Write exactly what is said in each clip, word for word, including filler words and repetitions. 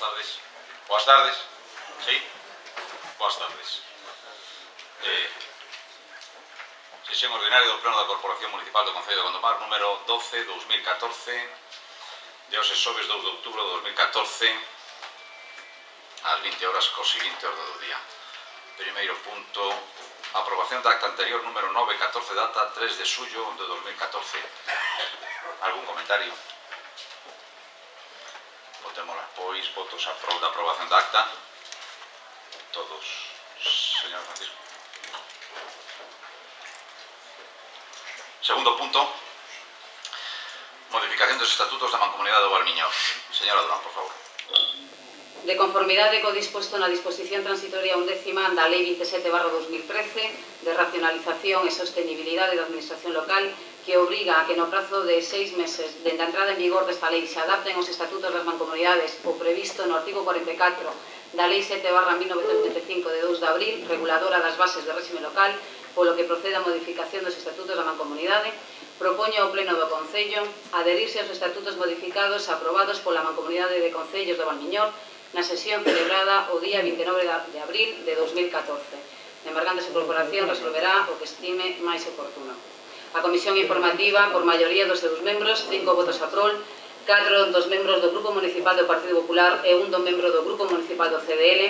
tardes. Boas tardes. Sí? Boas tardes. Eh, sesión ordinaria do Pleno da Corporación Municipal do Concello de Gondomar, número doce barra dos mil catorce, de hoxe xoves dous de outubro de dos mil catorce, ás vinte horas co seguinte orde do día. Primeiro punto, aprobación da acta anterior número nove catorce, data tres de xullo de dos mil catorce. Algún comentario? Votémola, pois, votos a prol da aprobación da acta. Todos, señor Francisco. Segundo punto, modificación dos estatutos da Mancomunidade do Valmiñor. Señora Durán, por favor. De conformidade co disposto na disposición transitoria undécima da Lei veintisiete barra dos mil trece de racionalización e sostenibilidade da administración local, que obriga a que no prazo de seis meses dende a entrada en vigor desta lei se adapten os estatutos das mancomunidades o previsto no artigo cuarenta e catro da Lei sete barra mil novecentos setenta e cinco de dous de abril, reguladora das bases de réxime local, polo que procede a modificación dos estatutos da mancomunidade, propoño ao Pleno do Concello adherirse aos estatutos modificados aprobados pola Mancomunidade de Concellos do Valmiñor na sesión celebrada o día vinte e nove de abril de dos mil catorce. A embargante a corporación resolverá o que estime máis oportuno. A Comisión Informativa, por maioría dos seus membros, cinco votos a prol, catro dos membros do Grupo Municipal do Partido Popular e un do membro do Grupo Municipal do C D L,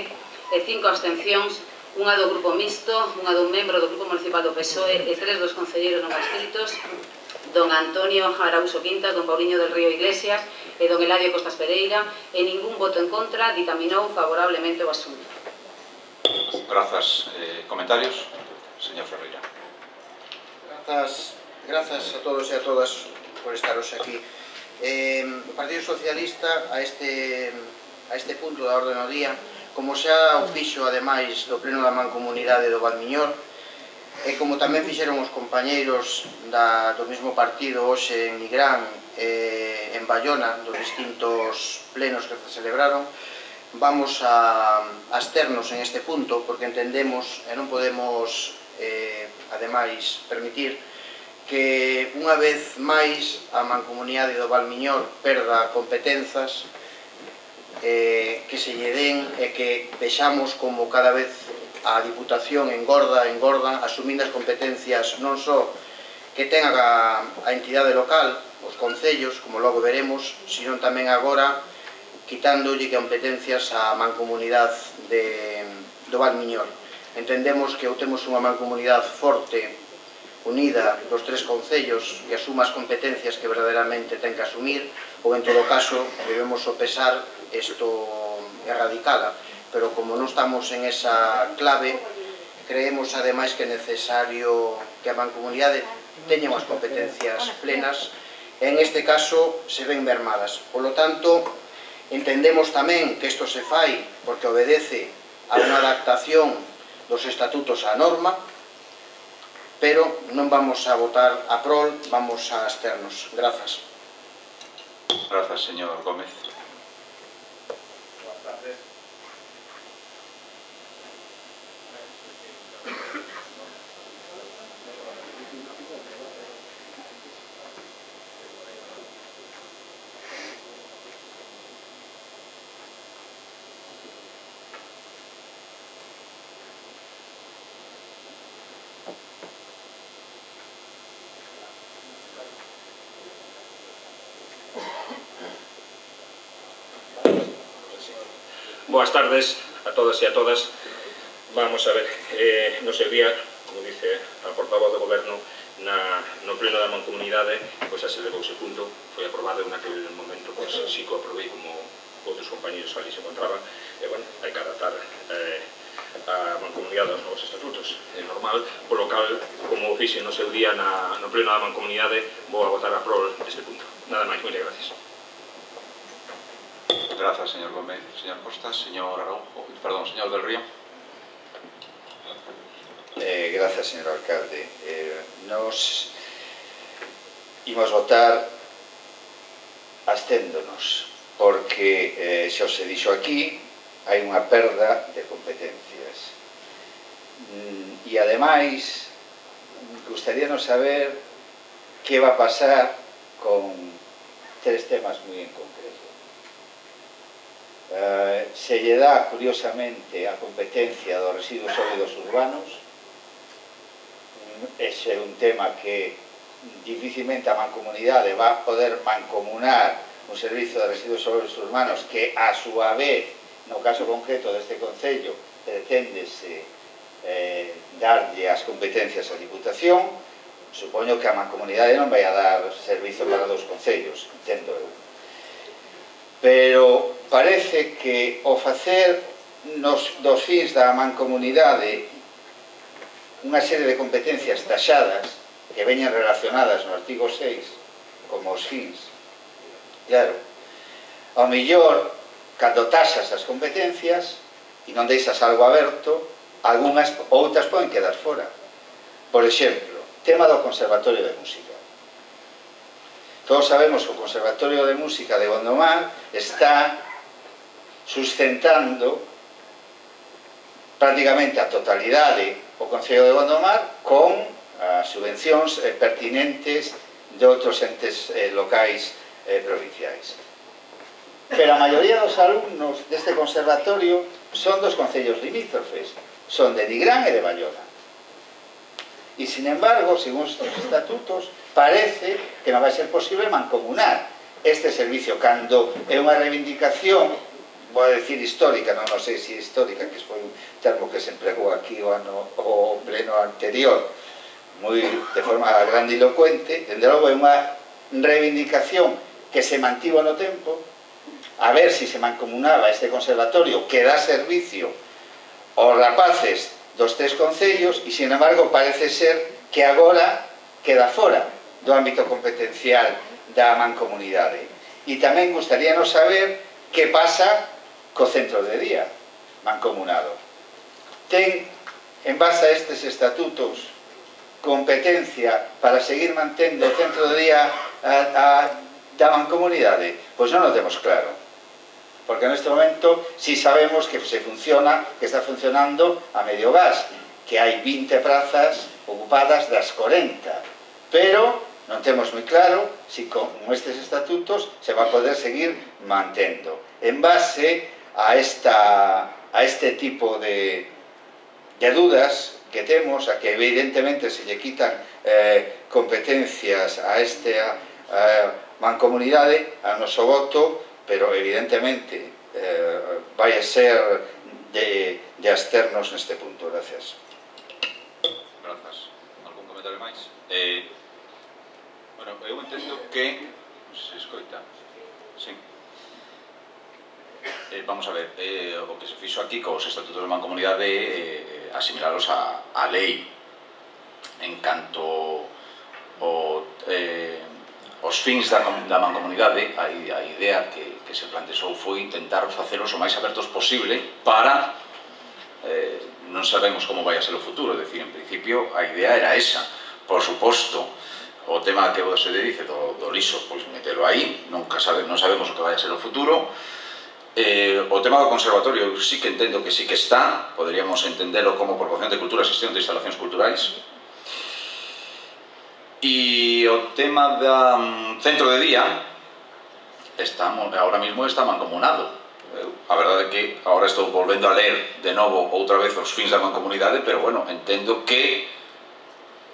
e cinco abstencións, unha do Grupo Mixto, unha dun membro do Grupo Municipal do P S O E e tres dos concelleiros non adscritos, don Antonio Arauso Quintas, don Pauliño del Río Iglesias e don Eladio Costas Pereira, e ningún voto en contra, ditaminou favorablemente o asunto. Grazas. Eh, comentarios? Señor Ferreira. Grazas, grazas a todos e a todas por estaros aquí. Eh, o Partido Socialista a este, a este punto da orde do día, como xa o fixo ademais do Pleno da Mancomunidade do Valmiñor, e como tamén fixeron os compañeiros da, do mesmo partido hoxe en Nigrán e en Bayona, dos distintos plenos que se celebraron, vamos a absternos en este punto porque entendemos e non podemos eh, ademais permitir que unha vez máis a Mancomunidade do Valmiñor perda competenzas eh, que se lle den e que vexamos como cada vez a Diputación engorda, engorda, asumindo as competencias non só que ten a, a entidade local, os concellos, como logo veremos, sino tamén agora quitándolle competencias á Mancomunidade de, do Valmiñor. Entendemos que ou temos unha Mancomunidade forte, unida dos tres concellos e asuma as competencias que verdadeiramente ten que asumir, ou en todo caso debemos sopesar isto erradicala. Pero como non estamos en esa clave, creemos ademais que é necesario que a Mancomunidade teña unhas competencias plenas e en este caso se ven mermadas. Por lo tanto, entendemos tamén que isto se fai porque obedece a unha adaptación dos estatutos á norma, pero non vamos a votar a prol, vamos a absternos. Grazas. Grazas, señor Gómez. Boas tardes. Boas tardes a todas e a todas. Vamos a ver, eh, no seu día, como dice a portavoz do Goberno, na, no Pleno da Mancomunidade, pois pues, se levou ese punto, foi aprobado en aquel momento, pois pues, sí que o aprobei como outros compañeros ali se encontraban, e, bueno, hai que adaptar eh, a Mancomunidade aos novos estatutos. É normal, polo cal, como o fixe no seu día na, no Pleno da Mancomunidade, vou a votar a prol deste punto. Nada máis, moitas gracias. Grazas, señor Gómez. Señor Costas, señor Araujo, perdón, señor del Río. Eh, grazas, señor alcalde. Eh, nos imos votar absténdonos, porque, eh, xa se dixo aquí, hai unha perda de competencias. Mm, e, ademais, gustaríanos saber que va a pasar con tres temas moi en concreto. eh, se lle dá curiosamente a competencia dos residuos sólidos urbanos. Ese é un tema que dificilmente a mancomunidade va a poder mancomunar un servizo de residuos sólidos urbanos que a súa vez, no caso concreto deste Concello, preténdese eh, darlle as competencias á Diputación. Supoño que a mancomunidade non vai a dar servizo para dos concellos, entendo eu. Pero parece que o facer nos, dos fins da mancomunidade unha serie de competencias taxadas que veñen relacionadas no artigo seis como os fins, claro, ao mellor cando taxas as competencias e non deixas algo aberto, algunhas outras poden quedar fora. Por exemplo, tema do Conservatorio de Música. Todos sabemos que o Conservatorio de Música de Gondomar está sustentando prácticamente a totalidade o Concello de Gondomar con as subvencións eh, pertinentes de outros entes eh, locais eh, provinciais. Pero a maioría dos alumnos deste conservatorio son dos concellos limítrofes, son de Nigrán e de Bayona. E, sin embargo, según os estatutos, parece que non vai ser posible mancomunar este servicio cando é unha reivindicación, vou a decir histórica, non, non sei se histórica, que foi un termo que se empregou aquí o ano o pleno anterior, moi de forma grandilocuente. Dende logo é unha reivindicación que se mantivo no tempo, a ver se se mancomunaba este conservatorio que dá servicio aos rapaces dos tres concellos e, sin embargo, parece ser que agora queda fora do ámbito competencial da mancomunidade. E tamén gustaríanos saber que pasa co centro de día mancomunado. Ten, en base a estes estatutos, competencia para seguir mantendo o centro de día a, a, da mancomunidade? Pois non o temos claro. Porque neste momento si sabemos que se funciona, que está funcionando a medio gas, que hai vinte prazas ocupadas das corenta, pero non temos moi claro se con estes estatutos se va a poder seguir mantendo. En base a, esta, a este tipo de, de dudas que temos, a que evidentemente se lle quitan eh, competencias a esta eh, mancomunidade, a noso voto, pero evidentemente eh, vai a ser de, de absternos neste punto. Gracias. Grazas. Algún comentario máis? Eh, bueno, eu entendo que... Non sei se escoita. Sí. Eh, vamos a ver, eh, o que se fixo aquí cos estatutos de mancomunidade é eh, asimilalos a, a lei en canto o... Eh, os fins da, da mancomunidade, a, a idea que, que se plantexou foi intentar facelos o máis abertos posible para, eh, non sabemos como vai a ser o futuro, é dicir, en principio a idea era esa. Por suposto, o tema que se dice do, do liso, pois metelo aí, nunca sabe, non sabemos o que vai a ser o futuro. Eh, o tema do conservatorio, eu sí que entendo que sí que está, poderíamos entendelo como proporción de cultura e xestión de instalacións culturais. E o tema da um, centro de día está, ahora mismo está mancomunado. A verdade é que agora estou volvendo a ler de novo outra vez os fins da mancomunidade, pero bueno, entendo que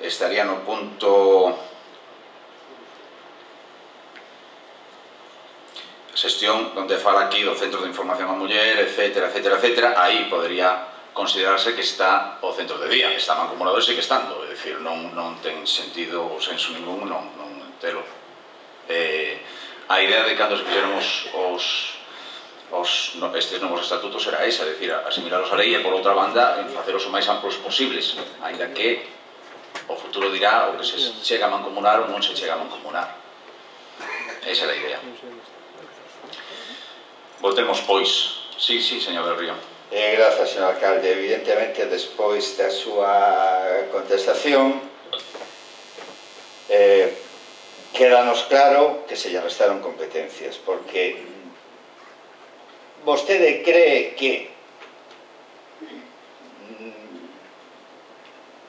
estaría no punto xestión onde fala aquí do centro de información á muller, etcétera, etcétera, etcétera. Aí podería considerarse que está o centro de día, está mancomunado e sigue estando, é dicir, non, non ten sentido ou senso ningún non, non entero. Eh, a idea de cando se fixeron os, os, os no, estes novos estatutos era esa, é dicir, asimilaros a lei e por outra banda en faceros o máis amplos posibles, ainda que o futuro dirá o que se chega a mancomunar ou non se chega a mancomunar. Esa é a idea. Voltemos, pois. Sí, sí, señor del Río. Eh, grazas, señor alcalde. Evidentemente, despois da súa contestación, eh, quédanos claro que se lle restaron competencias, porque vostede cree que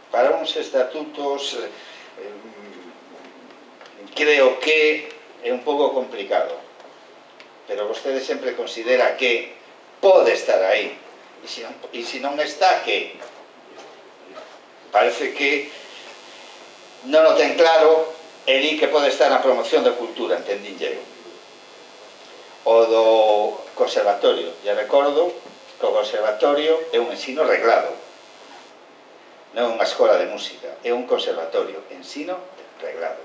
para uns estatutos eh, creo que é un pouco complicado, pero vostede sempre considera que pode estar aí. E se non, e se non está, que parece que non o ten claro e di que pode estar na promoción da cultura, entendín eu. O do conservatorio, e recordo que o conservatorio é un ensino reglado, non é unha escola de música, é un conservatorio, ensino reglado.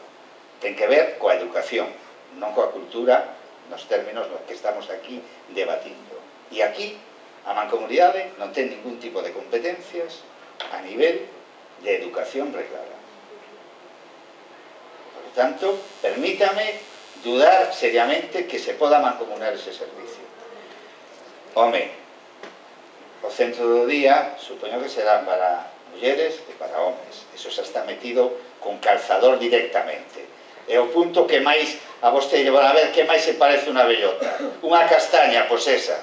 Ten que ver coa educación, non coa cultura, nos términos nos que estamos aquí debatindo. E aquí a mancomunidade non ten ningún tipo de competencias a nivel de educación reglada. Por tanto, permítame dudar seriamente que se poda mancomunar ese servicio. Home, o centro do día supoño que será para mulleres e para homes. Eso xa está metido con calzador directamente. É o punto que máis a vostede van a ver que máis se parece unha bellota. Unha castaña, pois esa.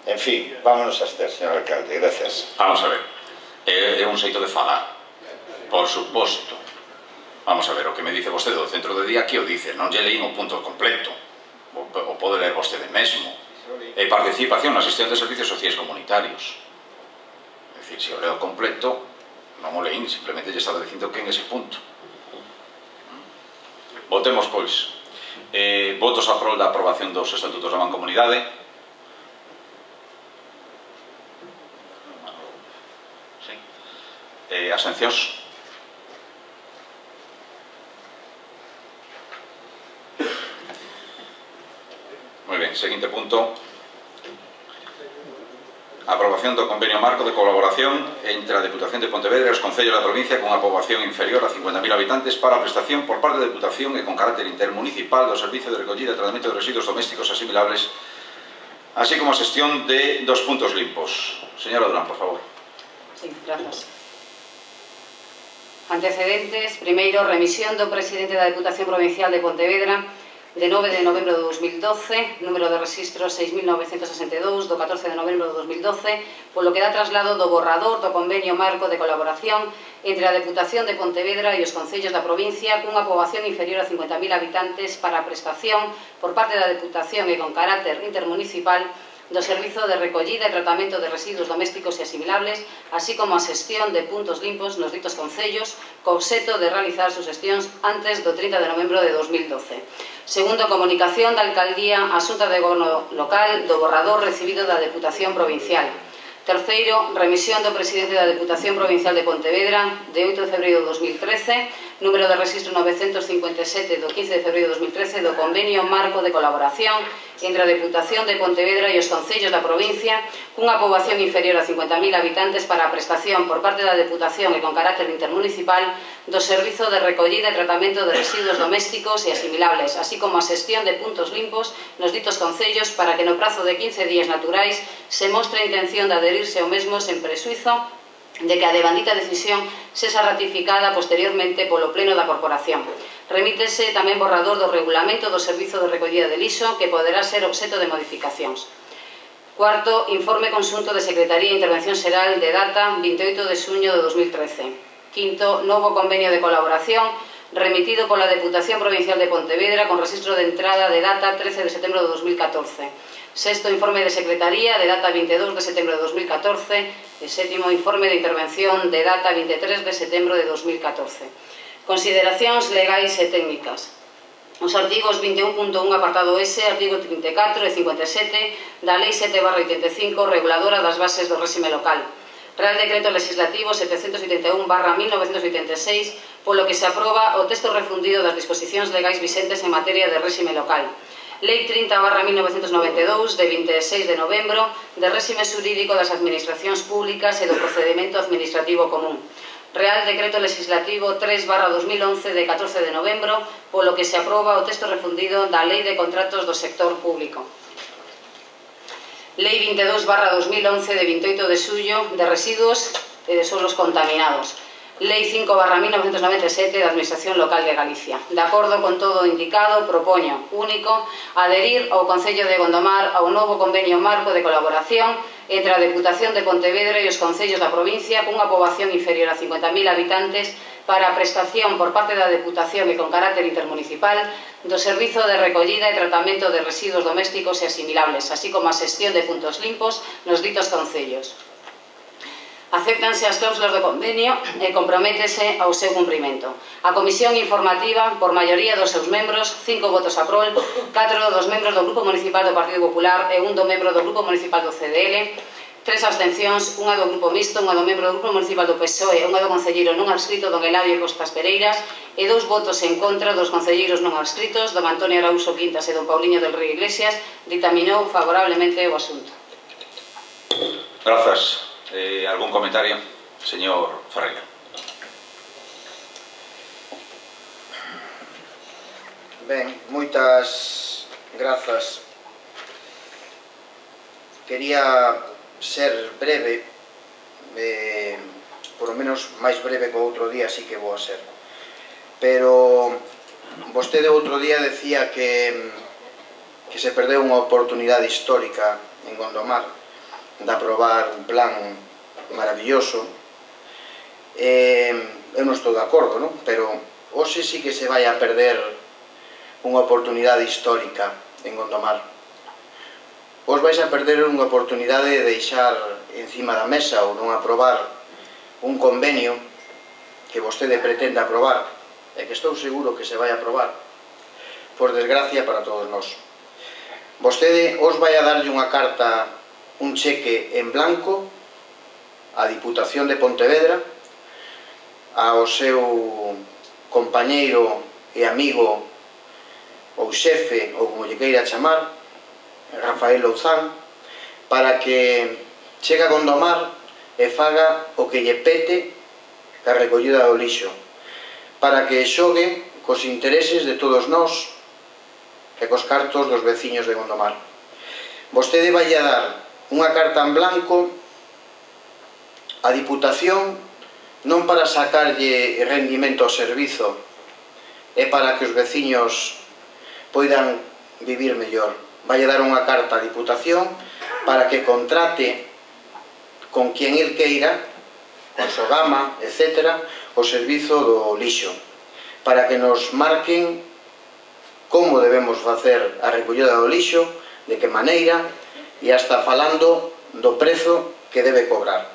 En fin, vámonos a estar, señor alcalde, gracias. Vamos a ver, é, é un xeito de falar, por suposto. Vamos a ver, o que me dice vostede do centro de día, que o dice, non lle leín o punto completo, o, o pode ler vostede mesmo. E participación na xestión de servicios sociais comunitarios. É dicir, se o leo completo, non o leín, simplemente lle estaba dicindo que en ese punto. Votemos, pois, eh, votos a prol da aprobación dos estatutos da mancomunidade. Eh, abstencións. Moi ben, seguinte punto. Aprobación do convenio marco de colaboración entre a Deputación de Pontevedra e os concellos da provincia con a poboación inferior a cincuenta mil habitantes para a prestación por parte da Deputación e con carácter intermunicipal do servicio de recollida e tratamento de residuos domésticos asimilables, así como a xestión de dos puntos limpos. Señora Durán, por favor. Sí, grazas. Antecedentes. Primeiro, remisión do presidente da Deputación Provincial de Pontevedra de nove de novembro de dos mil doce, número de registro seis mil novecentos sesenta e dous, do catorce de novembro de dos mil doce, polo que dá traslado do borrador do convenio marco de colaboración entre a Deputación de Pontevedra e os concellos da provincia cunha poboación inferior a cincuenta mil habitantes para a prestación por parte da Deputación e con carácter intermunicipal do Servizo de Recollida e Tratamento de Residuos Domésticos e Asimilables, así como a xestión de puntos limpos nos ditos concellos, co obxeto de realizar sus xestións antes do trinta de novembro de dos mil doce. Segundo, comunicación da Alcaldía á Xunta de Goberno Local do borrador recibido da Deputación Provincial. Terceiro, remisión do presidente da Deputación Provincial de Pontevedra de oito de febreiro de dos mil trece, número de registro novecentos cincuenta e sete do quince de febreiro de dos mil trece do convenio marco de colaboración entre a Deputación de Pontevedra e os concellos da provincia cunha poboación inferior a cincuenta mil habitantes para a prestación por parte da Deputación e con carácter intermunicipal do Servizo de Recollida e Tratamento de Residuos Domésticos e Asimilables, así como a xestión de puntos limpos nos ditos concellos para que no prazo de quince días naturais se mostre a intención de aderirse ao mesmo sen presuizo de que a devandita decisión sexa ratificada posteriormente polo Pleno da Corporación. Remítese tamén borrador do regulamento do Servizo de Recollida de Lixo que poderá ser obxeto de modificacións. Cuarto, informe conxunto de Secretaría e Intervención Xeral de data vinte e oito de xuño de dos mil trece. Quinto, novo convenio de colaboración remitido pola Deputación Provincial de Pontevedra con registro de entrada de data trece de setembro de dos mil catorce. Sexto, informe de Secretaría de data vinte e dous de setembro de dos mil catorce e sétimo, informe de intervención de data vinte e tres de setembro de dos mil catorce. Consideracións legais e técnicas. Os artigos vinte e un punto un apartado S, artigo trinta e catro e cincuenta e sete da Lei sete barra oitenta e cinco reguladora das bases do réxime local. Real Decreto Legislativo setecentos oitenta e un barra mil novecentos oitenta e seis, polo que se aproba o texto refundido das disposicións legais vixentes en materia de réxime local. Lei trinta barra mil novecentos noventa e dous, de vinte e seis de novembro, de réxime xurídico das administracións públicas e do procedimento administrativo común. Real Decreto Legislativo tres barra dos mil once, de catorce de novembro, polo que se aproba o texto refundido da Lei de Contratos do Sector Público. Lei vinte e dous barra dos mil once, de vinte e oito de xullo, de residuos e de solos contaminados. Lei cinco barra mil novecentos noventa e sete da Administración Local de Galicia. De acordo con todo o indicado, propoño, único, adherir ao Concello de Gondomar ao novo convenio marco de colaboración entre a Deputación de Pontevedra e os concellos da provincia cunha poboación inferior a cincuenta mil habitantes para a prestación por parte da Deputación e con carácter intermunicipal do Servizo de Recollida e Tratamento de Residuos Domésticos e Asimilables, así como a xestión de puntos limpos nos ditos concellos. Acéptanse as cláusulas do convenio e comprométese ao seu cumprimento. A Comisión Informativa, por maioría dos seus membros, cinco votos a prol, catro dos membros do Grupo Municipal do Partido Popular e un do membro do Grupo Municipal do C D L, tres abstencións, unha do Grupo Mixto, unha do membro do Grupo Municipal do P S O E e unha do concelleiro non adscrito don Eladio Costas Pereiras e dous votos en contra dos concelleiros non adscritos, don Antonio Arauso Quintas e don Pauliño del Rey Iglesias, dictaminou favorablemente o asunto. Grazas. Eh, algún comentario? Señor Ferreira. Ben, moitas grazas. Quería ser breve, eh, por lo menos máis breve que o outro día, así que vou a ser. Pero vostede outro día decía que, que se perdeu unha oportunidade histórica en Gondomar de aprobar un plan maravilloso. Eh, eu non estou de acordo, non? Pero hoxe sí que se vai a perder unha oportunidade histórica en Gondomar. Os vais a perder unha oportunidade de deixar encima da mesa ou non aprobar un convenio que vostede pretende aprobar e que estou seguro que se vai a aprobar, por desgracia para todos nós. Vostede os vai a darlle unha carta, un cheque en blanco á Diputación de Pontevedra, ao seu compañeiro e amigo ou xefe, ou como lle queira chamar, Rafael Louzán, para que chegue a Gondomar e faga o que lle pete a recollida do lixo, para que xogue cos intereses de todos nós e cos cartos dos veciños de Gondomar. Vostede vai a dar unha carta en blanco á Diputación non para sacarlle rendimento ao servizo, é para que os veciños poidan vivir mellor. Vai a dar unha carta á Diputación para que contrate con quien el queira, con Sogama, etcétera, o servizo do lixo, para que nos marquen como debemos facer a recollida do lixo, de que maneira, e hasta falando do prezo que debe cobrar.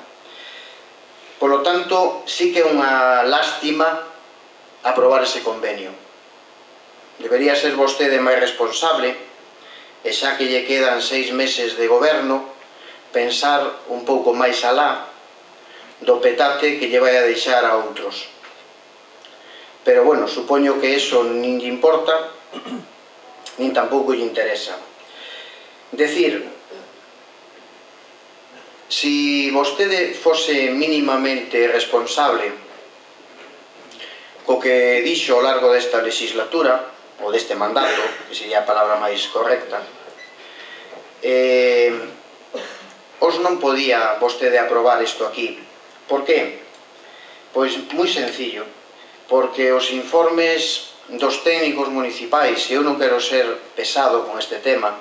Por lo tanto, sí que é unha lástima aprobar ese convenio. Debería ser vostede máis responsable, e xa que lle quedan seis meses de goberno, pensar un pouco máis alá do petate que lle vai a deixar a outros. Pero, bueno, supoño que eso nin lle importa, nin tampouco lle interesa. Decir, si vostede fose mínimamente responsable co que dixo ao largo desta legislatura, ou deste mandato, que sería a palabra máis correcta, eh, os non podía vostede aprobar isto aquí. Por que? Pois moi sencillo, porque os informes dos técnicos municipais, e eu non quero ser pesado con este tema,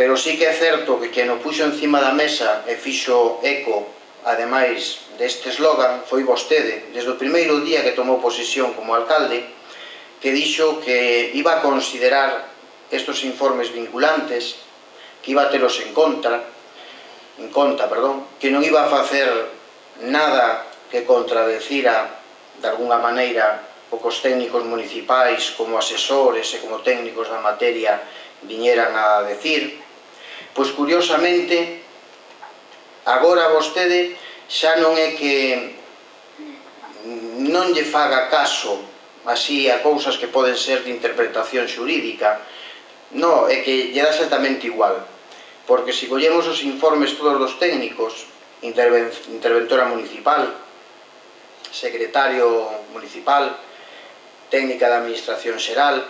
pero sí que é certo que quen o puxo encima da mesa e fixo eco, ademais deste eslogan, foi vostede, desde o primeiro día que tomou posesión como alcalde, que dixo que iba a considerar estos informes vinculantes, que iba a telos en contra, en conta, perdón, que non iba a facer nada que contradecira de alguna maneira o que os técnicos municipais como asesores e como técnicos da materia viñeran a decir. Pois curiosamente agora vostede xa non é que non lle faga caso así a cousas que poden ser de interpretación xurídica, non, é que lle dá exactamente igual, porque se collemos os informes todos dos técnicos, interventora municipal, secretario municipal, técnica da administración xeral,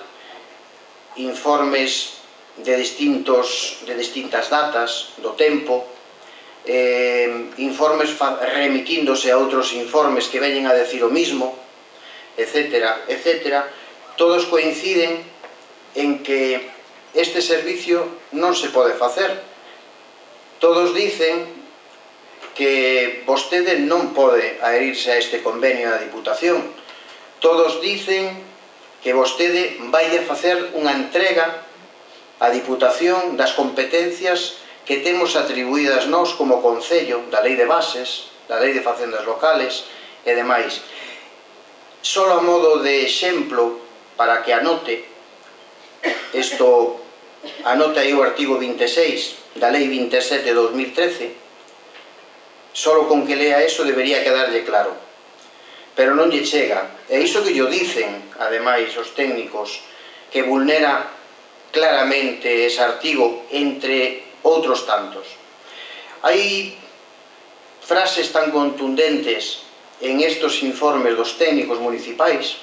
informes de distintos de distintas datas do tempo, eh, informes remitíndose a outros informes que veñen a decir o mismo, etcétera, etcétera, todos coinciden en que este servicio non se pode facer. Todos dicen que vostede non pode adherirse a este convenio da Diputación. Todos dicen que vostede vai a facer unha entrega á Diputación das competencias que temos atribuídas nós como Concello, da Lei de Bases, da Lei de Facendas Locales e demais. Só a modo de exemplo, para que anote, isto anote aí o artigo vinte e seis da Lei vinte e sete de dos mil trece, só con que lea eso debería quedarlle claro. Pero non lle chega. E iso que lle dicen, ademais, os técnicos, que vulnera claramente ese artigo, entre outros tantos. Hai frases tan contundentes en estos informes dos técnicos municipais,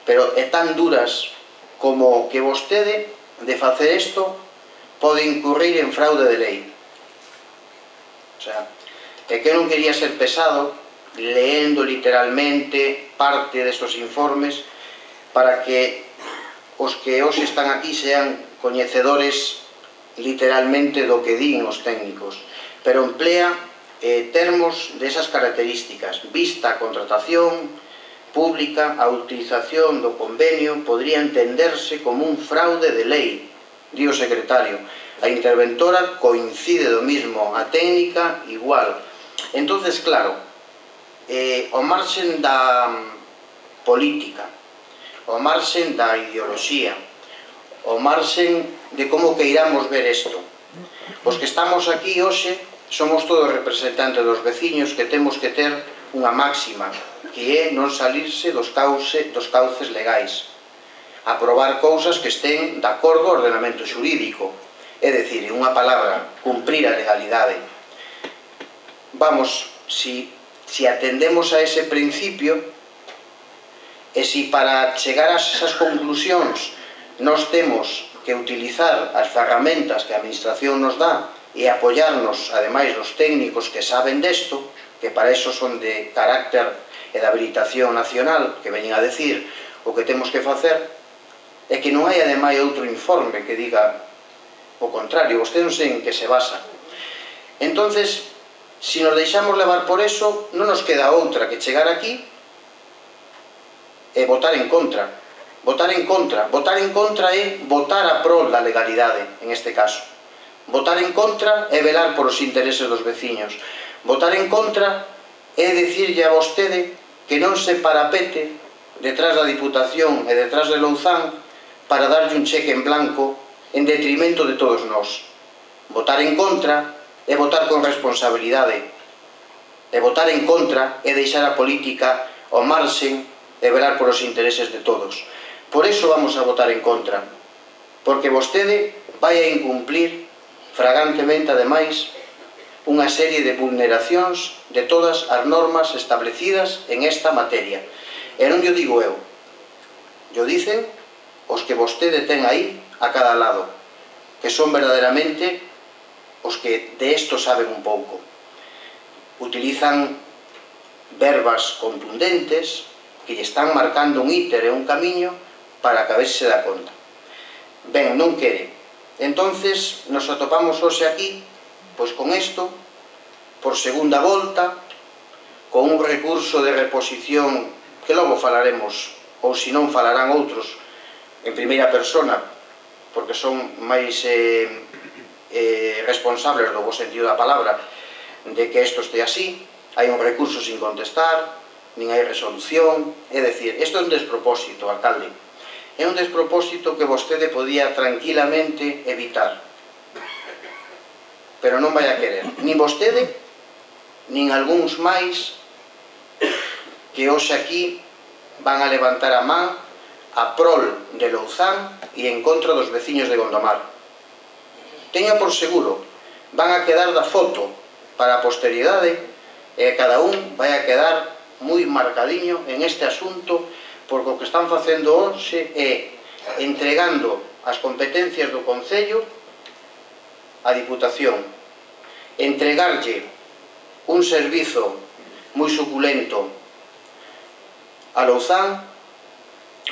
pero é tan duras como que vostede, de facer isto, pode incurrir en fraude de lei. O sea, é que non quería ser pesado leendo literalmente parte destos informes para que os que hoxe están aquí sean coñecedores literalmente do que din os técnicos, pero emplea eh, termos desas características. Vista a contratación pública, a utilización do convenio podría entenderse como un fraude de lei, di o secretario. A interventora coincide do mismo, a técnica igual. Entonces, claro, eh, o marxen da política, o marxen da ideoloxía, o marxen de como queiramos ver isto. Os que estamos aquí hoxe somos todos representantes dos veciños que temos que ter unha máxima, que é non salirse dos, cauce, dos cauces legais, aprobar cousas que estén de acordo ao ordenamento xurídico, é dicir, en unha palabra, cumprir a legalidade. Vamos, si, si atendemos a ese principio, e si para chegar a esas conclusións nós temos que utilizar as ferramentas que a Administración nos dá e apoiarnos, ademais, nos técnicos que saben desto, que para eso son de carácter e de habilitación nacional, que veñen a decir o que temos que facer, é que non hai, ademais, outro informe que diga o contrario. Vostede non sei en que se basa. Entonces, se nos deixamos levar por eso, non nos queda outra que chegar aquí e votar en contra. Votar en contra. Votar en contra é votar a prol da legalidade, en este caso. Votar en contra é velar por os intereses dos veciños. Votar en contra é dicirlle a vostede que non se parapete detrás da Diputación e detrás de Louzán para darlle un cheque en blanco en detrimento de todos nós. Votar en contra é votar con responsabilidade. E votar en contra é deixar a política ao marxen e velar por os intereses de todos. Por eso vamos a votar en contra, porque vostede vai a incumplir fragantemente, ademais, unha serie de vulneracións de todas as normas establecidas en esta materia. E non yo digo eu, yo dicen os que vostede ten aí a cada lado, que son verdadeiramente os que de isto saben un pouco. Utilizan verbas contundentes que lle están marcando un íter e un camiño para que a ver se dá conta. Ben, non quere. Entonces, nos atopamos hoxe aquí, pois con isto, por segunda volta, con un recurso de reposición que logo falaremos, ou se non falarán outros, en primeira persona, porque son máis eh, eh, responsables do bo sentido da palabra de que isto este así. Hai un recurso sin contestar, nin hai resolución, é dicir, isto é un despropósito, alcalde. É un despropósito que vostede podía tranquilamente evitar. Pero non vai a querer. Nin vostede, nin algúns máis que hoxe aquí van a levantar a man a prol de Louzán e en contra dos veciños de Gondomar. Teña por seguro, van a quedar da foto para a posteridade e cada un vai a quedar moi marcadiño en este asunto, porque o que están facendo hoxe é entregando as competencias do Concello á Diputación, entregarlle un servizo moi suculento a Louzán,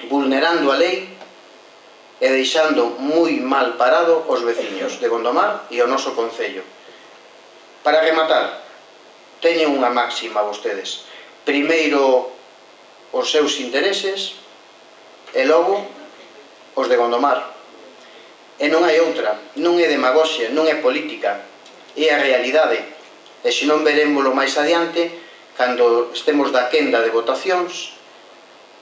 vulnerando a lei e deixando moi mal parado os veciños de Gondomar e o noso Concello. Para rematar, teñen unha máxima vostedes. Primeiro os seus intereses e logo os de Gondomar. E non hai outra, non é demagoxia, non é política, é a realidade. E se non verémoslo máis adiante, cando estemos da quenda de votacións,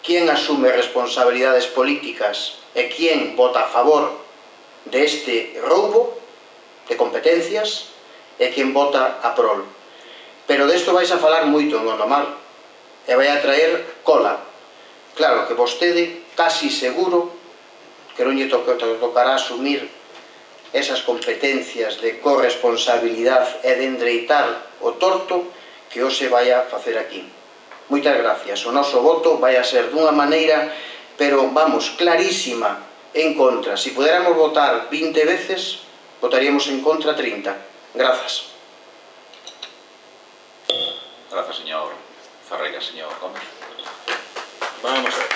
quen asume responsabilidades políticas e quen vota a favor deste roubo de competencias e quen vota a prol. Pero desto vais a falar moito en Gondomar e vai a traer cola. Claro que vostede, casi seguro, que non lle tocará asumir esas competencias de corresponsabilidade e de endreitar o torto que hoxe vai a facer aquí. Moitas gracias. O noso voto vai a ser dunha maneira, pero vamos, clarísima, en contra. Si puderamos votar vinte veces, votaríamos en contra trinta. Grazas. Grazas, señor Ferreira. Señor Gómez. Vamos a ver.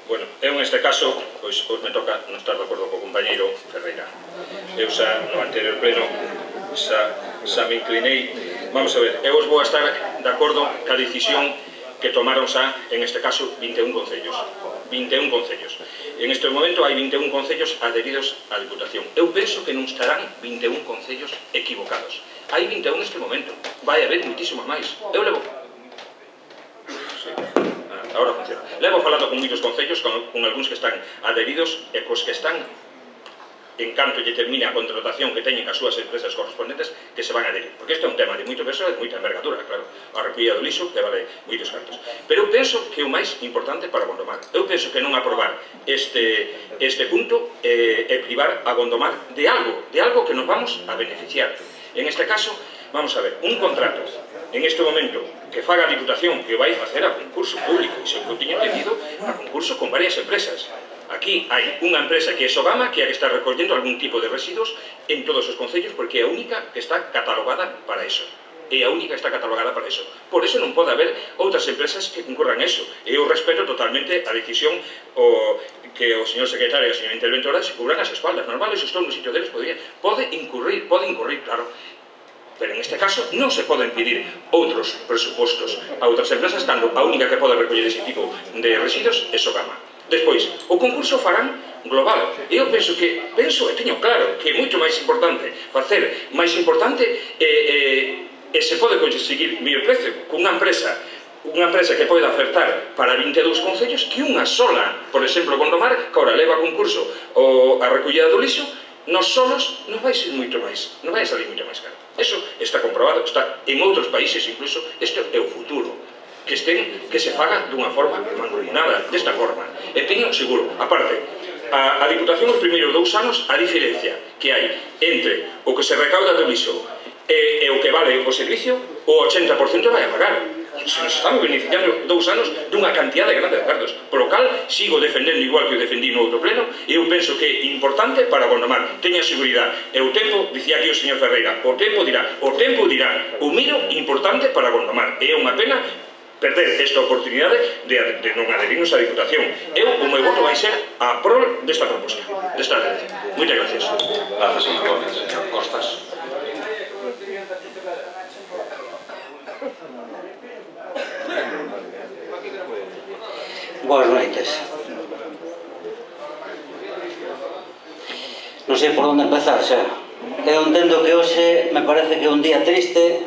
Bueno, eu neste caso, pois, me toca non estar de acordo co compañeiro Ferreira. Eu xa no anterior pleno xa, xa me inclinei. Vamos a ver, eu os vou a estar de acordo ca decisión que tomaron xa, en este caso, vinte e un concellos. vinte e un concellos. En este momento hai vinte e un concellos adheridos á Diputación. Eu penso que non estarán vinte e un concellos equivocados. Hai vinte e un neste momento. Vai haber muitísimo máis. Eu levo... Sí. Ah, ahora funciona. Levo falando con moitos concellos, con, con algúns que están adheridos e cos que están, en canto lle termine a contratación que teñen as súas empresas correspondentes, que se van a adherir. Porque isto é un tema de moito peso e de moita envergadura, claro. A recollida do lixo que vale moitos cartos. Pero eu penso que o máis importante para Gondomar, eu penso que non aprobar este, este punto é eh, privar a Gondomar de algo, de algo que nos vamos a beneficiar. En este caso, vamos a ver, un contrato, en este momento, que faga a Diputación, que vai facer a concurso público, e se eu teño entendido, a concurso con varias empresas. Aquí hai unha empresa que é Sogama, que é a que está recollendo algún tipo de residuos en todos os concellos, porque é a única que está catalogada para eso. É a única que está catalogada para eso. Por eso non pode haber outras empresas que concurran eso. E eu respeto totalmente a decisión o que o señor secretario e a señora interventora se cubran as espaldas. Normal, eso estou no sitio deles, podría, pode incurrir, pode incurrir, claro. Pero en este caso non se poden pedir outros presupostos a outras empresas, cando a única que pode recoller ese tipo de residuos é Sogama. Despois, o concurso farán global. Eu penso que, penso e teño claro que é moito máis importante facer máis importante e, e, e se pode conseguir mellor precio cunha empresa unha empresa que pode ofertar para vinte e dous concellos que unha sola. Por exemplo, Gondomar, que agora leva a concurso o a recollida do lixo, nos solos non vai ser moito máis, non vai salir moito máis caro. Eso está comprobado, está en outros países incluso. Isto é o futuro, que estén, que se faga dunha forma mancomunada, desta forma. E teño seguro, aparte, a, a Diputación os primeiros dous anos, a diferencia que hai entre o que se recauda do lixo e, e o que vale o servicio, o ochenta por cento vai a pagar. Se nos estamos beneficiando dous anos dunha cantidad de grandes cartos. Por lo cal, sigo defendendo igual que o defendí no outro pleno, e eu penso que é importante para Gondomar. Teña seguridade. E o tempo, dicía aquí o señor Ferreira, o tempo dirá, o tempo dirá, o miro importante para Gondomar. É unha pena perder esta oportunidade de, de non adherirnos á Diputación. Eu, o meu voto vai ser a prol desta proposta, desta adherencia. Moitas gracias. Gracias, señor Gómez. Señor Costas. Boas noites. Non sei por onde empezar xa. Eu entendo que hoxe me parece que é un día triste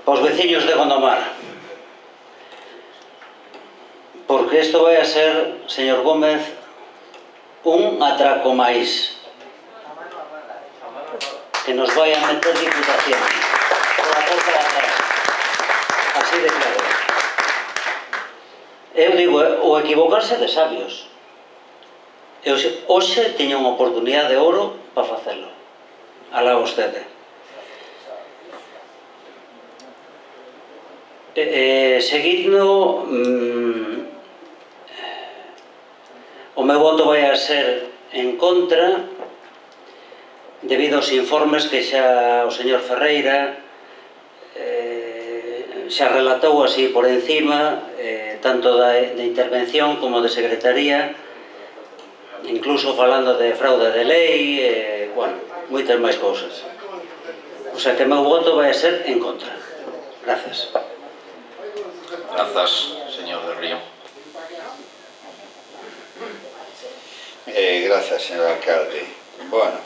para os veciños de Gondomar. Porque isto vai a ser, señor Gómez, un atraco máis que nos vai a meter Diputación pola porta de atrás. Así de claro. Eu digo, o equivocarse de sabios. Eu hoxe tiña unha oportunidade de ouro para facelo. Alá vostede. E, e, seguindo, mmm, o meu voto vai a ser en contra debido aos informes que xa o señor Ferreira eh, xa relatou así por encima, eh, tanto da, de intervención como de secretaría, incluso falando de fraude de lei, eh, bueno, moitas máis cousas. O sea que o meu voto vai a ser en contra. Gracias. Grazas, señor del Río. Eh, grazas, señor alcalde. Bueno,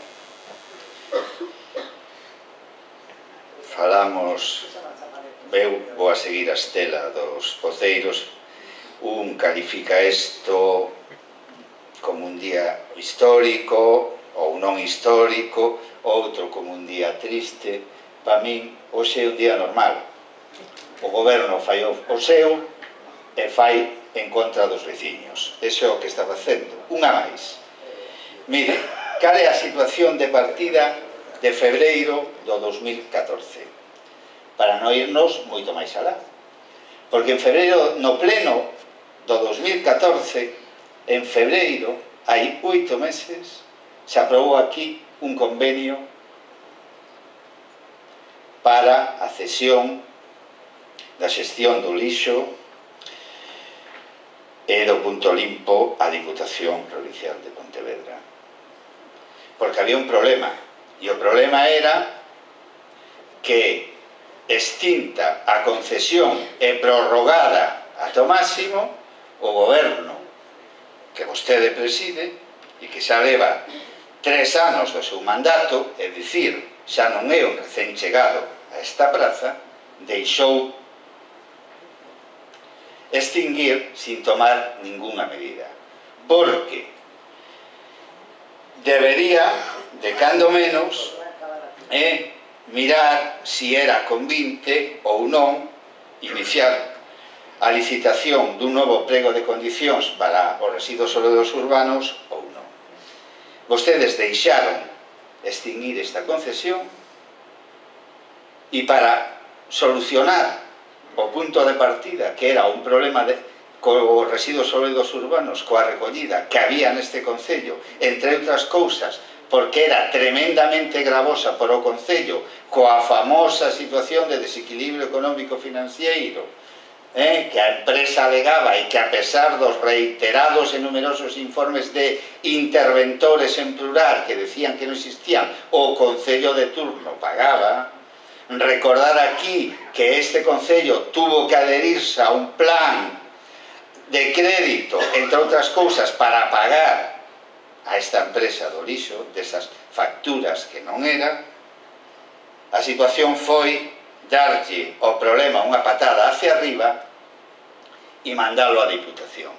falamos, eu vou a seguir a estela dos voceiros. Un califica isto como un día histórico ou non histórico, outro como un día triste. Para min, hoxe é un día normal. O goberno fai o seu e fai en contra dos veciños. Eso é o que está facendo. Unha máis. Mire, cal é a situación de partida de febreiro do dos mil catorce? Para non irnos moito máis alá. Porque en febreiro, no pleno do dos mil catorce, en febreiro, hai oito meses, se aprobou aquí un convenio para a cesión da xestión do lixo e do punto limpo á Diputación Provincial de Pontevedra. Porque había un problema, e o problema era que extinta a concesión e prorrogada ata o máximo, o goberno que vostede preside e que xa leva tres anos do seu mandato, é dicir, xa non é o recén chegado a esta praza, deixou extinguir sin tomar ninguna medida. Porque debería, de cando menos, eh, mirar si era convinte ou non iniciar a licitación dun novo prego de condicións para os residuos sólidos urbanos ou non. Vostedes deixaron extinguir esta concesión e para solucionar o punto de partida, que era un problema de, cos residuos sólidos urbanos, coa recollida que había neste concello, entre outras cousas, porque era tremendamente gravosa por o concello, coa famosa situación de desequilibrio económico-financiero, eh, que a empresa alegaba e que a pesar dos reiterados e numerosos informes de interventores en plural que decían que non existían, o concello de turno pagaba. Recordar aquí que este concello tuvo que adherirse a un plan de crédito, entre outras cousas, para pagar a esta empresa do lixo, desas facturas que non eran. A situación foi darlle o problema unha patada hacia arriba e mandalo á Diputación.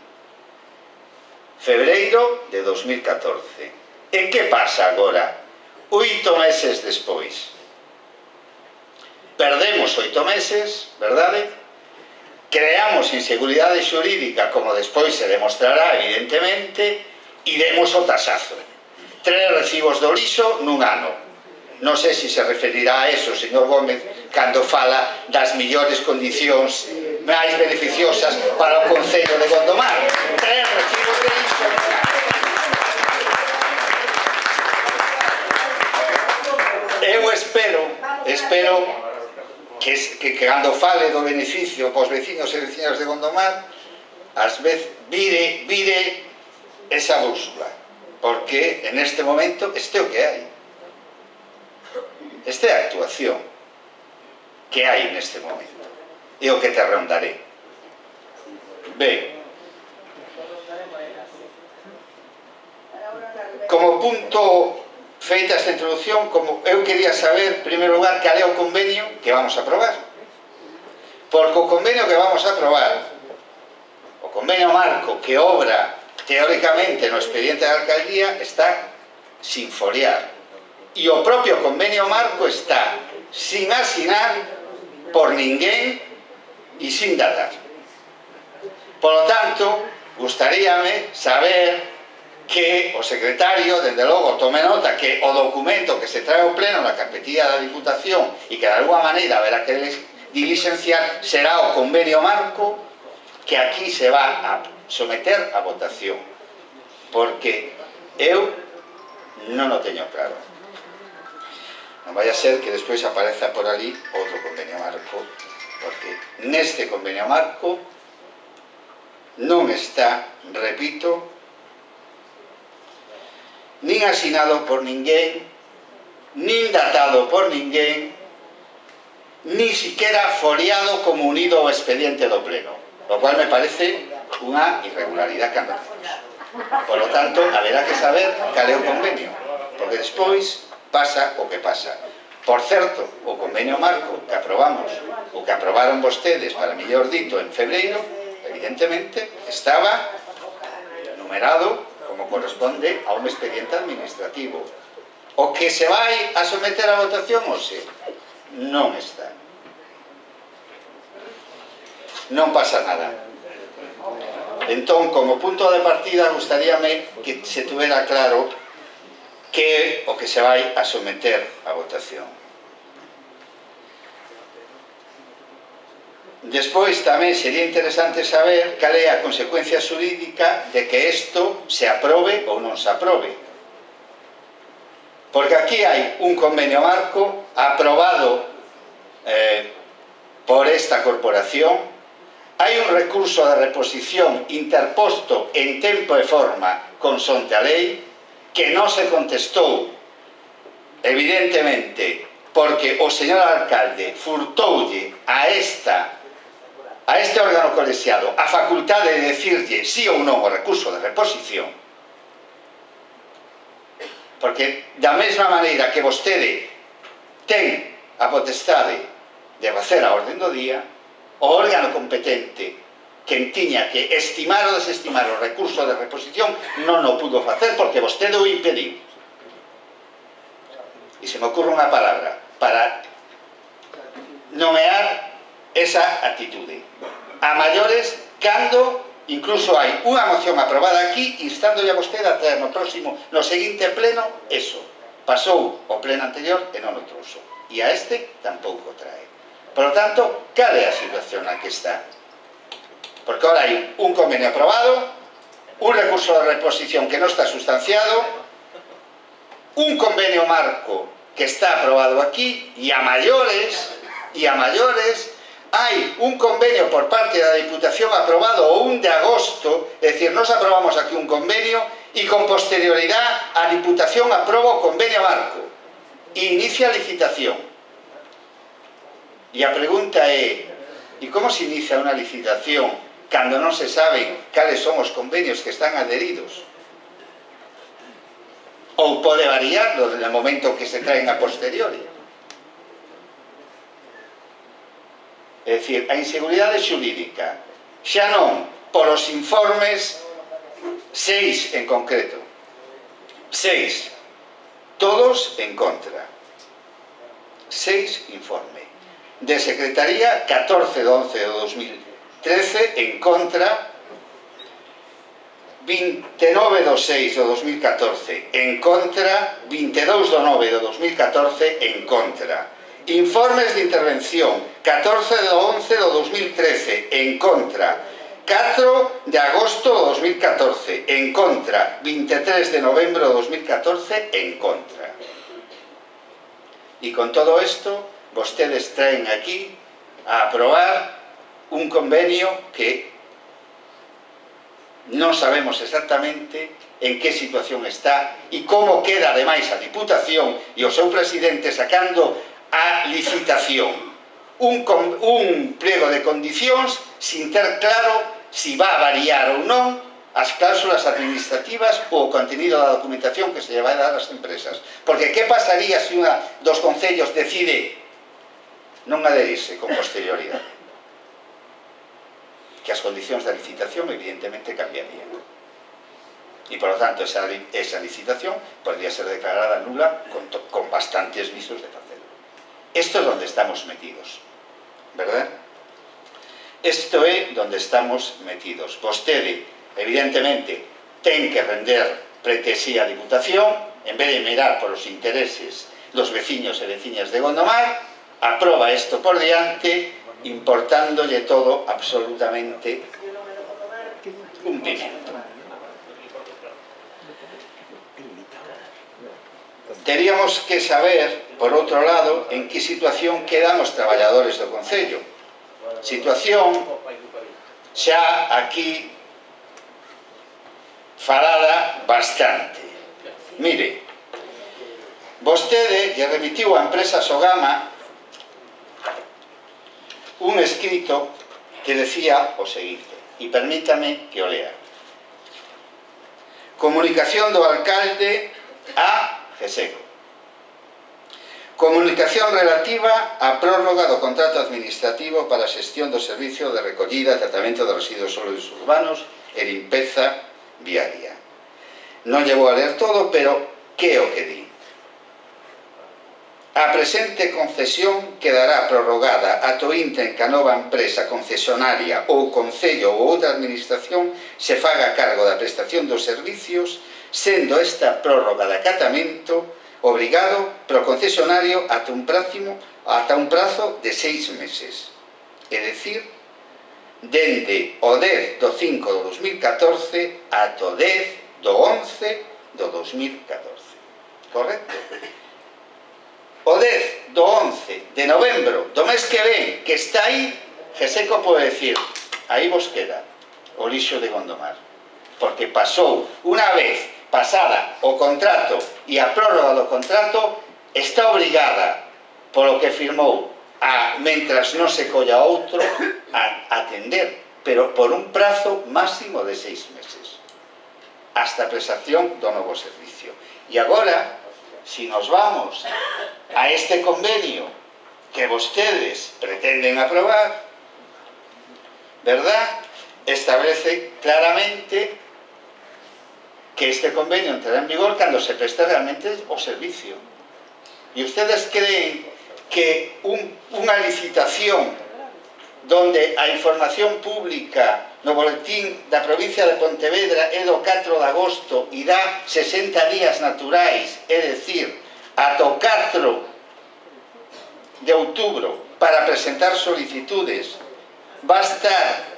Febreiro de dos mil catorce. E que pasa agora? Oito meses despois. Perdemos oito meses, verdade? Creamos inseguridade xurídica, como despois se demostrará, evidentemente, e demos o tasazo. Tres recibos do lixo nun ano. Non sei se se referirá a eso, señor Gómez, cando fala das millores condicións máis beneficiosas para o concello de Gondomar. Tres recibos de lixo nun ano. Eu espero, espero que, que, que cando fale do beneficio pos vecinos e vecinas de Gondomar, ás veces vire, vire esa bússola, porque en este momento este é o que hai. Esta é a actuación que hai neste momento. É o que te rondaré. Ben, como punto feita esta introducción, como eu quería saber, en primeiro lugar, cal é o convenio que vamos a aprobar. Porque o convenio que vamos a aprobar, o convenio marco que obra teóricamente no expediente da alcaldía, está sin foliar. E o propio convenio marco está sin asinar por ninguén e sin datar. Por lo tanto, gustaríame saber que o secretario, dende logo, tome nota que o documento que se trae ao pleno na carpetilla da Diputación e que de alguma maneira haberá que diligenciar será o convenio marco que aquí se va a someter a votación, porque eu non o teño claro. Non vai a ser que despois apareza por ali outro convenio marco, porque neste convenio marco non está, repito, nin asinado por ninguén nin datado por ninguén, ni siquiera foliado como unido ao expediente do pleno, lo cual me parece unha irregularidade candorosa. Por lo tanto, haberá que saber cal é o convenio, porque despois pasa o que pasa. Por certo, o convenio marco que aprobamos, o que aprobaron vostedes, para mellor dito, en febreiro, evidentemente, estaba numerado como corresponde a un expediente administrativo. O que se vai a someter a votación, ou se non está. Non pasa nada. Entón, como punto de partida, gustaríame que se tuvera claro que é o que se vai a someter a votación. Despois tamén sería interesante saber cal é a consecuencia xurídica de que isto se aprobe ou non se aprobe. Porque aquí hai un convenio marco aprobado eh, por esta corporación, hai un recurso de reposición interposto en tempo e forma consonte a lei, que non se contestou, evidentemente, porque o señor alcalde furtoulle a esta a este órgano colexiado a facultade de decirlle sí ou non o recurso de reposición, porque da mesma maneira que vostede ten a potestade de facer a orden do día, o órgano competente que tiña que estimar ou desestimar o recurso de reposición non o pudo facer porque vostede o impediu. E se me ocurre unha palabra para nomear esa actitude. A maiores, cando incluso hai unha moción aprobada aquí instándolle a vostede a traer no próximo, no seguinte pleno, eso. Pasou o pleno anterior e non o trouxo. E a este tampouco trae. Por lo tanto, cal é a situación na que está? Porque ahora hai un convenio aprobado, un recurso de reposición que non está sustanciado, un convenio marco que está aprobado aquí, e a maiores, e a maiores, hai un convenio por parte da Diputación aprobado o un de agosto, é dicir, nos aprobamos aquí un convenio e con posterioridade a Diputación aproba o convenio marco e inicia a licitación. E a pregunta é, e como se inicia unha licitación cando non se saben cales son os convenios que están adheridos? Ou pode variar no momento que se traen a posteriori? É dicir, a inseguridade xurídica, xa non por os informes, seis en concreto, seis, todos en contra, seis informe, de Secretaría, catorce de once de dos mil trece en contra, vinte e nove de seis de dos mil catorce en contra, vinte e dous de nove de dos mil catorce en contra. Informes de intervención, catorce de once de dos mil trece en contra, catro de agosto de dos mil catorce en contra, vinte e tres de novembro de dos mil catorce en contra. E con todo isto, vostedes traen aquí a aprobar un convenio que non sabemos exactamente en que situación está e como queda ademais a Diputación e o seu presidente sacando a licitación un, un pliego de condicións sin ter claro si va a variar ou non as cláusulas administrativas ou o contenido da documentación que se lle vai dar ás empresas. Porque que pasaría se unha dos concellos decide non adherirse con posterioridade? Que as condicións da licitación evidentemente cambiarían. E, por lo tanto, esa, esa licitación podría ser declarada nula con, con bastantes visos de facelo. Esto es donde estamos metidos, ¿verdad? Esto é donde estamos metidos. Vostede, evidentemente, ten que render pretesía a Diputación, en vez de mirar por os intereses dos veciños e veciñas de Gondomar, aproba isto por diante, importándolle todo absolutamente un pimiento. Teríamos que saber, por outro lado, en que situación quedan os traballadores do Concello. Situación xa aquí falada bastante. Mire, vostede lle remitiu a empresa Sogama un escrito que decía o seguinte, e permítame que o lea. Comunicación do alcalde a GESECO. Comunicación relativa á prórroga do contrato administrativo para a xestión do servicio de recollida e tratamento de residuos sólidos urbanos e limpeza viaria. Non lle vou a ler todo, pero que é o que di? A presente concesión quedará prorrogada ata o intre en que a nova empresa concesionaria ou concello ou outra administración se faga cargo da prestación dos servicios, sendo esta prórroga de acatamento obrigado pro concesionario ata un prazo, ata un prazo de seis meses. É dicir, dende o dez do cinco do dos mil catorce ata o dez do once do dos mil catorce. Correcto? O dez do once de novembro do mes que ven, que está aí, GESECO pode decir, aí vos queda o lixo de Gondomar. Porque pasou, unha vez pasada o contrato e a prórroga do contrato, está obrigada, polo que firmou, a, mentras non se colla outro, a atender, pero por un prazo máximo de seis meses, hasta a prestación do novo servicio. E agora, si nos vamos a este convenio que vostedes pretenden aprobar, verdad, establece claramente que este convenio entrará en vigor cando se preste realmente o servicio. E ustedes creen que un, unha licitación donde a información pública no boletín da provincia de Pontevedra é do catro de agosto e dá sesenta días naturais, é dicir, ata o catro de outubro para presentar solicitudes, va a estar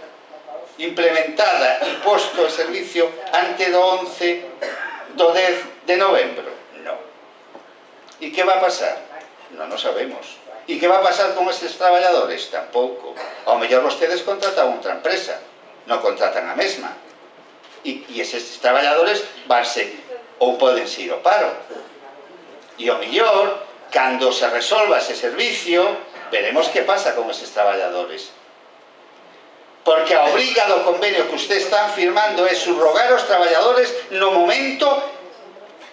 implementada e posto en servicio antes do once do dez de novembro? Non. E que va a pasar? Non o sabemos. E que va a pasar con estes traballadores? Tampouco. Ao mellor vostedes contratan outra empresa, non contratan a mesma. E, e eses traballadores vanse ou podense ir ao paro. E ao mellor, cando se resolva ese servicio, veremos que pasa con eses traballadores. Porque a obriga do convenio que ustedes están firmando é subrogar os traballadores no momento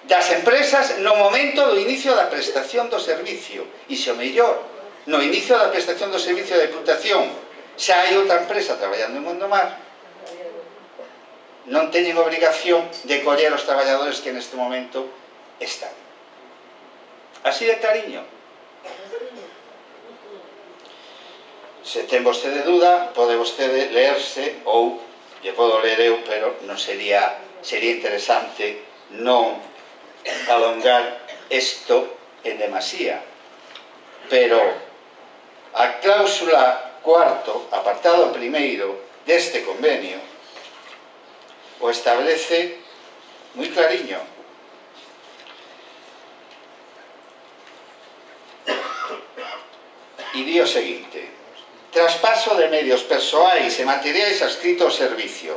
das empresas, no momento do inicio da prestación do servicio. E se o mellor, no inicio da prestación do servicio da Deputación, xa hai outra empresa traballando en Gondomar, non teñen obrigación de coller os traballadores que neste momento están. Así de cariño. Se ten vostede duda, pode vostede leerse, ou lle podo ler eu, pero non sería, sería interesante non alongar isto en demasía. Pero a cláusula cuarto, apartado primeiro deste convenio, o establece moi clariño. E di o seguinte: traspaso de medios persoais e materiais adscritos ao servicio.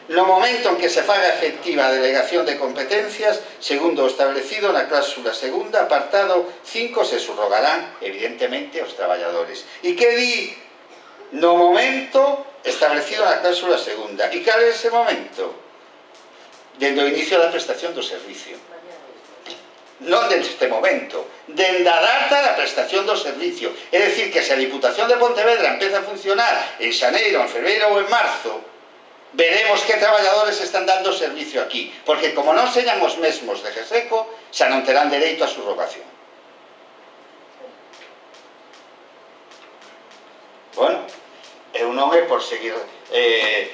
No momento en que se faga efectiva a delegación de competencias, segundo o establecido na cláusula segunda, apartado cinco, se subrogarán, evidentemente, os traballadores. E que di no momento establecido na cláusula segunda? E cal é ese momento? Dende o inicio da prestación do servicio. Non dende este momento, dende a data da prestación do servicio. É dicir, que se a Diputación de Pontevedra empeza a funcionar en xaneiro, en febreiro ou en marzo, veremos que traballadores están dando servicio aquí, porque como non señan os mesmos de GESECO, xa non terán dereito a subrogación. Bueno, eu non é por seguir eh,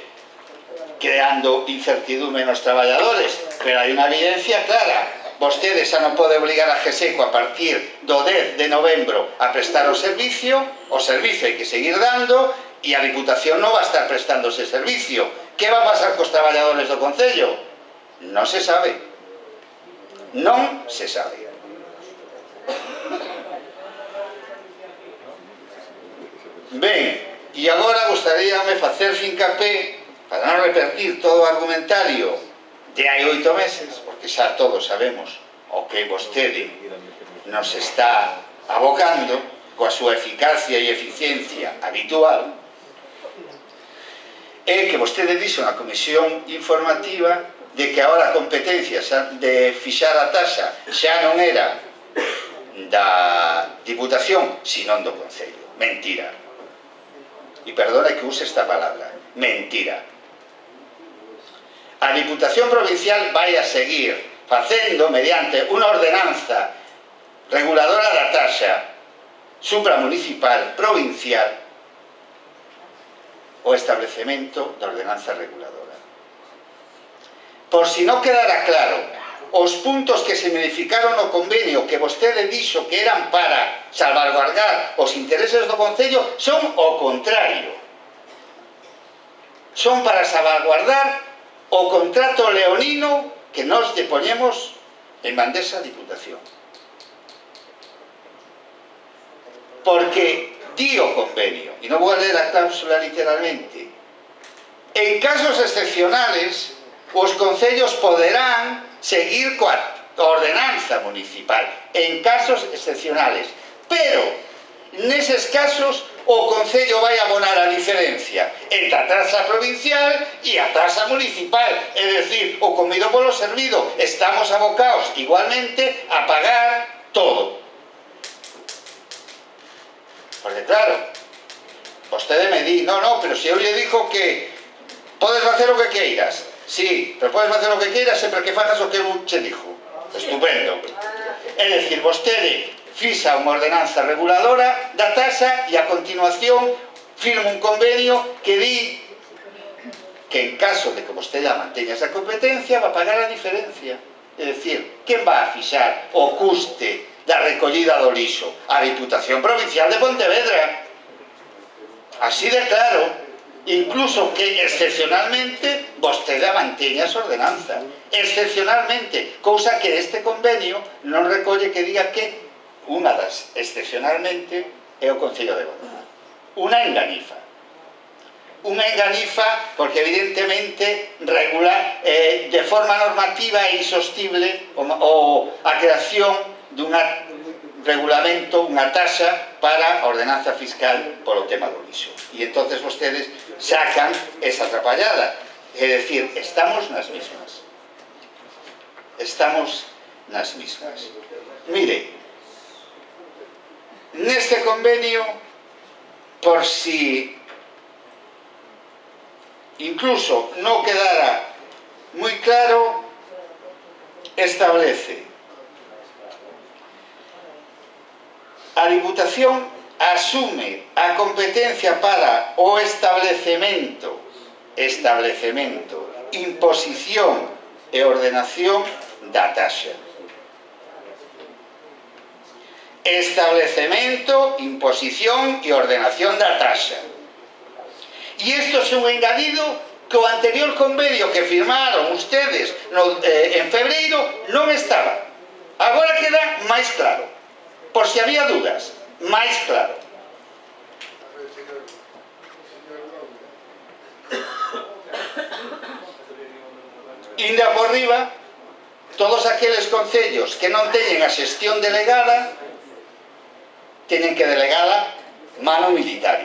creando incertidume nos traballadores, pero hai unha evidencia clara. Vostede xa non pode obligar a GESECO a partir do dez de novembro a prestar o servicio, o servicio hai que seguir dando, e a Diputación non va a estar prestando ese servicio. Que va a pasar cos traballadores do Concello? Non se sabe. Non se sabe. Ben, e agora gostaríame facer fincapé, para non repetir todo o argumentario de hai oito meses, porque xa todos sabemos o que vostede nos está abocando coa súa eficacia e eficiencia habitual é que vostede dixo na comisión informativa de que ahora a competencia de fixar a taxa xa non era da Diputación, senón do Concello. Mentira. E perdone que use esta palabra. Mentira. A Diputación Provincial vai a seguir facendo mediante unha ordenanza reguladora da taxa supramunicipal provincial o establecemento da ordenanza reguladora. Por si non quedara claro, os puntos que se modificaron no convenio que vostede dixo que eran para salvaguardar os intereses do Concello son o contrario. Son para salvaguardar o contrato leonino que nos lle poñemos en bandexa a Diputación. Porque di o convenio, e non vou a ler a cláusula literalmente, en casos excepcionales os concellos poderán seguir coa ordenanza municipal en casos excepcionales, pero neses casos o concello vai abonar a diferencia entre a taxa provincial e a taxa municipal, é dicir, o comido polo servido. Estamos abocados igualmente a pagar todo. Porque claro, vostede me di, no, no, pero se eu lle digo que podes facer o que queiras. Sí, pero podes facer o que queiras sempre que fagas o que eu che dixo. Estupendo. É dicir, vostede fixa unha ordenanza reguladora da taxa e a continuación firma un convenio que di que en caso de que vostede manteña esa competencia va a pagar a diferencia. É dicir, quen va a fixar o custe da recollida do lixo? A Diputación Provincial de Pontevedra. Así de claro. Incluso que excepcionalmente vostede manteña esa ordenanza. Excepcionalmente, cousa que este convenio non recolle que diga que unha das excepcionalmente é o Concello de Gondomar. Unha enganifa. Unha enganifa porque evidentemente regula eh, de forma normativa e insostible o, o, a creación dunha regulamento, unha taxa para a ordenanza fiscal polo tema do lixo. E entonces vostedes sacan esa atrapallada. É dicir, estamos nas mismas. Estamos nas mismas. Mire, neste convenio, por si incluso non quedara moi claro, establece a Diputación asume a competencia para o establecemento, establecemento, imposición e ordenación da taxa. Establecemento, imposición e ordenación da taxa. E isto é un engadido que o anterior convenio que firmaron ustedes no, eh, en febreiro non estaba. Agora queda máis claro. Por si había dudas, máis claro. Inda por riba, todos aqueles concellos que non teñen a xestión delegada teñen que delegala mano militar.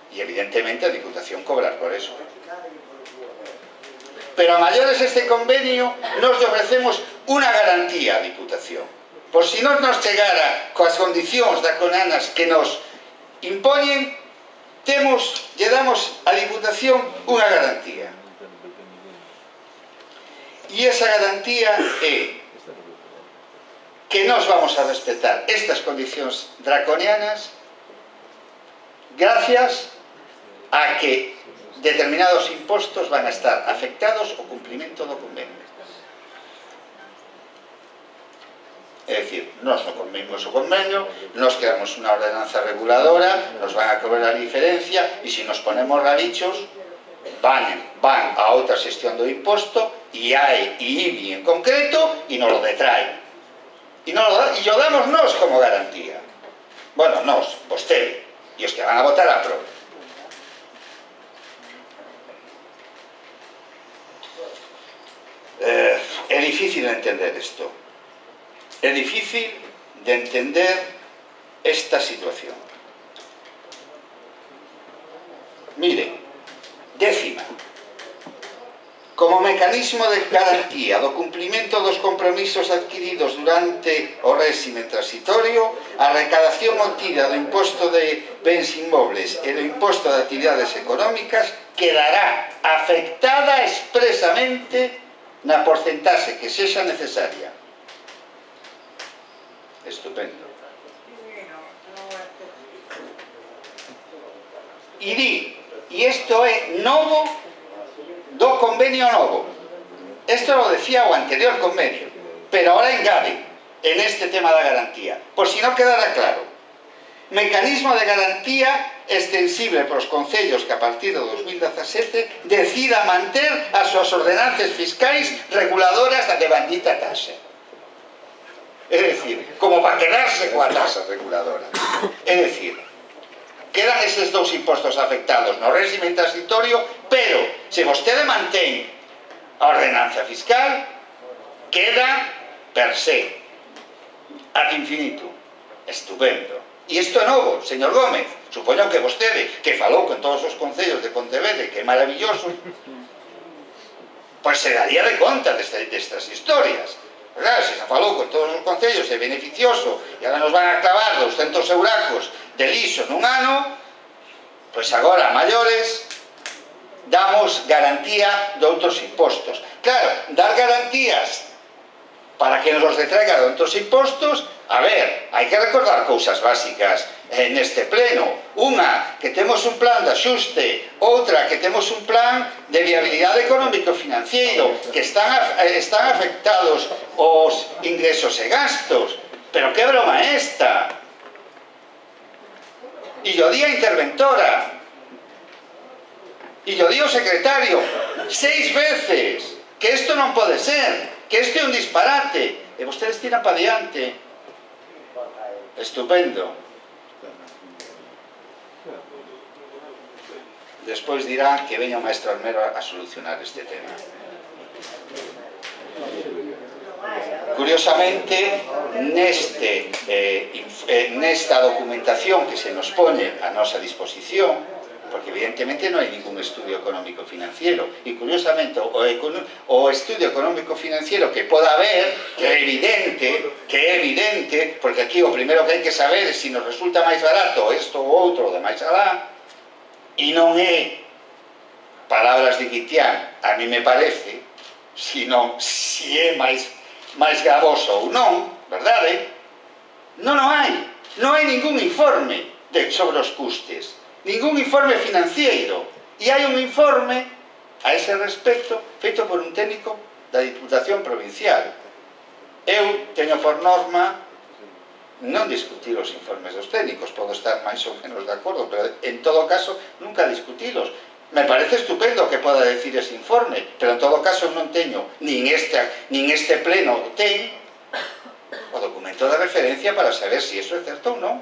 E evidentemente a Diputación cobrar por eso. Pero a maiores este convenio nos ofrecemos unha garantía a Diputación. Por si non nos chegara coas condicións draconianas que nos impoñen, temos, lle damos a Diputación unha garantía. E esa garantía é que nos vamos a respetar estas condicións draconianas gracias a que determinados impostos van a estar afectados ao cumprimento do convenio. É dicir, nós non cumprimos o convenio, nos quedamos unha ordenanza reguladora, nos van a cobrar a diferencia e se nos ponemos ralichos van, van a outra xestión do imposto e hai e I B I en concreto e nos lo detraen. E, nos lo, e lo damos nós como garantía. Bueno, nós, vostede e os que van a votar a prova. Eh, é difícil entender isto. É difícil de entender esta situación. Mire, décima. Como mecanismo de garantía do cumprimento dos compromisos adquiridos durante o réxime transitorio, a recadación obtida do imposto de bens inmobles e do imposto de actividades económicas quedará afectada expresamente na porcentaxe que sexa necesaria. Estupendo. E di, e isto é novo do convenio novo. Esto lo decía o anterior convenio, pero ahora engade en este tema da garantía, por si non quedara claro. Mecanismo de garantía extensible para os concellos que a partir do dos mil dezasete decida manter as súas ordenanzas fiscais reguladoras da devandita taxa. É dicir, como para quedarse coa taxa reguladora. É dicir, quedan eses dous impostos afectados no réxime transitorio, pero se vostede mantén a ordenanza fiscal, queda per se, ad infinito. Estupendo. E isto é novo, señor Gómez. Supoño que vostede, que falou con todos os concellos de Pontevedra, que é maravilloso, pois se daría de conta destas historias. Claro, se se falou con todos os concellos, é beneficioso, e agora nos van a clavar doscientos euracos de liso nun ano, pois agora a maiores damos garantía de outros impostos. Claro, dar garantías para que nos os detraiga de outros impostos, a ver, hai que recordar cousas básicas neste pleno. Unha, que temos un plan de axuste, outra, que temos un plan de viabilidade económico-financiero, que están, están afectados os ingresos e gastos. Pero que broma é esta? E yo di a interventora, e yo di o secretario, seis veces, que isto non pode ser, que isto é un disparate, e vostedes tiran para diante. Estupendo. Despois dirán que veña o maestro Almero a solucionar este tema. Curiosamente, neste, eh, nesta documentación que se nos pone a nosa disposición, porque evidentemente non hai ningún estudio económico-financiero, e curiosamente o, o estudio económico-financiero que poda haber, que é evidente, que é evidente, porque aquí o primeiro que hai que saber é se nos resulta máis barato isto ou outro de máis alá, e non é palabras de Guitián, a mí me parece, sino se é máis, máis gravoso ou non, verdade? Non o hai, non hai ningún informe de, sobre os custes, ningún informe financiero, e hai un informe a ese respecto feito por un técnico da Diputación Provincial. Eu teño por norma non discutir os informes dos técnicos, podo estar máis ou menos de acordo, pero en todo caso nunca discutilos. Me parece estupendo que poda decir ese informe, pero en todo caso non teño, nin este, nin este pleno ten o documento de referencia para saber se iso é certo ou non.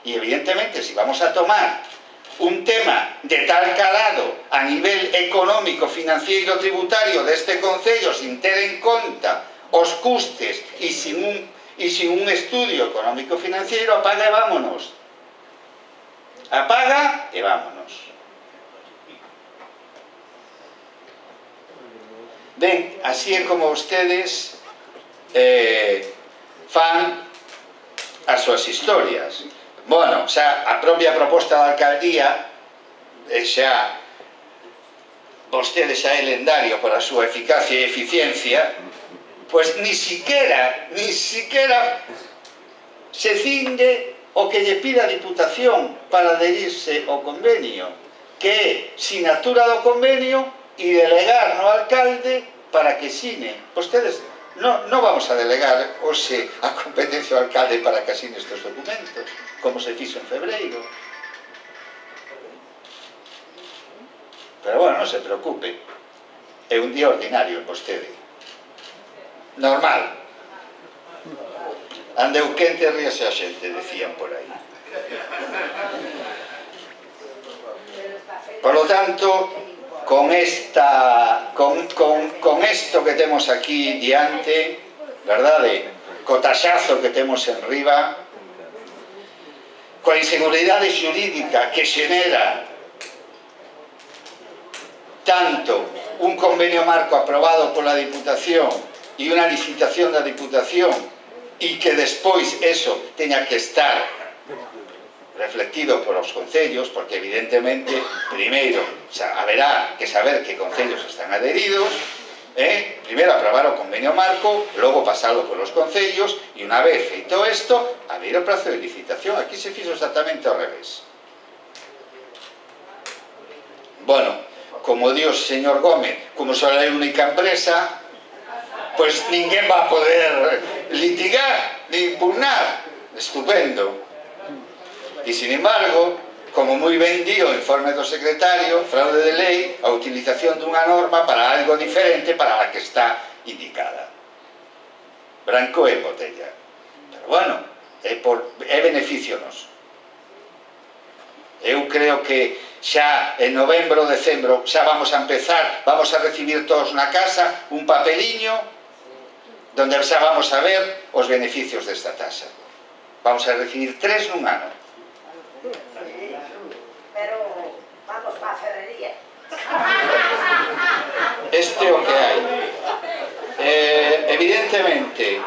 E evidentemente, se vamos a tomar un tema de tal calado a nivel económico, financiero, tributario deste concello sin ter en conta os custes e sin un, e sin un estudio económico-financiero, apaga e vámonos. Apaga e vámonos. Ben, así é como vostedes eh, fan as súas historias. Bueno, xa a propia proposta da alcaldía xa vostede xa é lendario por a súa eficacia e eficiencia, pois ni siquiera ni siquiera se cinde o que lle pide a Diputación para adherirse ao convenio, que é sinatura do convenio e delegar no alcalde para que sine. Vostedes non no vamos a delegar hoxe a competencia ao alcalde para que asine estes documentos, como se fixo en febreiro. Pero bueno, non se preocupe, é un día ordinario en vostede, normal. Andeu quente, ríase a xente, decían por aí. Por lo tanto, con esta con, con, con esto que temos aquí diante, verdade, co taxazo que temos en riba, coa inseguridade xurídica que xenera tanto un convenio marco aprobado pola Diputación e unha licitación da Diputación e que despois eso teña que estar reflectido por os concellos, porque evidentemente, primeiro, haberá que saber que concellos están adheridos, eh? primeiro aprobar o convenio marco, logo pasarlo polos concellos, e unha vez feito isto, abrir o prazo de licitación. Aquí se fixo exactamente ao revés. Bueno, como di o señor Gómez, como só hai única empresa, pois ninguén va a poder litigar, ni impugnar. Estupendo. E, sin embargo, como moi ben di o informe do secretario, fraude de lei, a utilización dunha norma para algo diferente para a que está indicada. Branco e botella. Pero, bueno, é, por, é beneficio noso. Eu creo que xa en novembro, decembro, xa vamos a empezar, vamos a recibir todos na casa un papeliño donde xa vamos a ver os beneficios desta taxa. Vamos a recibir tres nun ano. Pero vamos para a ferrería. Este é o que hai. Eh, evidentemente,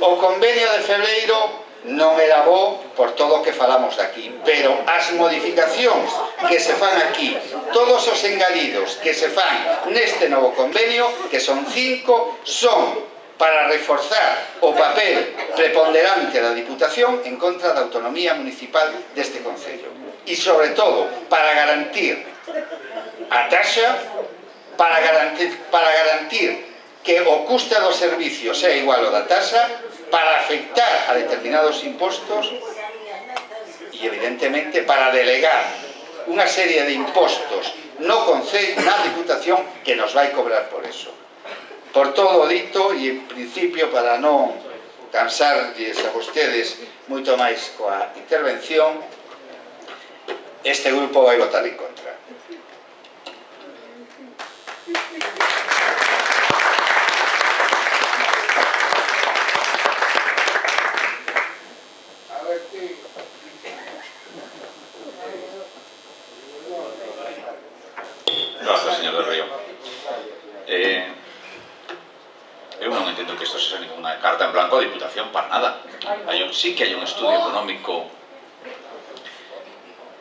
o convenio de febreiro non era bo por todo o que falamos aquí, pero as modificacións que se fan aquí, todos os engadidos que se fan neste novo convenio, que son cinco, son para reforzar o papel preponderante da Diputación en contra da autonomía municipal deste concello. E, sobre todo, para garantir a taxa, para garantir, para garantir que o custe dos servicios é igual ao da taxa, para afectar a determinados impostos e, evidentemente, para delegar unha serie de impostos no concello, na Diputación, que nos vai cobrar por eso. Por todo o dito, e en principio para non cansarlles a vostedes moito máis coa intervención, este grupo vai votar en contra. Gracias, señor del Río. Eh, eu non entendo que isto sexa ninguna carta en blanco a Diputación para nada. Hai un, sí que hai un estudio económico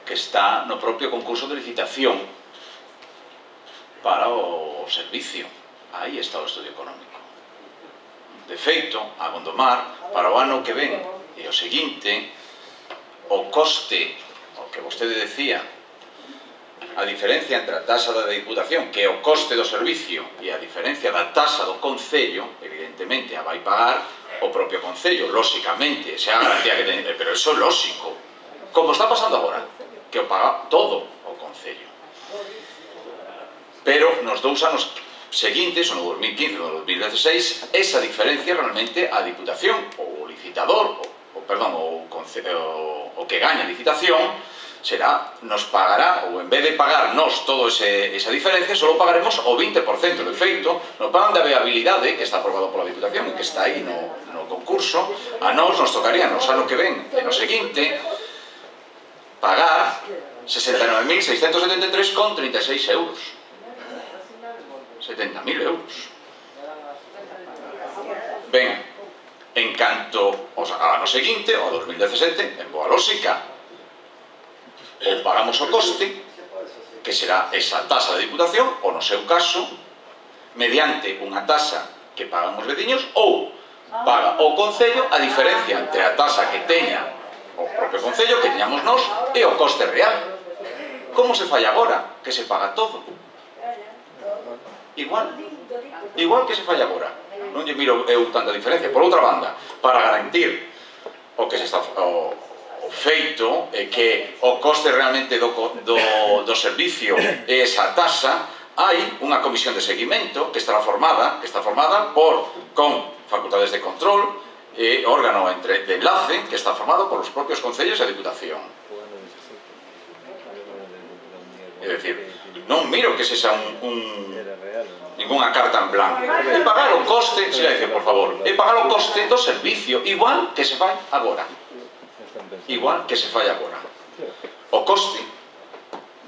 que está no propio concurso de licitación para o servicio. Aí está o estudio económico. De feito, a Gondomar, para o ano que ven e o seguinte, o coste, o que vostede decía, a diferencia entre a taxa da Diputación, que é o coste do servicio, e a diferencia da taxa do Concello, evidentemente a vai pagar o propio Concello, lóxicamente, xa a garantía que ten, pero iso é lóxico, como está pasando agora, que o paga todo o Concello. Pero nos dous anos seguintes, o no dos mil quince e no dos mil dieciséis, esa diferencia realmente a Diputación, o licitador, o, o perdón, o, o, o que gaña a licitación, será, nos pagará, ou en vez de pagar nos toda esa diferencia, só pagaremos o vinte por cento. De feito, no plan de viabilidade, que está aprobado pola Diputación e que está aí no, no concurso, a nós nos tocaría nos ano que ven e no seguinte pagar sesenta e nove mil seiscentos setenta e tres con trinta e seis euros. setenta mil euros. Ben, en canto ao ano seguinte, ao dos mil dezasete, en boa lógica, ou pagamos o coste, que será esa taxa de Diputación, ou no seu caso, mediante unha taxa que pagan os veciños, ou paga o Concello a diferencia entre a taxa que teña o propio Concello, que teñamos nós, e o coste real. Como se fai agora? Que se paga todo. Igual. Igual que se fai agora. Non lle miro eu tanta diferencia. Por outra banda, para garantir o que se está... O, o feito é que o coste realmente do, do, do servicio é esa taxa, hai unha comisión de seguimento que estará formada, que está formada por, con facultades de control e órgano entre, de enlace que está formado por os propios concellos e a Diputación. É dicir, non miro que sexa un, un, ningunha carta en blanco. E pagar o coste, silencio, por favor, e pagar o coste do servicio, igual que se fai agora. Igual que se fai agora. O coste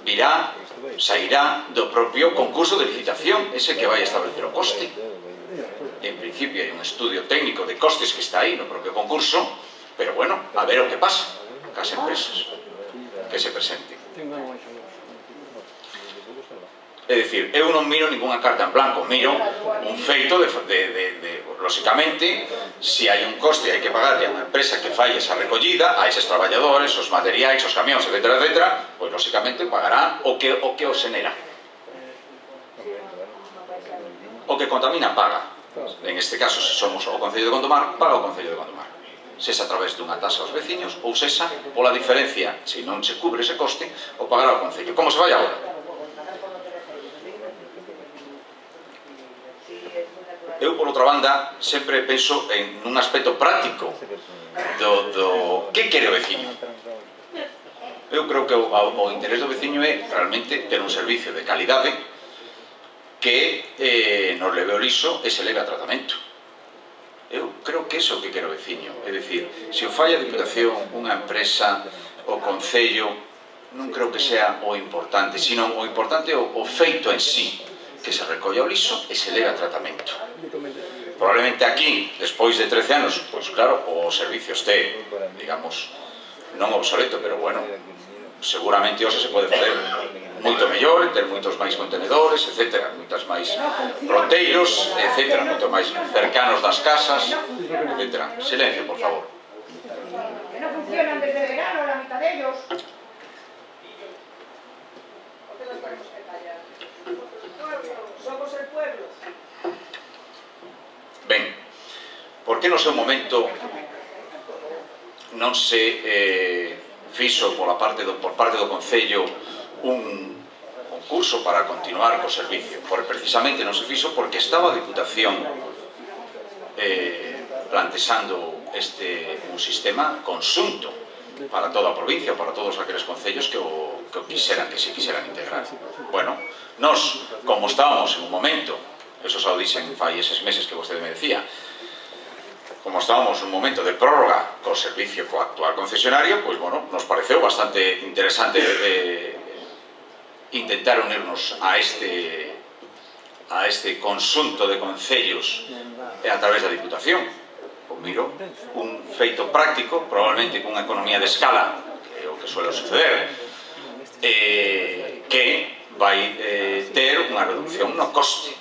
virá, sairá do propio concurso de licitación, ese que vai establecer o coste. En principio hai un estudio técnico de costes que está aí no propio concurso, pero bueno, a ver o que pasa cas empresas que se presenten. É dicir, eu non miro ninguna carta en blanco, miro un feito de, de, de, de lóxicamente, se hai un coste hai que pagarle a unha empresa que fai esa recollida, a eses traballadores, os materiais, os camións, etcétera, etcétera, pois lóxicamente pagará o que o que os xenera. O que contamina paga. En este caso, se somos o Concello de Gondomar, paga o Concello de Gondomar. Sesa a través dunha tasa aos veciños ou sesa pola diferencia, se non se cubre ese coste, o pagará o Concello. Como se vai agora? Eu, por outra banda, sempre penso en un aspecto práctico do, do que quere o veciño. Eu creo que o, o interés do veciño é realmente ter un servicio de calidade que eh, nos leve o liso e se leve a tratamento. Eu creo que iso é o que quere o veciño. É dicir, se o fai a Diputación, unha empresa, o Concello, non creo que sea o importante, sino o importante é o, o feito en sí, que se recolla o liso e se leve a tratamento. Probablemente aquí, despois de trece anos, pois claro, o servicio este, digamos, non obsoleto, pero bueno, seguramente hoxe se pode fazer moito mellor, ter moitos máis contenedores, etcétera, moitas máis roteiros, etcétera, moito máis cercanos das casas, etcétera. Silencio, por favor. Que non funcionan desde verano, la mitad de ellos. Somos el pueblo. Ben, por que no seu momento non se eh, fixo pola parte do, por parte do Concello un concurso para continuar co servicio? Por, precisamente non se fixo porque estaba a Diputación eh, plantexando este, un sistema conxunto para toda a provincia, para todos aqueles concellos que o, que o quixeran, que se quixeran integrar. Bueno, nós, como estábamos en un momento, eso xa o dixen fai eses meses que vostede me decía, como estábamos en un momento de prórroga co servicio co actual concesionario, pois, bueno, nos pareceu bastante interesante eh, intentar unirnos a este a este conxunto de concellos e a través da Diputación. Pois miro, un feito práctico, probablemente cunha economía de escala, que é o que suele suceder, eh, que vai eh, ter unha reducción no coste.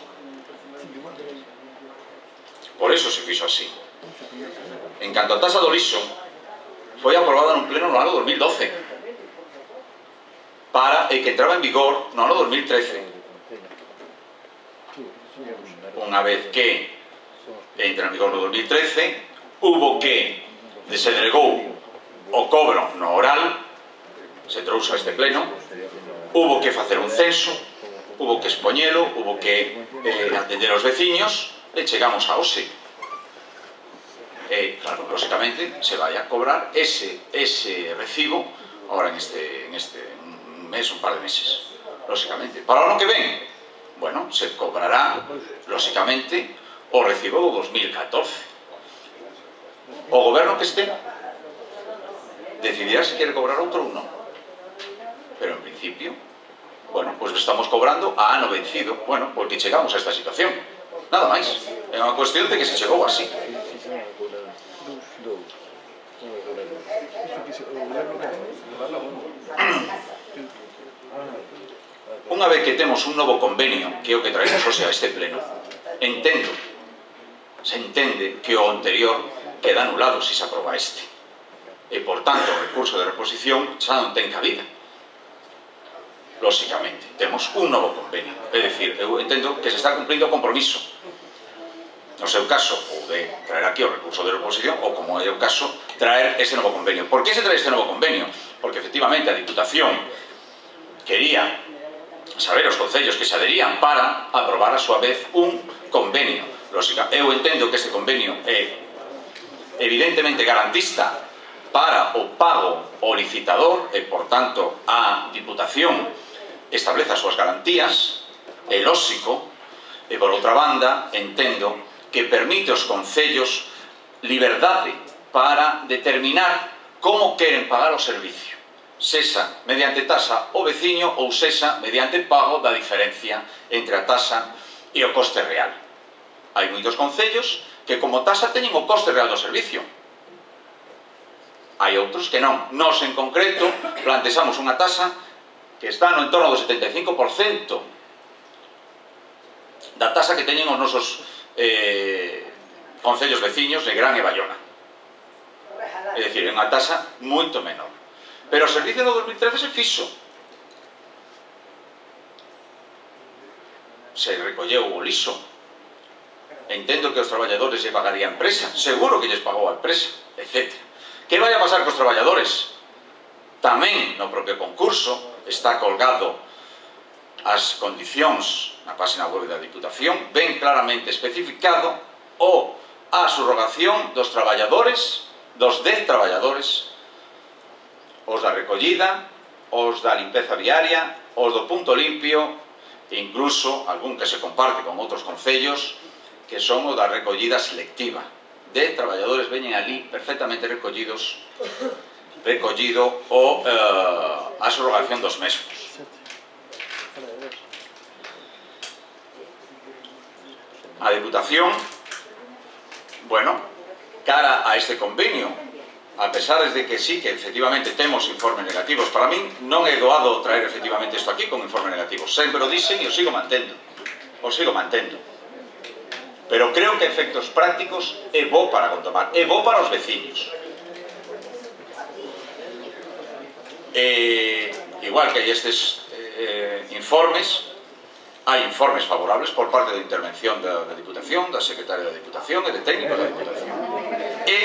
Por eso se fixo así. En canto a tasa do liso, foi aprobada nun pleno no ano dos mil doce para e que entraba en vigor no ano dos mil trece. Unha vez que entra en vigor no dos mil trece, hubo que se delegou o cobro no oral, se trouxo a este pleno, hubo que facer un censo, hubo que expoñelo, hubo que eh, atender aos veciños, e chegamos a hoxe. E, claro, lógicamente, se vai a cobrar ese, ese recibo ahora en este, en este un mes, un par de meses. Lógicamente. Para o ano que ven, bueno, se cobrará, lógicamente, o recibo do dos mil catorce. O goberno que este decidirá se quere cobrar outro ou non. Pero, en principio, bueno, pois estamos cobrando a ano vencido. Bueno, porque chegamos a esta situación. Nada máis. É unha cuestión de que se chegou así. Unha vez que temos un novo convenio, que é o que traemos hoxe a este pleno, entendo, se entende que o anterior queda anulado se se aproba este. E, por tanto, o recurso de reposición xa non ten cabida. Lóxicamente, temos un novo convenio. É dicir, eu entendo que se está cumplindo o compromiso. No seu caso, ou de traer aquí o recurso de reposición, ou como é o caso, traer este novo convenio. Por que se trae este novo convenio? Porque, efectivamente, a Diputación quería saber os concellos que se adherían para aprobar a súa vez un convenio. Lógica, eu entendo que este convenio é evidentemente garantista para o pago ao licitador e, por tanto, a Diputación establece as súas garantías, é lóxico, e por outra banda entendo que permite aos concellos liberdade para determinar como queren pagar o servicio, sesa mediante taxa ao veciño ou sesa mediante pago da diferencia entre a taxa e o coste real. Hai moitos concellos que como taxa teñen o coste real do servicio. Hai outros que non. Nós, en concreto, plantexamos unha taxa que está no entorno do setenta e cinco por cento da taxa que teñen os nosos eh, concellos veciños de Gran e Bayona. É dicir, é unha taxa moito menor. Pero o servicio do dos mil trece se fixo. Se recolleu o liso. Entendo que os traballadores lle pagaría a empresa. Seguro que lles pagou a empresa, etcétera. Que vai a pasar cos traballadores? Tamén no propio concurso está colgado as condicións na página web da Diputación, ben claramente especificado o a subrogación dos traballadores, dos dez traballadores, os da recollida, os da limpeza viaria, os do punto limpio e incluso algún que se comparte con outros concellos que son o da recollida selectiva. De traballadores veñen ali perfectamente recollidos, recollido o, eh, a subrogación dos mesmos. A Diputación, bueno, cara a este convenio, a pesar de que sí, que efectivamente temos informes negativos, para min non é doado traer efectivamente isto aquí con informes negativos, sempre o dixen e o sigo mantendo, o sigo mantendo. Pero creo que efectos prácticos é bo para Gondomar, é bo para os veciños. Eh, igual que hai estes eh, informes, hai informes favorables por parte da intervención da, da Diputación, da Secretaria da Diputación e de técnicos da Diputación. E,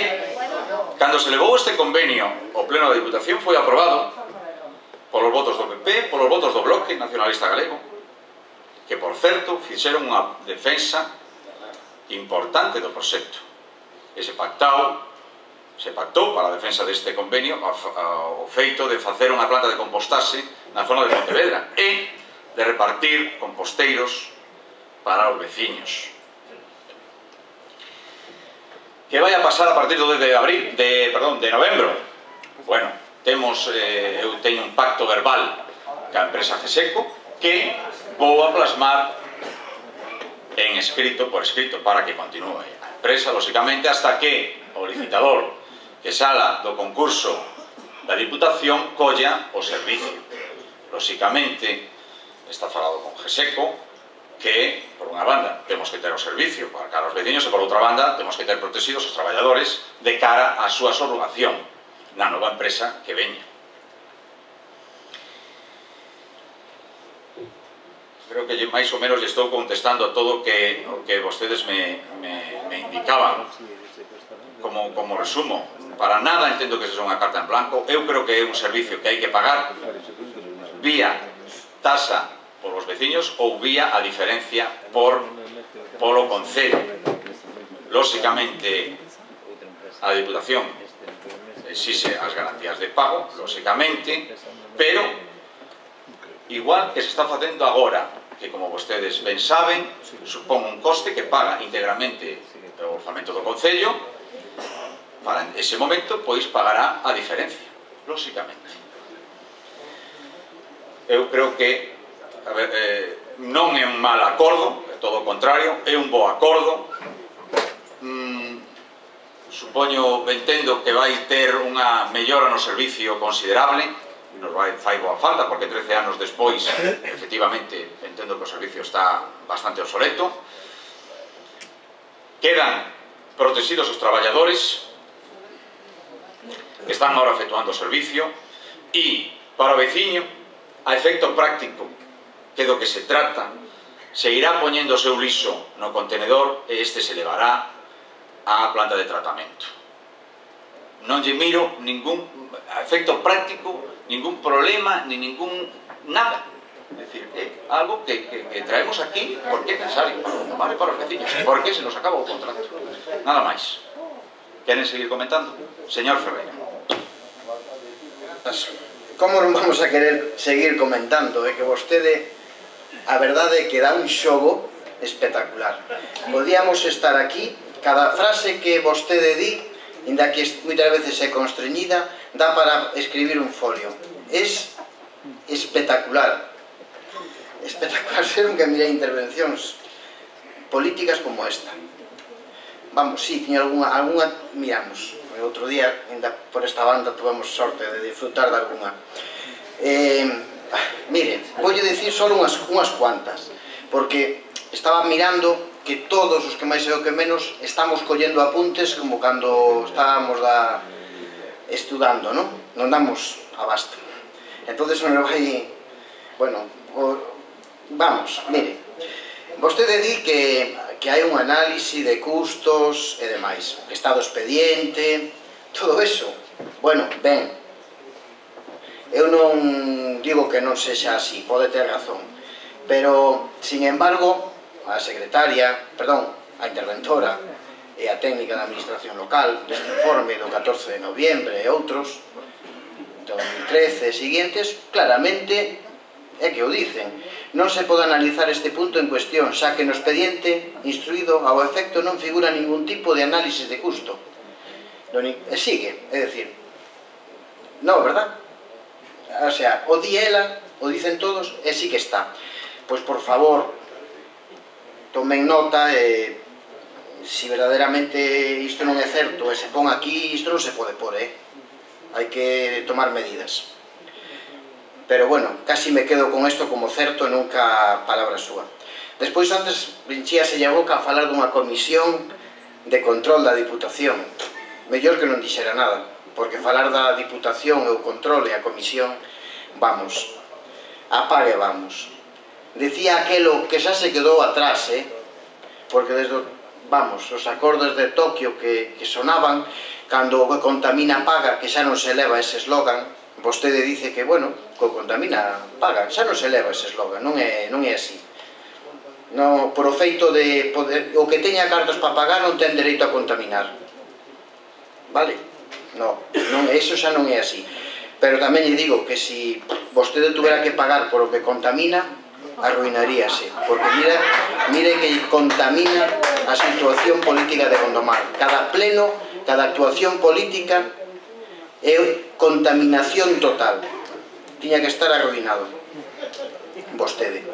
cando se levou este convenio ao Pleno da Diputación, foi aprobado polos votos do P P, polos votos do Bloque Nacionalista Galego, que, por certo, fixeron unha defensa importante do proxecto. E se pactou, se pactou para a defensa deste convenio o feito de facer unha planta de compostaxe na zona de Pontevedra e de repartir composteiros para os veciños. Que vai a pasar a partir do dez de abril, de, perdón, de novembro? Bueno, temos, eh, eu teño un pacto verbal ca empresa Geseco que vou a plasmar en escrito, por escrito, para que continúe a empresa, lógicamente, hasta que o licitador que sala do concurso da Diputación colla o servicio. Lógicamente, está falado con Geseco, que, por unha banda, temos que ter o servicio para cara aos veciños e, por outra banda, temos que ter protegidos os traballadores de cara á súa subrogación na nova empresa que veña. Creo que máis ou menos lle estou contestando a todo o que, o que vostedes me, me, me indicaban como, como resumo. Para nada entendo que sexa unha carta en blanco. Eu creo que é un servicio que hai que pagar vía tasa por os veciños ou vía a diferencia por polo concello. Lóxicamente a Diputación exixe as garantías de pago, lóxicamente, pero igual que se está facendo agora, que como vostedes ben saben, supón un coste que paga íntegramente o orzamento do Concello, para ese momento, pois pagará a diferencia, lóxicamente. Eu creo que a ver, eh, non é un mal acordo, é todo o contrario, é un bo acordo. Mm, supoño, entendo que vai ter unha mellora no servicio considerable, nos vai fai boa falta, porque trece anos despois, efectivamente, entendo que o servicio está bastante obsoleto. Quedan protegidos os traballadores que están agora efectuando o servicio e, para o veciño, a efecto práctico, que do que se trata, se irá poñendo o seu liso no contenedor e este se levará á planta de tratamento. Non lle miro ningún efecto práctico, ningún problema, ni ningún nada. É dicir, é algo que, que, que traemos aquí porque é necesario para o tomar e para os veciños, porque se nos acaba o contrato. Nada máis. Queren seguir comentando? Señor Ferreira. Como non vamos a querer seguir comentando? É que vostede, a verdade é que dá un xogo espectacular. Podíamos estar aquí, cada frase que vostede di, inda que moitas veces é constreñida, dá para escribir un folio. Es espectacular. Espectacular ser un que mire intervencións políticas como esta. Vamos, sí, tiña alguna, alguna miramos. O outro día, ainda por esta banda, tuvemos sorte de disfrutar de alguna. Eh, mire, voulle dicir só unhas, unhas cuantas, porque estaba mirando que todos os que máis e o que menos estamos collendo apuntes como cando estábamos da, estudando, non? Non damos abasto. Entonces me vai... Bueno, o, vamos, mire, vostede di que, que hai un análise de custos e demais, estado expediente, todo eso. Bueno, ben, eu non digo que non sexa así, pode ter razón, pero, sin embargo, a secretaria, perdón, a interventora e a técnica da administración local deste informe do catorce de noviembre e outros, do dos mil trece e seguintes, claramente é que o dicen. Non se pode analizar este punto en cuestión, xa que no expediente instruído ao efecto non figura ningún tipo de análisis de custo. E sigue, é dicir, non, verdad? O sea, o di ela, o dicen todos, e sí que está. Pois, por favor, tomen nota e si verdadeiramente isto non é certo e se pon aquí, isto non se pode pôr, eh? Hai que tomar medidas. Pero, bueno, casi me quedo con isto como certo e nunca palabra súa. Despois, antes, vinchíaselle a boca a falar dunha comisión de control da Diputación. Mellor que non dixera nada, porque falar da Diputación e o control e a comisión, vamos, apague vamos. Decía aquelo que xa se quedou atrás, eh? Porque desde, vamos, os acordos de Tokio que, que sonaban, cando o que contamina paga, que xa non se leva ese eslogan, vostede dice que, bueno, que o contamina paga, xa non se leva ese eslogan, non é, non é así. No, por o feito de poder, o que teña cartos para pagar non ten dereito a contaminar. Vale? No, non, eso xa non é así. Pero tamén lle digo que se vostede tuvera que pagar por o que contamina, arruinaríase, porque mire, mire que contamina a situación política de Gondomar. Cada pleno, cada actuación política é contaminación total. Tiña que estar arruinado vostede.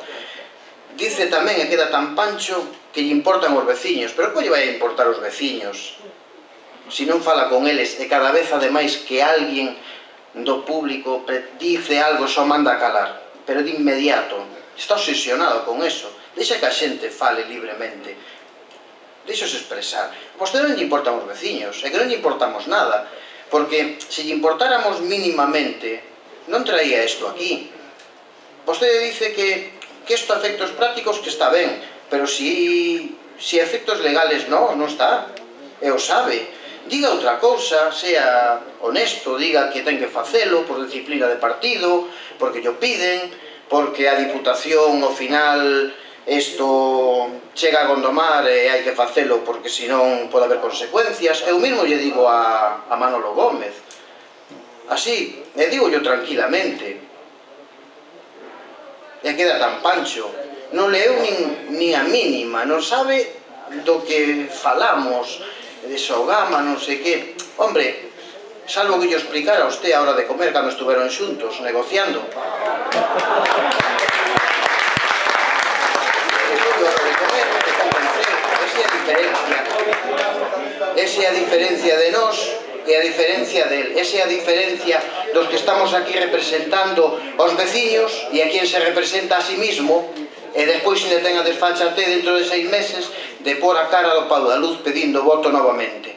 Dice tamén, e queda tan pancho, que lle importan os veciños. Pero como lle vai a importar os veciños se non fala con eles e cada vez ademais que alguén do público dice algo só manda a calar, pero de inmediato está obsesionado con eso. Deixa que a xente fale libremente, deixose expresar. Vostede non lle importan os veciños, é que non lle importamos nada, porque se lle importáramos mínimamente non traía isto aquí. Vostede dice que que isto a efectos prácticos que está ben, pero si si a efectos legales non, non está, e o sabe. Diga outra cousa, sea honesto, diga que ten que facelo por disciplina de partido, porque llo piden, porque a Diputación ao final isto chega a Gondomar e hai que facelo porque senón pode haber consecuencias. Eu mesmo lle digo a, a Manolo Gómez así, e digo yo tranquilamente, e queda tan pancho, non leu nin, nin a mínima, non sabe do que falamos, de Sogama, non sei que. Hombre, salvo que yo explicara a usted a hora de comer cando estuveron xuntos, negociando. Esa é a diferencia. Esa é a diferencia de nós e a diferencia del. Esa é a diferencia dos que estamos aquí representando aos veciños e a quien se representa a sí mismo, e despois ainda ten a desfachatez dentro de seis meses de pôr a cara do pau da luz pedindo voto novamente.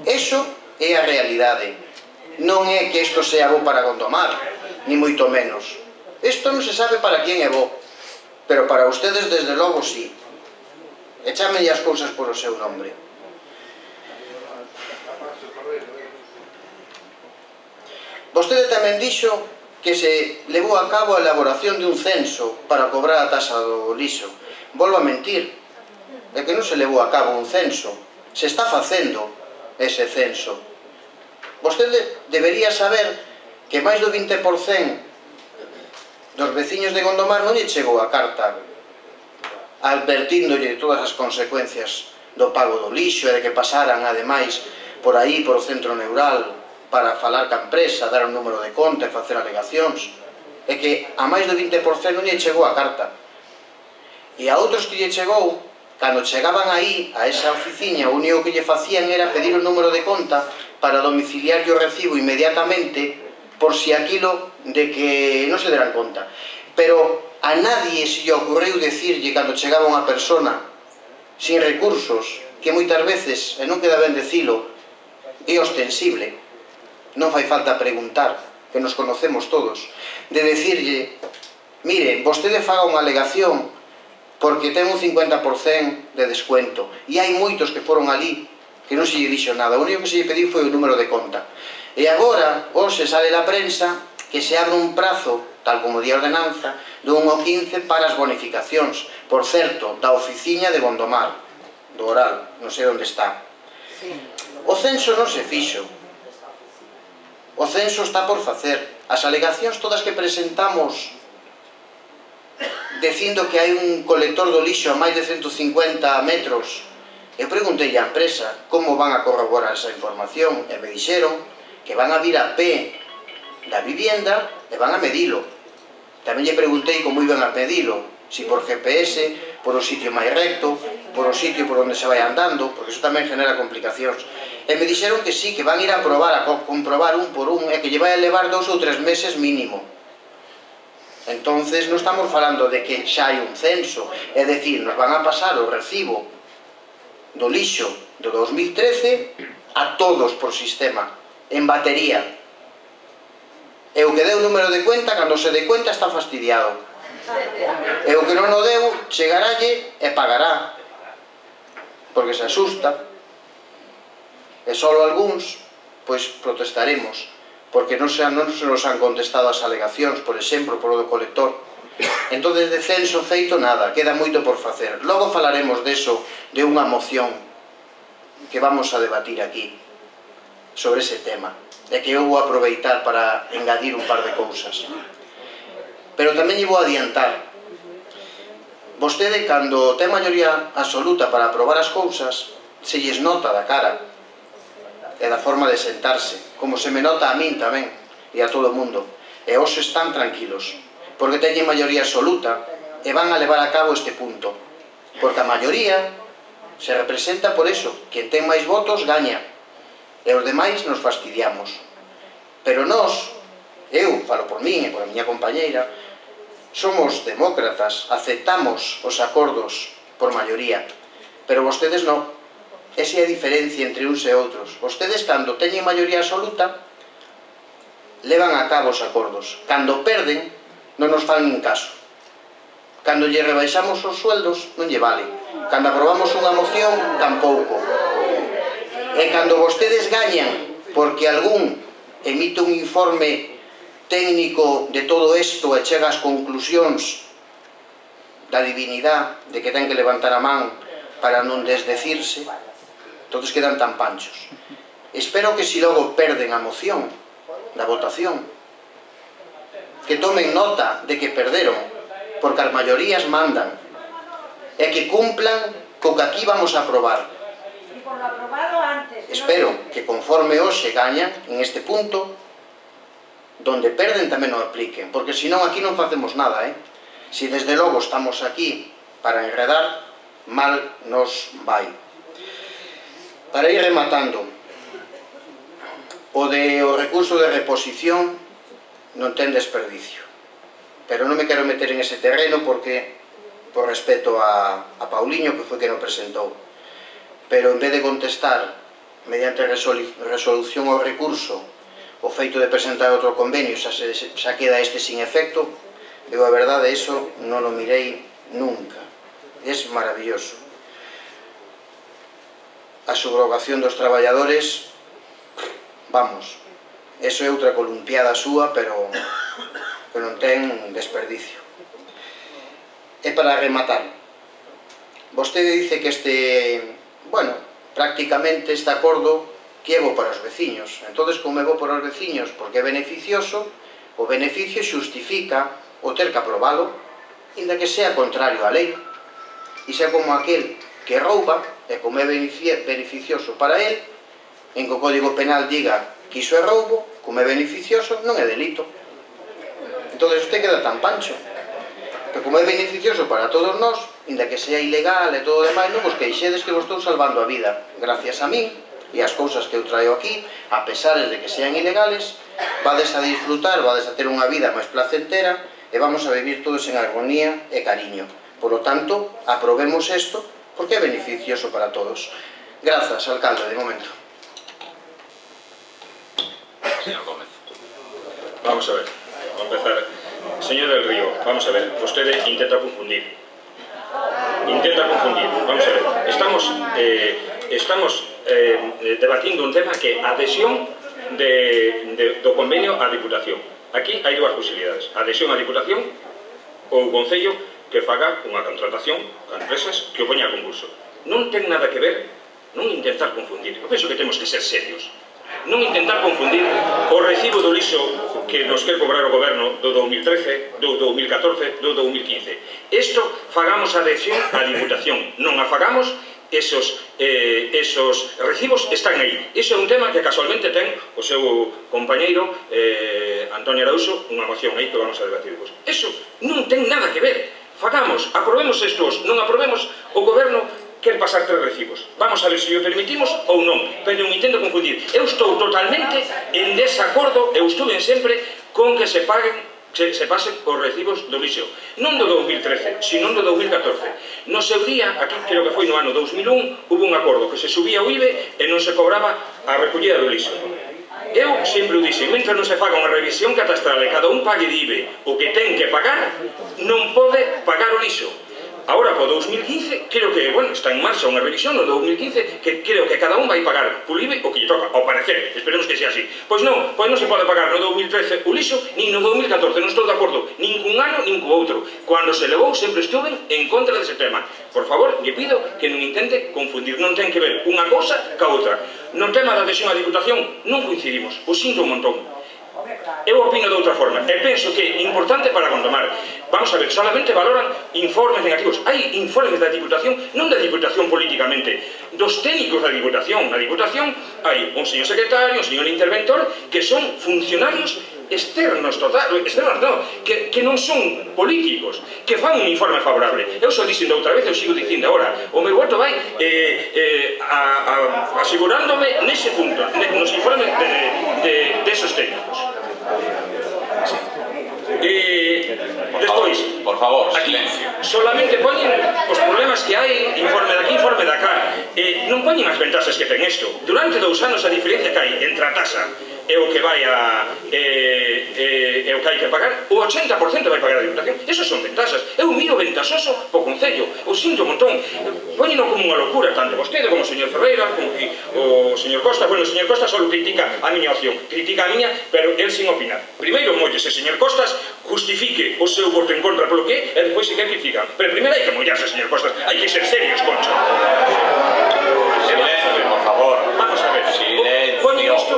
Eso é a realidade. Non é que isto sea bo para Gondomar, ni moito menos. Isto non se sabe para quen é bo, pero para ustedes desde logo sí. E chámenlle as cousas por o seu nombre. Vostede tamén dixo que se levou a cabo a elaboración de un censo para cobrar a tasa do lixo. Volvo a mentir, é que non se levou a cabo un censo, se está facendo ese censo. Vostede debería saber que máis do vinte por cento dos veciños de Gondomar non lle chegou a carta advertíndolle de todas as consecuencias do pago do lixo e de que pasaran, ademais, por aí, por o centro neural, para falar ca empresa, dar un número de conta e facer alegacións, e que a máis do vinte por cento non lle chegou a carta. E a outros que lle chegou, cando chegaban aí, a esa oficina, o único que lle facían era pedir o número de conta para domiciliar o recibo inmediatamente, por si aquilo de que non se deran conta. Pero a nadie se lle ocurriu decirlle cando chegaba unha persona sin recursos, que moitas veces, e non queda ben decilo, é ostensible, non fai falta preguntar, que nos conocemos todos, de decirlle, mire, vostede faga unha alegación porque ten un cincuenta por cento de descuento, e hai moitos que foron ali que non se lle dixo nada, o único que se lle pediu foi o número de conta. E agora, hoxe sale na prensa que se abre un prazo, tal como di a ordenanza, do un ao quince para as bonificacións, por certo, da oficina de Gondomar, do Oral, non sei onde está. O censo non se fixo, o censo está por facer. As alegacións todas que presentamos dicindo que hai un colector do lixo a máis de ciento cincuenta metros, eu preguntei á empresa como van a corroborar esa información e me dixeron que van a vir a pé da vivienda e van a medilo. Tamén lle preguntei como iban a medilo, si por G P S, por o sitio máis recto, por o sitio por onde se vai andando, porque iso tamén genera complicacións. E me dixeron que sí, que van a ir a probar, a comprobar un por un, e que lle vai a levar dous ou tres meses mínimo. Entonces non estamos falando de que xa hai un censo, é dicir, nos van a pasar o recibo do lixo do dos mil trece a todos por sistema, en batería. E o que deu o número de cuenta, cando se dé cuenta está fastidiado. E o que non o deu, chegaralle e pagará, porque se asusta. E só algúns, pois protestaremos, porque non se, non se nos han contestado as alegacións, por exemplo, por o do colector. Entón, de censo feito nada, queda moito por facer. Logo falaremos deso, de unha moción que vamos a debatir aquí sobre ese tema, e que eu vou aproveitar para engadir un par de cousas. Pero tamén lle vou adiantar, vostede, cando ten maioría absoluta para aprobar as cousas, se lles nota da cara e da forma de sentarse, como se me nota a min tamén e a todo o mundo, e os están tranquilos, porque teñen maioría absoluta e van a levar a cabo este punto, porque a maioría se representa por eso, quen ten máis votos gaña, e os demais nos fastidiamos. Pero nós, eu falo por min e por a miña compañeira, somos demócratas, aceptamos os acordos por maioría, pero vostedes non. Esa é a diferencia entre uns e outros. Vostedes, cando teñen maioría absoluta, levan a cabo os acordos. Cando perden, non nos fan nin caso. Cando lle rebaixamos os sueldos, non lle vale. Cando aprobamos unha moción, tampouco. E cando vostedes gañan, porque algún emite un informe técnico de todo isto e chega ás conclusións da divinidade de que ten que levantar a man para non desdecirse, todos quedan tan panchos. Espero que si logo perden a moción da votación, que tomen nota de que perderon, porque as maiorías mandan, e que cumplan co que aquí vamos a aprobar. Espero que conforme hoxe gañan en este punto, donde perden tamén o apliquen, porque senón aquí non facemos nada, eh? Si desde logo estamos aquí para enredar, mal nos vai. Para ir rematando, o de o recurso de reposición non ten desperdicio, pero non me quero meter en ese terreno porque, por respeto a, a Pauliño, que foi que non presentou, pero en vez de contestar mediante resolución ao recurso o feito de presentar outro convenio, xa, se, xa queda este sin efecto, eu a verdade, eso non o mirei nunca. É maravilloso. A subrogación dos traballadores, vamos, eso é outra columpiada súa, pero que non ten desperdicio. E para rematar, vostede dice que este, bueno, prácticamente este acordo que é bo para os veciños. Entonces, como é bo para os veciños porque é beneficioso, o beneficio xustifica o ter que aprobalo, inda que sea contrario á lei. e xa como aquel que rouba, e como é beneficioso para él, en que o Código Penal diga que iso é roubo, como é beneficioso, non é delito. Entón, usted queda tan pancho. Pero como é beneficioso para todos nós, inda que sea ilegal e todo o demais, non vos queixedes que vos estou salvando a vida. Gracias a min e as cousas que eu traio aquí, a pesar de que sean ilegales, vades a disfrutar, vades a ter unha vida máis placentera e vamos a vivir todos en armonía e cariño. Por lo tanto, aprobemos isto porque é beneficioso para todos. Grazas, alcalde, de momento. Señor Gómez. Vamos a ver, vamos a empezar. Señor del Río, vamos a ver, vostede intenta confundir. Intenta confundir, vamos a ver. Estamos, eh, estamos eh, debatindo un tema que a adhesión de, de, do convenio á Diputación. Aquí hai dúas posibilidades. Adhesión á Diputación ou o Concello que faga unha contratación a empresas que o poña a concurso. Non ten nada que ver, non intentar confundir. Eu penso que temos que ser serios. Non intentar confundir o recibo do lixo que nos quer cobrar o goberno do dous mil trece, do dous mil catorce, do dous mil quince. Isto fagamos adhesión á Diputación. Non a fagamos, esos, eh, esos recibos están aí. Iso é un tema que casualmente ten o seu compañeiro eh, Antonio Arauso, unha moción aí que vamos a debatir vos. Iso non ten nada que ver. Fagamos, aprobemos estos, non aprobemos, o goberno quer pasar tres recibos. Vamos a ver se o permitimos ou non, pero non intento confundir. Eu estou totalmente en desacordo, eu estuve sempre con que se paguen, se, se pasen os recibos do lixo. Non do dous mil trece, sino do dous mil catorce. No seu día, aquí creo que foi no ano dous mil un, hubo un acordo que se subía o I B E e non se cobraba a recollida do lixo. Eu sempre o dixen, mentre non se faga unha revisión catastral e cada un pague de I B E o que ten que pagar, non pode pagar o lixo. Ahora, po dous mil quince, creo que, bueno, está en marcha unha revisión no dous mil quince que creo que cada un vai pagar polo I B E o que lle toca, ao parecer, esperemos que sea así. Pois non, pois non se pode pagar no dous mil trece o lixo, nin no dous mil catorce, non estou de acordo, nin cun ano, nin co outro. Cando se levou, sempre estuve en contra dese tema. Por favor, lle pido que non intente confundir, non ten que ver unha cousa ca outra. No tema da adhesión á Diputación non coincidimos, o sinto un montón. Eu opino de outra forma e penso que é importante para Gondomar. Vamos a ver, solamente valoran informes negativos. Hai informes da Diputación, non da Diputación políticamente, dos técnicos da Diputación. Na Diputación hai un señor secretario, un señor interventor, que son funcionarios externos, total, externos non, que, que non son políticos, que fan un informe favorable. Eu só dixen outra vez, eu sigo dicindo agora, o meu voto vai eh, eh, a, a, asegurándome nese punto, nos informes de, de, de esos técnicos. Sí. Eh, por despois, favor, por favor, aquí silencio. solamente poñen os problemas que hai, informe daqui, informe dacá, eh, non poñen as ventaxas que ten isto. Durante dous anos a diferencia que hai entre a tasa e o que vai a eh, eh, e o que hai que pagar, o ochenta por cento vai pagar a Diputación. Esas son ventaxas. Eu miro ventaxoso po Concello, o sinto un montón. Poñeno como unha locura, tanto vostede como o señor Ferreira, como que o señor Costa. Bueno, o señor Costa só critica a miña opción, critica a miña, pero el sin opinar. Primeiro mollese, señor Costas, justifique o seu voto en contra polo que é, e depois se que critican. Pero primeiro hai que mollarse, señor Costas, hai que ser serios, Concha. Silencio, por favor. Vamos a ver. Silencio. Poñen isto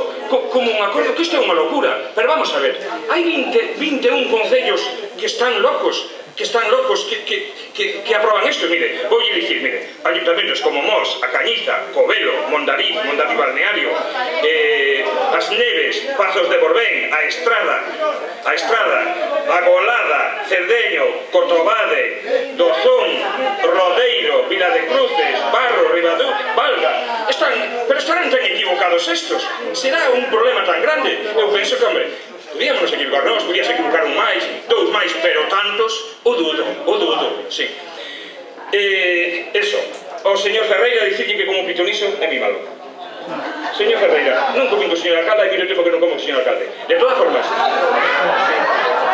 como un acordo, que isto é unha locura. Pero vamos a ver, hai vinte, vinte e un concellos que están locos, que están locos, que, que, que, que aproban isto. Mire, vou dicir, mire, ayuntamentos como Mos, A Cañiza, Covelo, Mondariz, Mondariz Balneario, eh, As Neves, Pazos de Borbén, A Estrada, A Estrada, A Golada, Cerdeño, Cotobade, Dozón, Rodeiro, Vila de Cruces, Barro, Ribadú, Valga. Están, pero estarán tan equivocados estos. Será un problema tan grande? Eu penso que, hombre, podíamos equivocar nós, podías equivocar un máis, dous máis, pero tantos, o dudo, o dudo, sí. Eh, eso, o señor Ferreira dicirlle que como pitoniso é mi malo. Señor Ferreira, non comín co señor alcalde, hai moito tempo que non como co señor alcalde. De todas formas,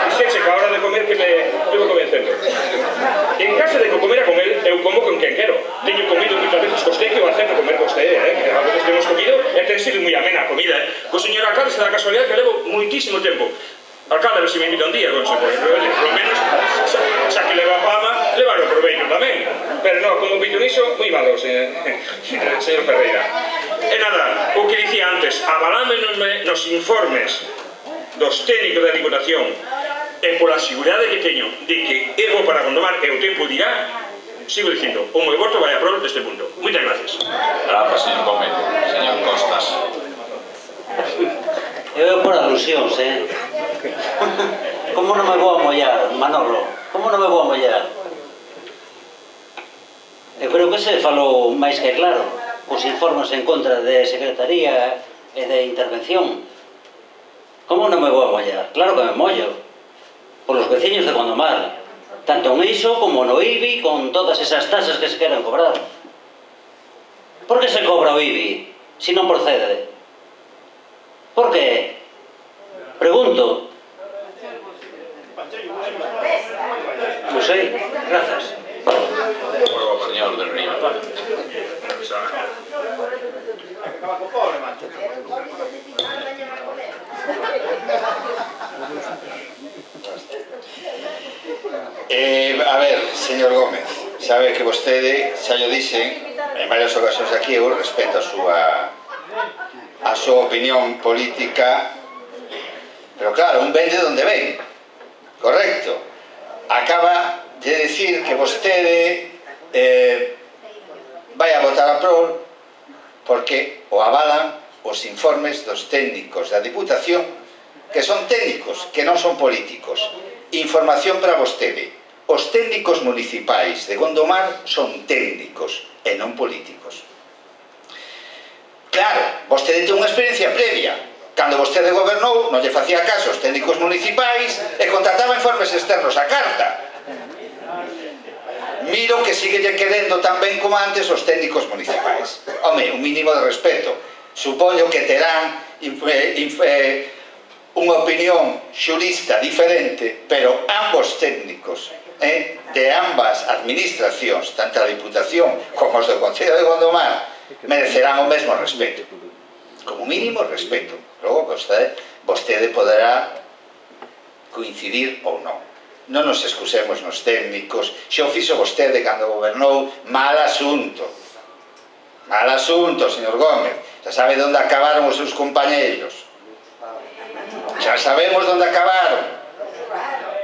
dixeche que a hora de comer que me estuvo convencendo. En casa de que comera con él, eu como con quen quero. Teño comido moitas veces cos que eu acepto comer cos eh, que a veces temos comido e ten sido moi amena a comida, eh. Co señor alcalde se dá casualidade que levo moitísimo tempo. Alcalde, a ver se me invita un día, con se pode, pero polo menos, xa, xa que leva fama, levar o proveito tamén. Pero non, como pitoniso, moi malo, señor, señor Ferreira. E nada, o que dicía antes, avalámenme nos informes dos técnicos da Diputación e pola seguridade que teño de que é bo para Gondomar e o tempo dirá, sigo dicindo, o meu voto vai a prol deste punto. Moitas gracias. Gracias, señor Gómez. Señor Costas. Eu por alusións, eh? Como non me vou a mollar, Manolo? Como non me vou a mollar? Eu creo que se falou máis que claro. Os informes en contra de Secretaría e de intervención. Como non me vou a mollar? Claro que me mollo. Por os veciños de Gondomar. Tanto en iso como no I B I, con todas esas tasas que se queren cobrar. Por que se cobra o I B I, se non procede? Por que? Pregunto. Non sei, grazas. Señor del Río. Eh, a ver, señor Gómez, sabe que vostede, xa yo dixen en varias ocasións aquí, eu respeto a súa a súa opinión política, pero claro, un ven de onde ven, correcto. Acaba de decir que vostede eh, vai a votar a prol porque o avalan os informes dos técnicos da Diputación, que son técnicos, que non son políticos. Información para vostede: os técnicos municipais de Gondomar son técnicos e non políticos. Claro, vostede ten unha experiencia previa. Cando vostede gobernou, non lle facía caso aos técnicos municipais e contrataba informes externos a carta. Miro que sigue lle querendo tan ben como antes os técnicos municipais. Home, un mínimo de respeto. Supoño que terán eh, unha opinión xurista diferente, pero ambos técnicos eh, de ambas administracións, tanto a Diputación como os do Concello de Gondomar, merecerán o mesmo respeto. Como mínimo respeto. Logo, vostede, vostede poderá coincidir ou non. Non nos excusemos nos técnicos. Xa o fixo vostede cando gobernou. Mal asunto. Mal asunto, señor Gómez. Xa sabe onde acabaron os seus compañeiros. Xa sabemos onde acabaron.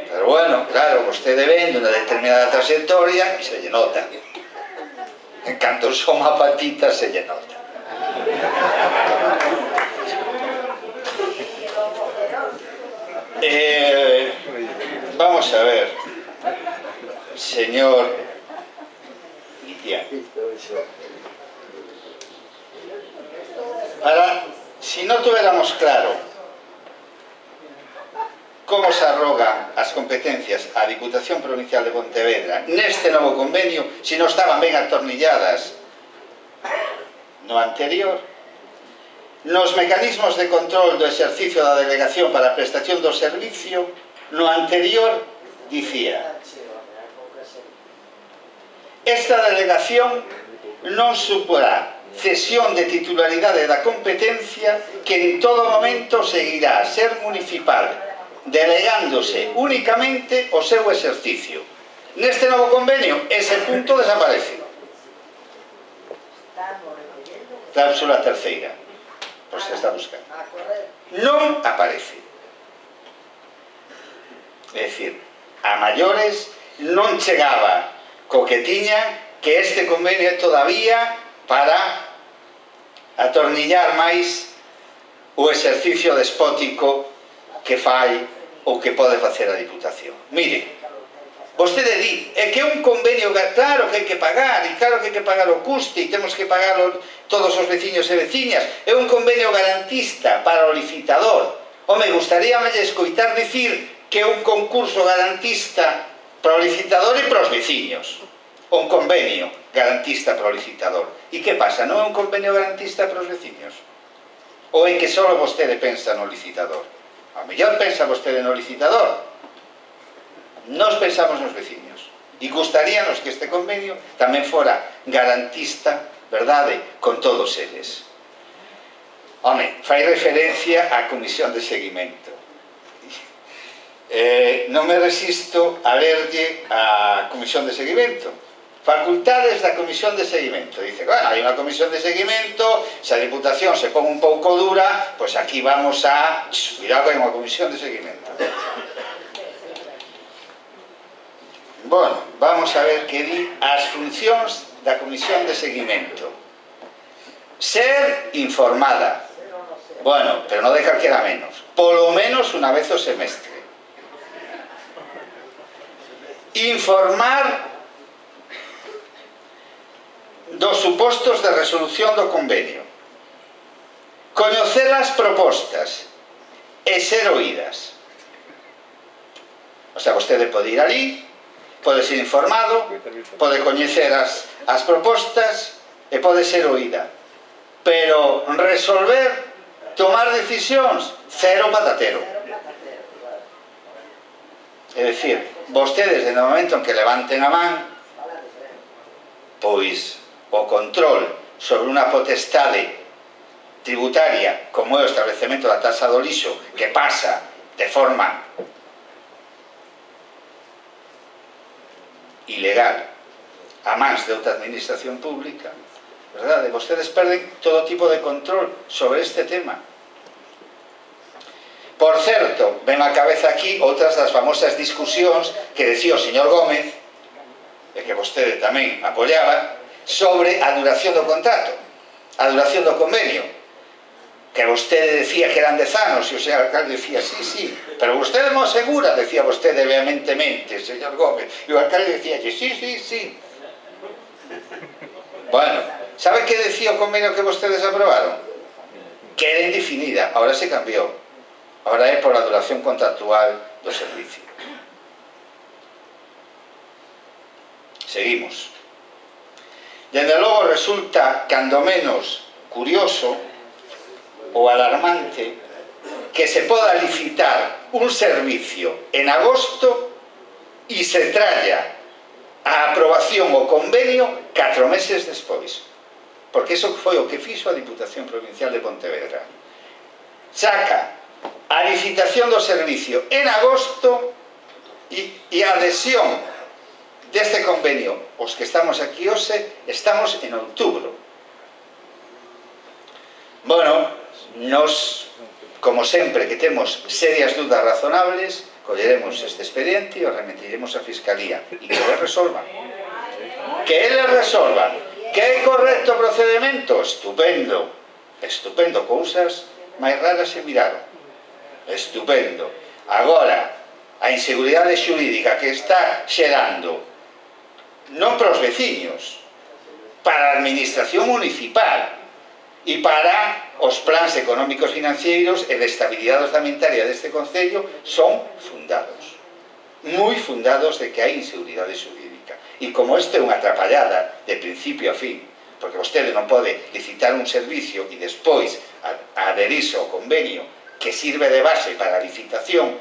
Pero bueno, claro, vostede ven dunha determinada trayectoria e se lle nota. En canto son a patita se lle nota. Eh, vamos a ver, señor Itián. Para, si no tuviéramos claro como se arrogan as competencias á Diputación Provincial de Pontevedra neste novo convenio, se non estaban ben atornilladas no anterior, nos mecanismos de control do exercicio da delegación para a prestación do servicio, no anterior dicía: esta delegación non suporá cesión de titularidade da competencia, que en todo momento seguirá a ser municipal, delegándose únicamente o seu exercicio. Neste novo convenio, ese punto desaparece. Cláusula terceira. Por se está buscando. Non aparece. É dicir, a maiores non chegaba co que tiña, que este convenio é todavía para atornillar máis o exercicio despótico que fai ou que pode facer a Diputación. Mire, vostede di, é que é un convenio, claro que hai que pagar, e claro que hai que pagar o custe, e temos que pagar todos os veciños e veciñas, é un convenio garantista para o licitador. Home, gustaríame escoitar dicir que é un concurso garantista para o licitador e para os veciños. Un convenio garantista para o licitador. E que pasa, non é un convenio garantista para os veciños? Ou é que só vostede pensa no licitador? A mellor pensa vostede no licitador. Nos pensamos nos veciños. E gustaríanos que este convenio tamén fora garantista, verdade, con todos eles. Home, fai referencia á comisión de seguimento. Eh, non me resisto a lerlle a comisión de seguimento. Facultades da comisión de seguimento. Dice, bueno, hai unha comisión de seguimento, se a Diputación se pon un pouco dura, pois aquí vamos a... Cuidado con unha comisión de seguimento. Bueno, vamos a ver que di as funcións da Comisión de Seguimento. Ser informada. Bueno, pero non de calquera menos. Polo menos unha vez o semestre. Informar dos supostos de resolución do convenio. Coñecer as propostas e ser oídas. O sea, vostede pode ir ali, pode ser informado, pode coñecer as, as propostas e pode ser oída. Pero resolver, tomar decisións, cero patatero. É dicir, vostedes, desde o momento en que levanten a man, pois o control sobre unha potestade tributaria como é o establecemento da taxa do lixo, que pasa de forma ilegal a mans de outra administración pública, verdade? Vostedes perden todo tipo de control sobre este tema. Por certo, ven á cabeza aquí outras das famosas discusións que decía o señor Gómez, e que vostede tamén apoiaba, sobre a duración do contrato, a duración do convenio, que vostede decía que eran dez anos, e o señor alcalde decía, sí, sí, pero vostede non asegura, decía vostede vehementemente, señor Gómez, e o alcalde decía, sí, sí, sí. Bueno, sabe que decía o convenio que vostedes aprobaron? Que era indefinida, ahora se cambiou. Ahora é por a duración contractual do servicio. Seguimos. Dende logo resulta, cando menos, curioso ou alarmante que se poda licitar un servicio en agosto e se tralla a aprobación o convenio catro meses despois. Porque iso foi o que fixo a Diputación Provincial de Pontevedra. Saca a licitación do servicio en agosto e, e a adhesión deste convenio, os que estamos aquí hoxe, estamos en outubro. Bueno, nos, como sempre que temos serias dudas razonables, colleremos este expediente e o remitiremos á Fiscalía e que eles resolvan. Que eles resolvan. Que é correcto o procedimento? Estupendo. Estupendo. Cousas máis raras se miraron. Estupendo. Agora, a inseguridade xurídica que está xerando non para os veciños, para a administración municipal e para os plans económicos financeiros e de estabilidade orzamentaria deste concello son fundados. Moi fundados de que hai inseguridade xurídica. E como isto é unha atrapallada de principio a fin, porque vostede non pode licitar un servicio e despois adherirse ao convenio que sirve de base para a licitación.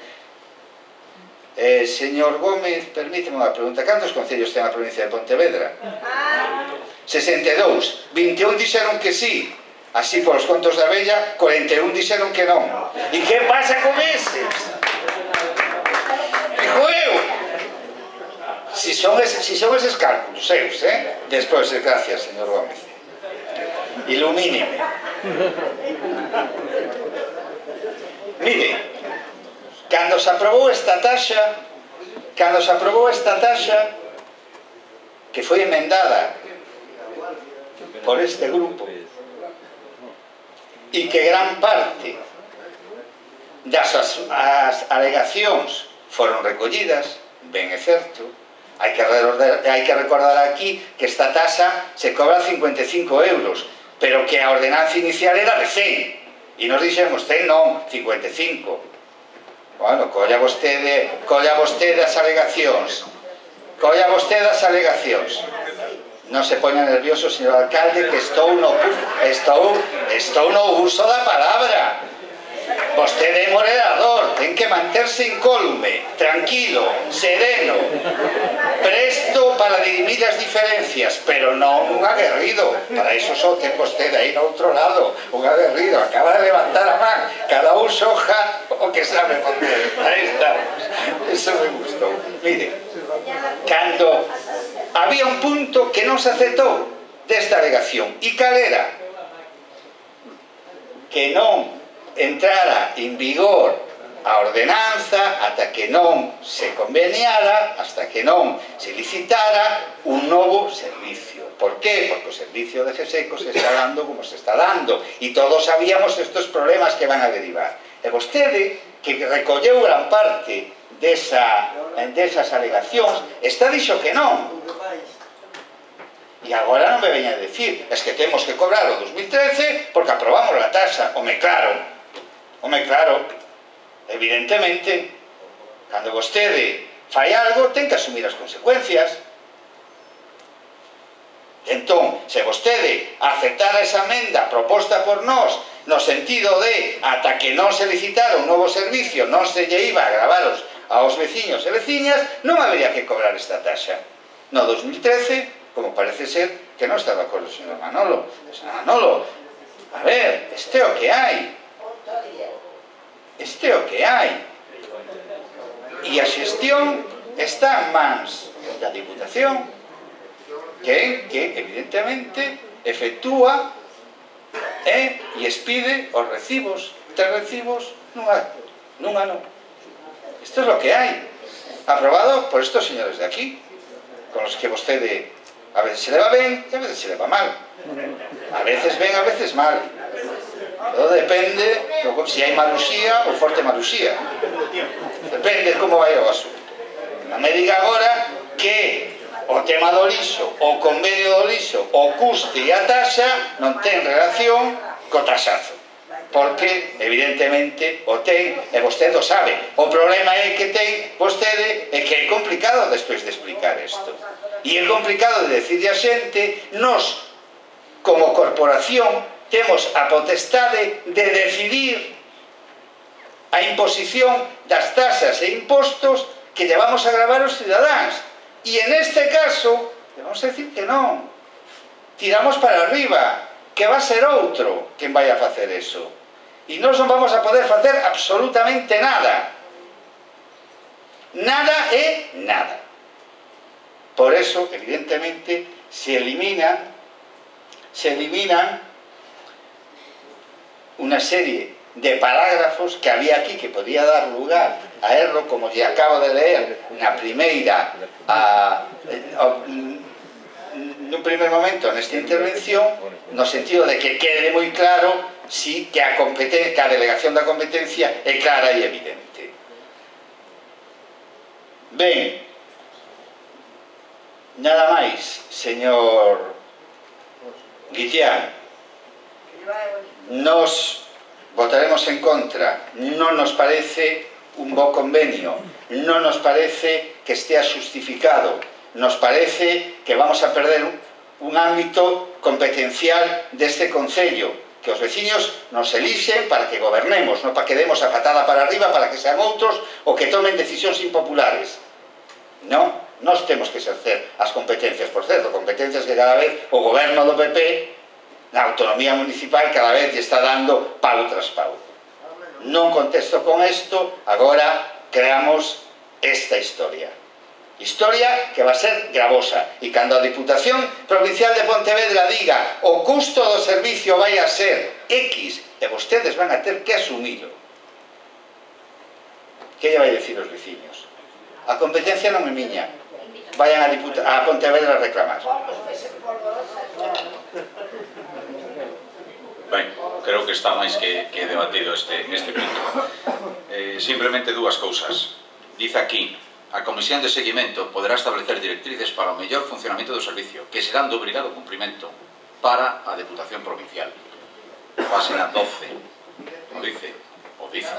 Eh, señor Gómez, permíteme unha pregunta. Cantos concellos ten a provincia de Pontevedra? sesenta e dous. vinte e un dixeron que sí. Así, polos contos da vella, cuarenta e un dixeron que non. E que pasa con eses? Digo eu. Si son, es, si son eses cálculos seus, eh? Despois, gracias, señor Gómez. Ilumíneme. Mire, cando se aprobou esta taxa, cando se aprobou esta taxa, que foi emendada por este grupo, e que gran parte das as, as alegacións foron recollidas, ben é certo, hai que, hai que recordar aquí que esta taxa se cobra cincuenta e cinco euros, pero que a ordenanza inicial era de cen. E nos dixemos, ten non, cincuenta e cinco. Bueno, colla vostede, colla vostede as alegacións. Colla vostede as alegacións. Non se poña nervioso, señor alcalde, que estou no, estou, estou no uso da palabra. Vostede é moderador, ten que manterse incólume, tranquilo, sereno, presto para dirimir as diferencias, pero non un aguerrido. Para iso só ten vostede aí no outro lado, un aguerrido, acaba de levantar a man, cada un soja o que sabe facer. Aí estamos, eso me gustou. Mire, cando había un punto que non se aceptou desta alegación, e cal era? Que non entrara en vigor a ordenanza ata que non se conveniara, hasta que non se licitara un novo servicio. Por qué? Porque o servicio de GESECO se está dando como se está dando e todos sabíamos estes problemas que van a derivar. E vostede, que recolleu gran parte desa, desas alegacións, está dixo que non. E agora non me veña a decir, es que temos que cobrar o dos mil trece porque aprobamos a taxa. Home, claro, home, claro. Evidentemente, cando vostede fai algo, ten que asumir as consecuencias. Entón, se vostede aceptara esa emenda proposta por nós, no sentido de, ata que non se licitara un novo servicio, non se lle iba a gravaros aos veciños e veciñas, non habería que cobrar esta taxa. No dos mil trece, como parece ser que non está de acordo o señor Manolo. Señor Manolo, a ver, este é o que hai. Este é o que hai. E a xestión está en mans da Diputación, que, que evidentemente efectúa e, e expide os recibos, tres recibos nun ano. Isto é o que hai, aprobado por estos señores de aquí, con los que vostede a veces se leva ben e a veces se leva mal. A veces ben, a veces mal. Todo depende se hai maruxía ou forte maruxía. Depende como vai o asunto. Non me diga agora que o tema do lixo, o convenio do lixo, o custe e a taxa non ten relación co taxazo. Porque, evidentemente, o ten, e vostede o sabe. O problema é que ten vostede é que é complicado despois de explicar isto. E é complicado de decirle a xente, nos, como corporación, temos a potestade de decidir a imposición das tasas e impostos que llevamos a gravar os cidadáns. E en este caso, vamos a decir que non. Tiramos para arriba, que va a ser outro quen vai a facer eso. E nós non vamos a poder facer absolutamente nada. Nada é nada. Por eso, evidentemente, se eliminan, se eliminan unha serie de parágrafos que había aquí que podía dar lugar a erro, como lle acabo de leer na primeira a, a, nun primer momento nesta intervención, no sentido de que quede moi claro si que a, que a delegación da competencia é clara e evidente. Ben, nada máis, señor Guitián. Nos votaremos en contra. Non nos parece un bo convenio, non nos parece que estea xustificado, nos parece que vamos a perder un ámbito competencial deste Concello, que os veciños nos elixen para que gobernemos, non para que demos a patada para arriba para que sean outros ou que tomen decisións impopulares. Non, nós temos que exercer as competencias, por certo, competencias que cada vez o goberno do P P na autonomía municipal cada vez lle está dando pau tras pau. Non contesto con isto, agora creamos esta historia. Historia que va a ser gravosa. E cando a Diputación Provincial de Pontevedra diga o custo do servicio vai a ser X e vostedes van a ter que asumilo, que lle vai dicir os veciños? A competencia non é miña. Vayan a, a Pontevedra a reclamar. Ben, creo que está máis que, que debatido este, este punto. Eh, simplemente dúas cousas. Dice aquí, a Comisión de Seguimento poderá establecer directrices para o mellor funcionamento do servicio, que serán de obrigado cumprimento para a Deputación Provincial. Página doce. O dice, o dice.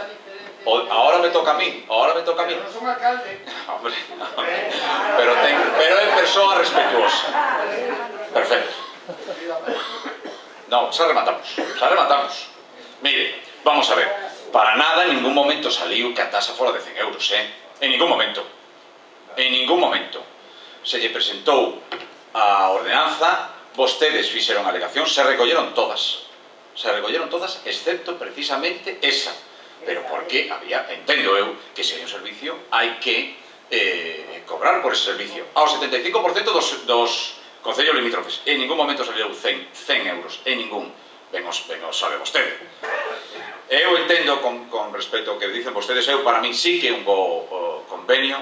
O, ahora me toca a mí, ahora me toca a mí. Hombre, pero, ten, pero é persoa respetuosa. Perfecto. No, xa rematamos, xa rematamos. Mire, vamos a ver, para nada en ningún momento saliu que a tasa fora de cen euros, eh? En ningún momento. En ningún momento. Se lle presentou a ordenanza, vostedes fixeron alegación, se recolleron todas. Se recolleron todas, excepto precisamente esa. Pero porque había, entendo eu, que se hai un servicio, hai que eh, cobrar por ese servicio. Ao setenta e cinco por cento dos... dos concellos limítrofes, en ningún momento salieron cen euros, en ningún. ben os, ben os sabe vostede. Eu entendo con, con respecto ao que dicen vostedes, eu para mí sí que é un bo o, convenio,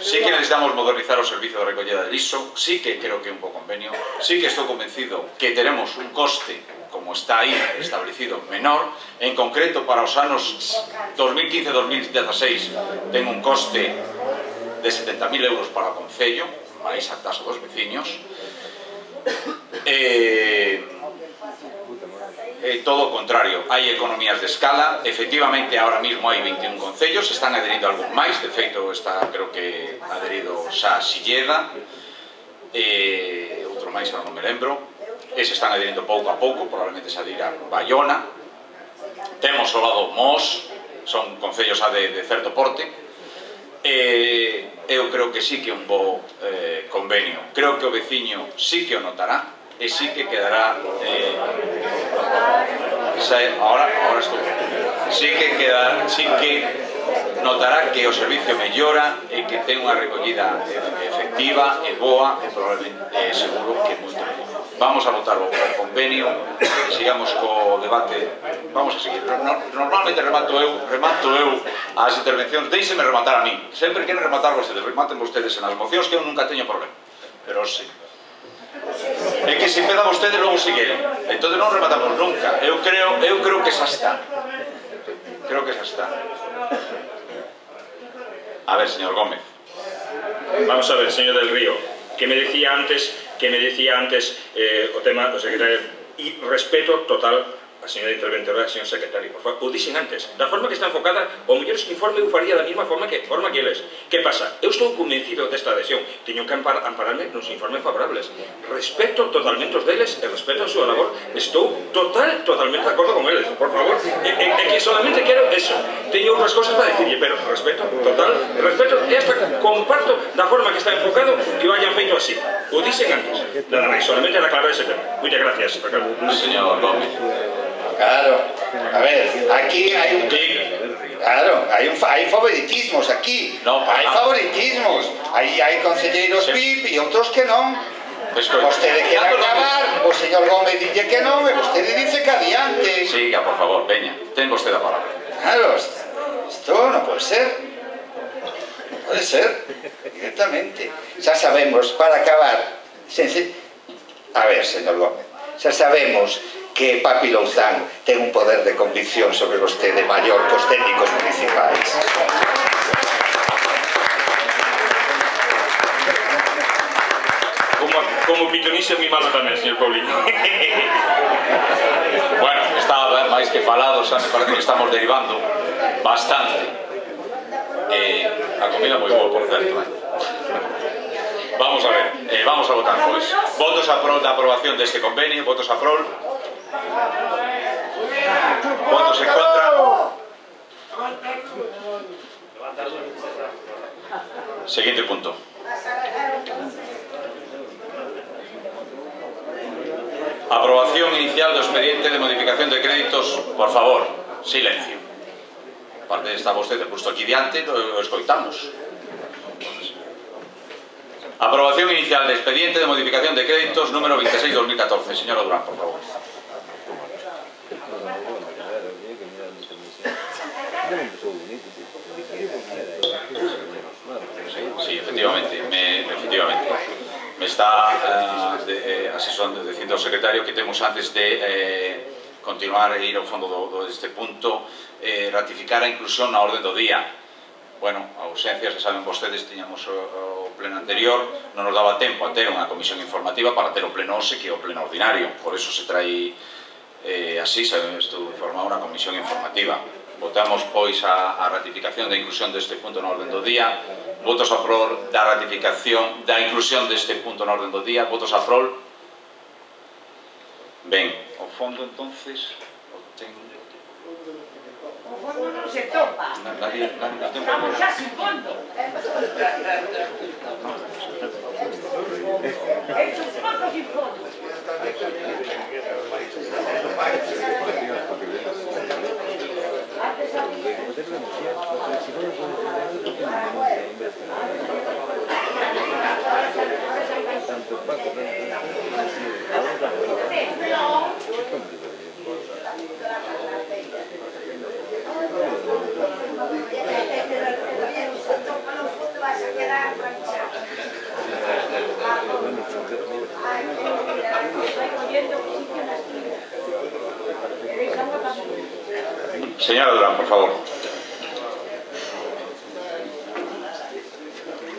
sí que necesitamos modernizar o servicio de recollida de lixo, sí que creo que é un bo convenio, sí que estou convencido que teremos un coste, como está aí establecido, menor, en concreto para os anos dos mil quince a dos mil dieciséis ten un coste de setenta mil euros para o Concello, máis a taxa dos veciños. Eh, eh, todo o contrario, hai economías de escala, efectivamente ahora mismo hai veintiún concellos, están adherindo algún máis, de feito está, creo que adherido xa Silleda, eh, outro máis, ahora non me lembro, e se están adherindo pouco a pouco, probablemente se adhira Bayona, temos ao lado Mos, son concellos a de, de certo porte, eh, eu creo que sí que é un bo eh, convenio, creo que o veciño sí que o notará e sí que quedará eh, xa, ahora, ahora estou sí que quedará, sí que notará que o servicio mellora e que ten unha recollida efectiva e boa e probablemente eh, seguro que moito mellor. Vamos a votar o convenio e sigamos co debate. Vamos a seguir. Normalmente remato eu, remato eu as intervencións. Deixeme rematar a mí. Sempre queren rematar vostedes. Rematen vostedes en as mocións, que eu nunca teño problema. Pero sí. É que se empeza vostedes, logo sigue. Entón non rematamos nunca. Eu creo, eu creo que xa está. Creo que xa está. A ver, señor Gómez. Vamos a ver, señor del Río, que me decía antes, que me decía antes eh, o tema do secretario, e respeto total a señora interventora e a señor secretario, por favor, o dixen antes, da forma que está enfocada, o mellor ese informe eu faría da mesma forma que forma que eles. Que pasa? Eu estou convencido desta adhesión, teño que ampar, ampararme nos informes favorables. Respeto totalmente os deles e respeto a súa labor. Estou total, totalmente de acordo con eles, por favor. E, e, e que solamente quero eso. Teño outras cosas para decirle, pero respeto total, respeto e hasta comparto da forma que está enfocado que o hayan feito así. O dixen antes. Nada máis, solamente era aclarar ese tema. Muchas gracias, Ricardo. Señor Gómez. Claro, a ver, aquí hay un... Claro, hay, un, hay favoritismos aquí, no, hay favoritismos, hay, hay concelleiros sí. V I P e outros que non. Pues vostede quere acabar, o señor Gómez dice que non, e vostede dice que adiante. Siga, por favor, veña, ten vostede a palabra. Claro, isto non pode ser. Non pode ser, directamente. Xa sabemos, para acabar, sense... a ver, señor Gómez, xa sabemos que Papi Louzán ten un poder de convicción sobre vostede maior que os técnicos municipais. Como, como pitonixe mi malo tamén, señor Paulino. Bueno, está máis que falado, xa me parece que estamos derivando bastante. Eh, a comida moi boa, por certo, eh? Vamos a ver, eh, vamos a votar, pois. Votos a prol da aprobación deste convenio, votos a prol. Votos en contra. Siguiente punto. Aprobación inicial do expediente de modificación de créditos. Por favor, silencio. Aparte está vostede puesto aquí diante, lo escoitamos. Aprobación inicial de expediente de modificación de créditos número veintiséis barra dos mil catorce. Señora Durán, por favor. Sí, efectivamente, me, efectivamente. Me está uh, de, eh, asesorando, dicindo ao secretario que temos antes de eh, continuar e ir ao fondo do, do, deste punto, eh, ratificar a inclusión na orde do día. Bueno, a ausencia, se saben vostedes, tiñamos o, o pleno anterior, non nos daba tempo a ter unha comisión informativa para ter o pleno hoxe que é o pleno ordinario, por eso se trai eh, así, se estou informado unha comisión informativa. Votamos, pois, a, a ratificación da inclusión deste punto na orden do día. Votos a prol da ratificación da inclusión deste punto na orden do día. Votos a prol. Ben, o fondo, entonces, o ten... O fondo non se topa. Nadie, nadie ten Estamos xa sin fondo. Estos fondos sin fondo. Señora Durán, por favor.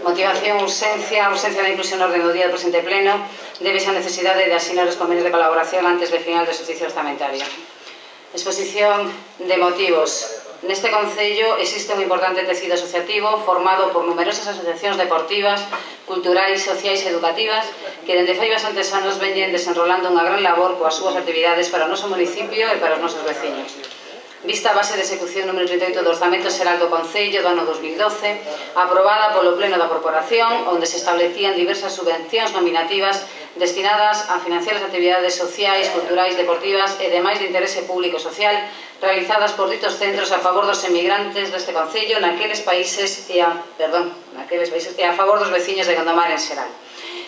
Motivación, urxencia, urxencia da inclusión no orden do día do presente pleno, débese a necesidade de asinar os convenios de colaboración antes do final do exercicio orzamentario. Exposición de motivos. Neste Concello existe un importante tecido asociativo formado por numerosas asociacións deportivas, culturais, sociais e educativas que dende fai bastantes anos veñen desenrolando unha gran labor coas súas actividades para o noso municipio e para os nosos veciños. Vista a base de execución número trinta e oito do Orzamento Xeral do Concello do ano dos mil doce, aprobada polo Pleno da Corporación, onde se establecían diversas subvencións nominativas destinadas a financiar as actividades sociais, culturais, deportivas e demais de interese público e social realizadas por ditos centros a favor dos emigrantes deste Concello naqueles países e a, perdón, naqueles países e a favor dos veciños de Gondomar en xeral.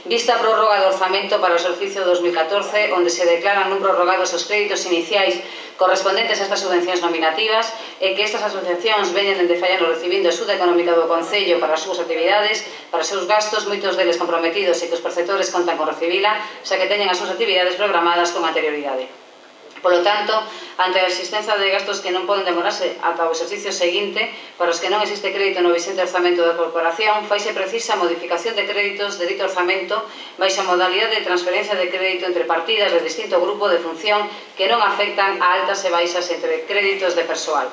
Vista a prórroga do orzamento para o exercicio dos mil catorce, onde se declaran non prorrogados os créditos iniciais correspondentes a estas subvencións nominativas e que estas asociacións veñen dende fai anos recibindo a axuda económica do Concello para as súas actividades, para os seus gastos, moitos deles comprometidos e que os perceptores contan con recibila, xa que teñen as súas actividades programadas con anterioridade. Polo tanto, ante a existencia de gastos que non poden demorarse ata o exercicio seguinte, para os que non existe crédito no vixente orzamento da Corporación, faise precisa a modificación de créditos de dito orzamento baixa a modalidade de transferencia de crédito entre partidas de distinto grupo de función que non afectan a altas e baixas entre créditos de persoal.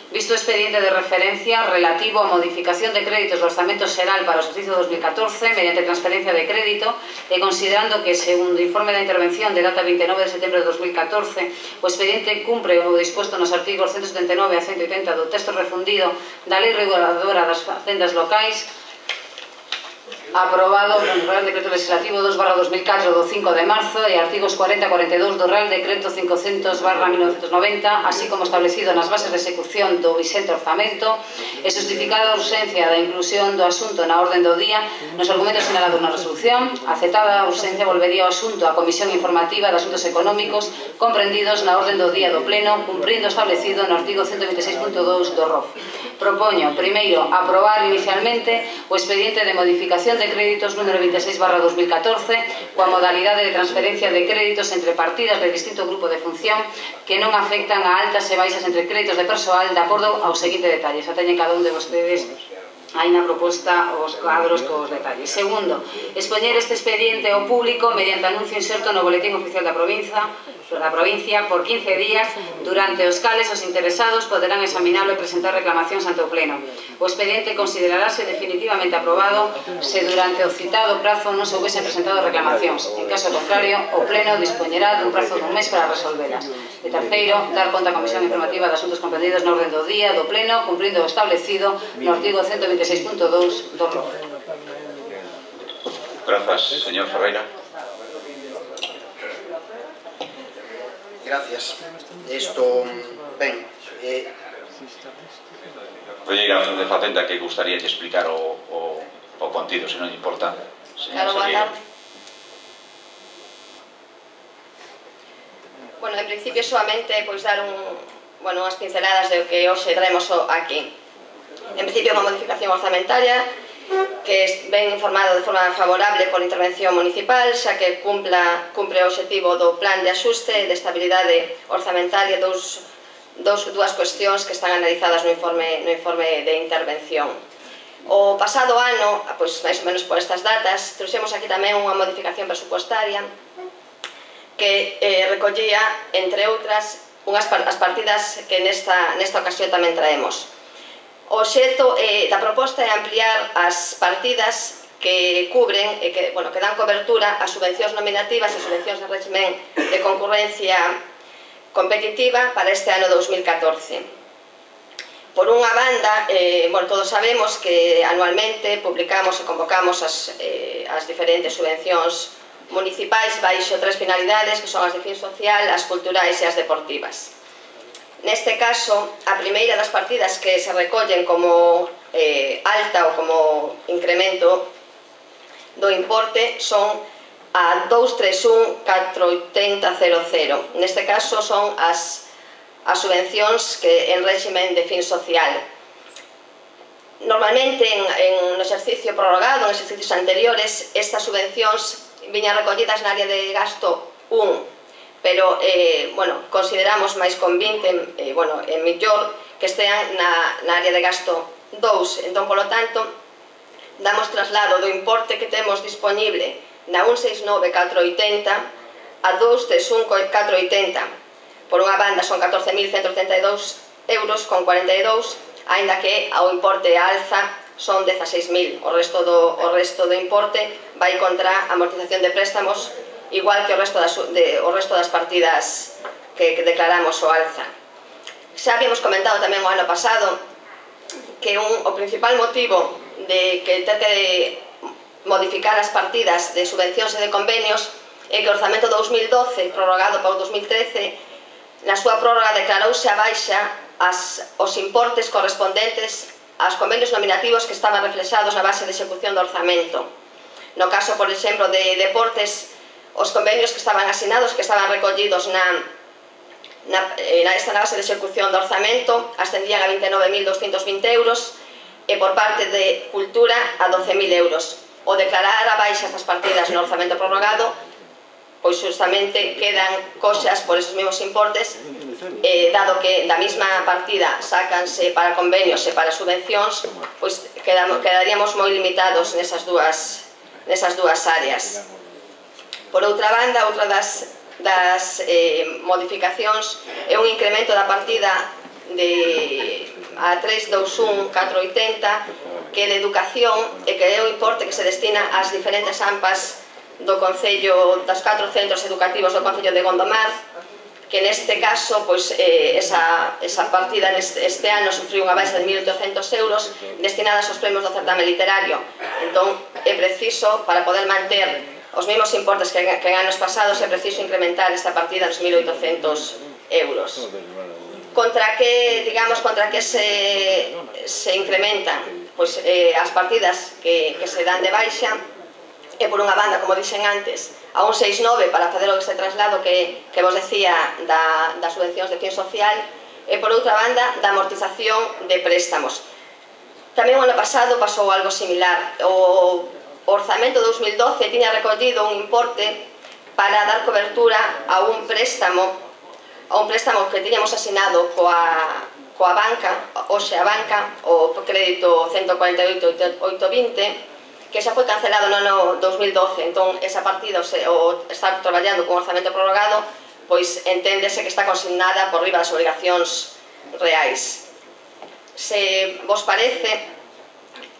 Visto o expediente de referencia relativo á modificación de créditos do Orzamento Xeral para o exercicio dos mil catorce mediante transferencia de crédito e considerando que, segundo o informe da intervención de data vinte e nove de setembro de dos mil catorce, o expediente cumpre o disposto nos artigos ciento setenta e nove a ciento oitenta do texto refundido da Lei Reguladora das Facendas Locais, aprobado no Real Decreto Legislativo dos barra dos mil catro do cinco de marzo e artigos cuarenta a cuarenta e dous do Real Decreto cincocentos barra mil novecentos noventa, así como establecido nas bases de execución do vixente orzamento, e justificada a urxencia da inclusión do asunto na orden do día nos argumentos sinalados na resolución, aceptada a urxencia volvería o asunto á Comisión Informativa de Asuntos Económicos comprendidos na orden do día do Pleno, cumprindo establecido no artigo ciento vinte e seis punto dous do R O F. Propoño, primeiro, aprobar inicialmente o expediente de modificación de créditos número vinte e seis barra dos mil catorce coa modalidade de transferencia de créditos entre partidas de distinto grupo de función que non afectan a altas e baixas entre créditos de persoal de acordo ao seguinte detalles. Xa teñen cada un de vostedes hai na proposta os cuadros cos detalles. Segundo, expoñer este expediente ao público mediante anuncio inserto no boletín oficial da provincia da provincia por quince días, durante os cales os interesados poderán examinalo e presentar reclamacións ante o Pleno. O expediente considerarase definitivamente aprobado se durante o citado prazo non se houvesen presentado reclamacións. En caso contrario, o Pleno dispoñerá dun prazo dun mes para resolvelas. E terceiro, dar conta á Comisión Informativa de Asuntos comprendidos na orden do día do Pleno, cumprindo o establecido no artigo ciento vinte e seis punto dous do R O F. Grazas, señor Ferreira. Gracias. Esto, ben, eh... Conselleira de Facenda, que gustaría explicar o, o, o contido, se non importa. Claro, boa tarde. Bueno, en principio, solamente pois, dar un, bueno, unhas pinceladas de o que hoxe traemos aquí. En principio, unha modificación orzamentaria que ven informado de forma favorable por intervención municipal, xa que cumpla, cumpre o objetivo do plan de axuste e de estabilidade orzamentaria, dous, dous, dúas cuestións que están analizadas no informe, no informe de intervención. O pasado ano, pois, máis ou menos por estas datas, trouxemos aquí tamén unha modificación presupuestaria que eh, recollía, entre outras, unhas as partidas que nesta, nesta ocasión tamén traemos. O obxecto eh, da proposta é ampliar as partidas que cubren e que, bueno, que dan cobertura a subvencións nominativas e subvencións de régimen de concurrencia competitiva para este ano dous mil catorce. Por unha banda, eh, bueno, todos sabemos que anualmente publicamos e convocamos as, eh, as diferentes subvencións municipais baixo tres finalidades, que son as de fin social, as culturais e as deportivas. Neste caso, a primeira das partidas que se recollen como eh, alta ou como incremento do importe son a dous tres un catro oito zero cero cero. Neste caso son as, as subvencións que en régimen de fin social. Normalmente, en, en no exercicio prorrogado, en exercicios anteriores, estas subvencións viñan recollidas na área de gasto un, pero, eh, bueno, consideramos máis convinte, eh, bueno, e mellor que estean na, na área de gasto dous. Entón, polo tanto, damos traslado do importe que temos disponible na un seis nove catro oitenta a dous tres un catro oitenta. Por unha banda son catorce mil ciento setenta e dous euros con cuarenta e dous, aínda que ao importe a alza son dezaseis mil. O resto do, o resto do importe vai contra a amortización de préstamos, igual que o resto das, de, o resto das partidas que, que declaramos o alza. Xa habíamos comentado tamén o ano pasado que un, o principal motivo de que ter que modificar as partidas de subvencións e de convenios é que o orzamento dous mil doce, prorrogado para o dous mil trece, na súa prórroga declarouse a baixa as, os importes correspondentes aos convenios nominativos que estaban reflexados na base de execución do orzamento. No caso, por exemplo, de deportes, os convenios que estaban asinados, que estaban recollidos na, na, na esta base de execución do orzamento, ascendían a vinte e nove mil doscientos vinte euros e por parte de cultura a doce mil euros. O declarar a baixa estas partidas no orzamento prorrogado, pois justamente quedan coxas por esos mesmos importes, eh, dado que da mesma partida sácanse para convenios e para subvencións, pois quedamos, quedaríamos moi limitados nesas dúas, nesas dúas áreas. Por outra banda, outra das, das eh, modificacións é un incremento da partida de a tres dous un catro oitenta, que é de educación e que é o importe que se destina ás diferentes AMPAs do Concello, das catro centros educativos do Concello de Gondomar, que neste caso, pois, eh, esa, esa partida neste, este ano sufriu unha baixa de mil oitocentos euros destinadas aos premios do certame literario. Entón, é preciso, para poder manter os mesmos importes que, que en anos pasados, é preciso incrementar esta partida nos mil oitocentos euros. Contra que, digamos, contra que se, se incrementan pois, eh, as partidas que, que se dan de baixa, e por unha banda, como dixen antes, a un seis nove para facer o este traslado que, que vos decía da, das subvencións de fin social, e por outra banda, da amortización de préstamos. Tamén o ano pasado pasou algo similar. O orzamento dous mil doce tiña recollido un importe para dar cobertura a un préstamo a un préstamo que tiñamos asinado coa, coa banca, hoxe a banca, o crédito ciento cuarenta e oito oito vinte, que xa foi cancelado no ano dous mil doce. Entón, esa partida, o estar traballando con orzamento prorrogado, pois enténdese que está consignada por riba das obrigacións reais. Se vos parece,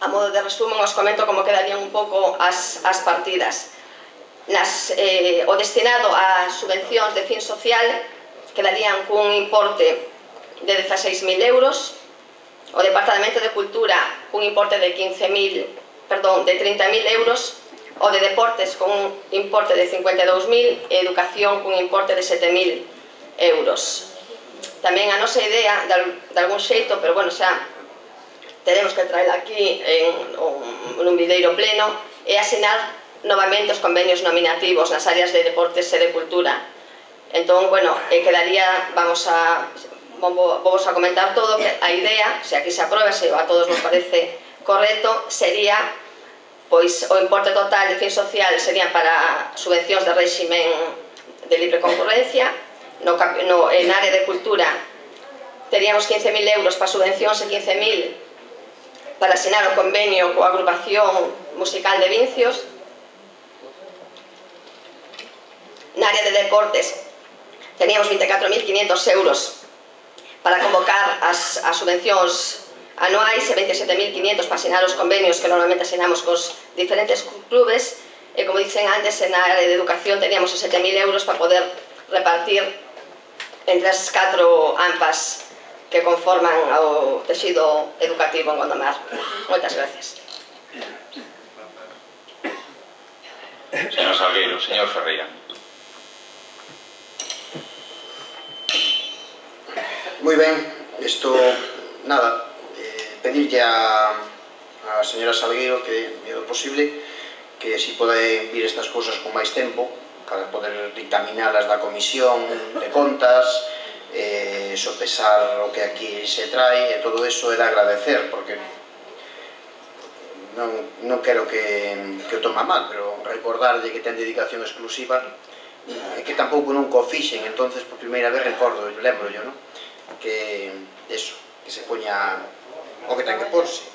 a modo de resumen, os comento como quedarían un pouco as, as partidas. Nas, eh, o destinado a subvencións de fin social quedarían cun importe de dezaseis mil euros, o Departamento de Cultura cun importe de quince mil perdón, de trinta mil euros, o de Deportes con un importe de cincuenta e dous mil e Educación con un importe de sete mil euros. Tamén a nosa idea, de algún xeito, pero bueno, xa teremos que traer aquí en un videiro pleno, é asinar novamente os convenios nominativos nas áreas de Deportes e de Cultura. Entón, bueno, quedaría, vamos a, vamos a comentar todo, que a idea, se aquí se aprueba, se a todos nos parece correcto, sería, pois, o importe total de fin social serían para subvencións de réximen de libre concurrencia. No, no, en área de cultura teríamos quince mil euros para subvencións e quince mil para asinar o convenio coa agrupación musical de Vincios. Na área de deportes teníamos vinte e catro mil quinhentos euros para convocar as, as subvencións anuais e veintisiete mil quinhentos para asinar os convenios que normalmente asinamos cos diferentes clubes, e como dicen antes, na área de educación teníamos os sete mil euros para poder repartir entre as catro AMPAs que conforman o texido educativo en Gondomar. Moitas gracias. Señor Salgueiro, señor Ferreira. Moi ben, isto, nada, pedirlle a, a señora Salgueiro que, é o posible, que si pode vir estas cousas con máis tempo para poder dictaminalas da Comisión de Contas, eh, sopesar o que aquí se trae, e todo eso é de agradecer, porque non, non quero que, que o toma mal, pero recordarlle que ten dedicación exclusiva e que tampouco nunca o fixen, entonces por primeira vez recordo, lembro yo, non? Que eso, que se poña o que ten que porse.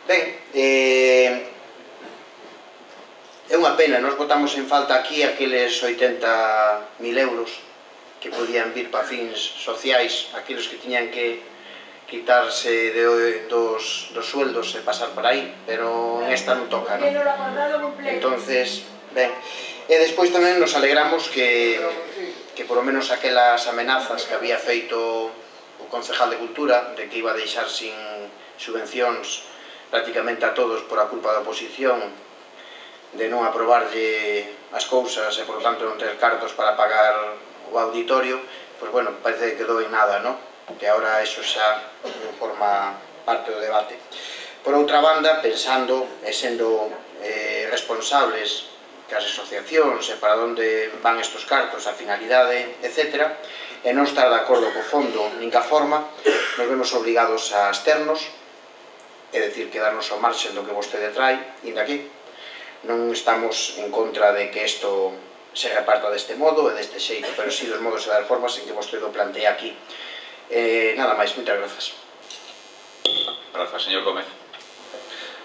Ben, eh, é unha pena, nos botamos en falta aquí aqueles oitenta mil euros que podían vir para fins sociais, aqueles que tiñan que quitarse de, dos, dos sueldos e pasar por aí, pero en esta non toca, non? Entonces, ben, e despois tamén nos alegramos que, que por lo menos aquelas amenazas que había feito o concejal de Cultura de que iba a deixar sin subvencións prácticamente a todos por a culpa da oposición, de non aprobarlle as cousas e, por lo tanto, non ter cartos para pagar o auditorio, pois, bueno, parece que quedou en nada, non? Que agora eso xa non forma parte do debate. Por outra banda, pensando e sendo eh, responsables que as asociacións e para onde van estos cartos, a finalidade, etcétera, e non estar de acordo co fondo nin ca forma, nos vemos obrigados a absternos, é dicir, quedarnos ao marxen do que vostede trai, inda aquí. Non estamos en contra de que isto se reparta deste modo e deste xeito, pero sí dos modos e das formas en que vostede o plantea aquí. Eh, nada máis, moitas grazas. Grazas, señor Gómez.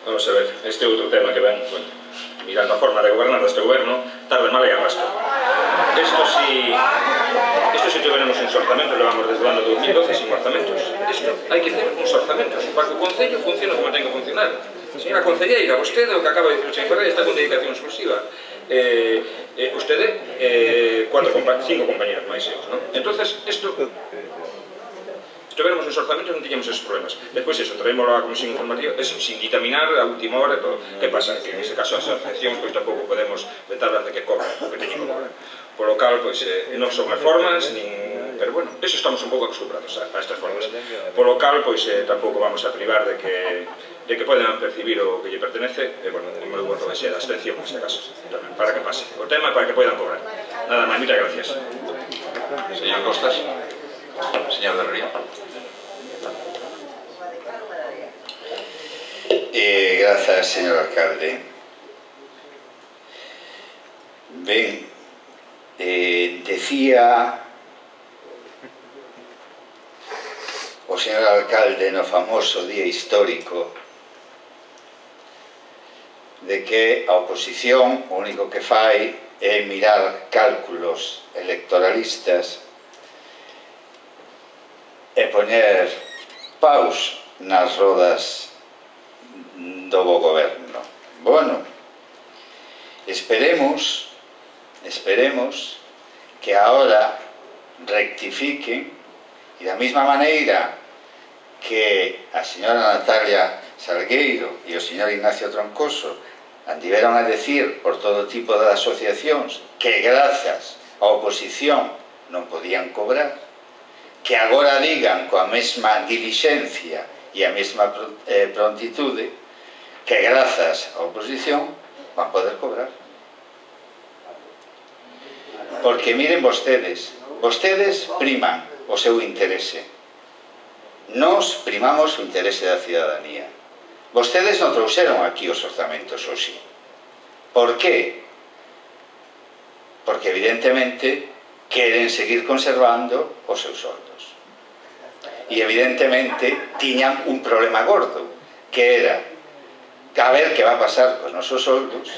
Vamos a ver, este outro tema que ven, bueno, mirando a forma de gobernar deste goberno, tarde, mal e arrastra. Esto si... Esto si tuviéramos un orzamento, levamos desde o ano dos mil doce sin orzamentos. Isto hai que ter uns orzamentos para que o Concello funcione como ten que funcionar. Señora Concelleira, vostede, o que acaba de dicir o señor Ferreira, está con dedicación exclusiva. Eh, eh, vostede, eh, cuatro, cinco compañeros máis eus, non? Entonces, isto... Se tuviéramos uns orzamentos non tiñamos esos problemas. Despois eso, traemos a comisión informativa, eso, sin ditaminar a última hora e todo. Que pasa? Que en ese caso as asociacións pois tampouco podemos vetarlas de que cobran o que teñen que cobrar. Por lo cal, pois, eh, non son reformas, nin... pero bueno, eso estamos un pouco acostumbrados a, a estas formas. Por lo cal, pois, eh, tampouco vamos a privar de que de que poden percibir o que lle pertenece, e, bueno, o meu voto vai ser a abstención, neste caso, tamén, para que pase o tema e para que poidan cobrar. Nada máis, moitas gracias. Señor Costas. Señor del Río. Eh, grazas, señor alcalde. Ben, eh, decía o señor alcalde no famoso día histórico de que a oposición o único que fai é mirar cálculos electoralistas e poñer paus nas rodas do bo goberno. Bueno, esperemos, esperemos que ahora rectifiquen e da mesma maneira que a señora Natalia Salgueiro e o señor Ignacio Troncoso andiveron a decir por todo tipo de asociacións que grazas á oposición non podían cobrar, que agora digan coa mesma dilixencia e a mesma prontitude que grazas á oposición van poder cobrar. Porque miren vostedes, vostedes priman o seu interese. Nos primamos o interese da cidadanía. Vostedes non trouxeron aquí os orzamentos hoxe. Por qué? Porque evidentemente queren seguir conservando os seus soldos. E evidentemente tiñan un problema gordo, que era a ver que va a pasar cos nosos soldos,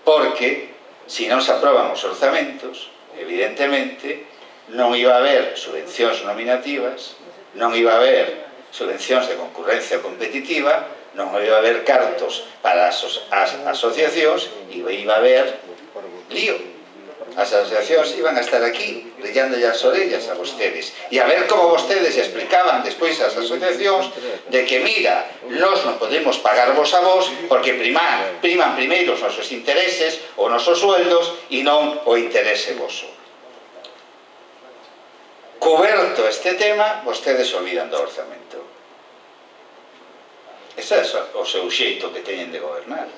porque se non se aproban os orzamentos, evidentemente non iba a haber subvencións nominativas, non iba a haber subvencións de concurrencia competitiva, non iba a haber cartos para as asociacións e iba a haber lío. As asociacións iban a estar aquí brillándolle as orellas a vostedes e a ver como vostedes explicaban despois as asociacións de que mira, nós non podemos pagarvos a vos porque priman, priman primeiro os nosos intereses, os nosos sueldos e non o interese voso. Coberto este tema, vostedes olvidan do orzamento. Ese é o seu xeito que teñen de gobernar.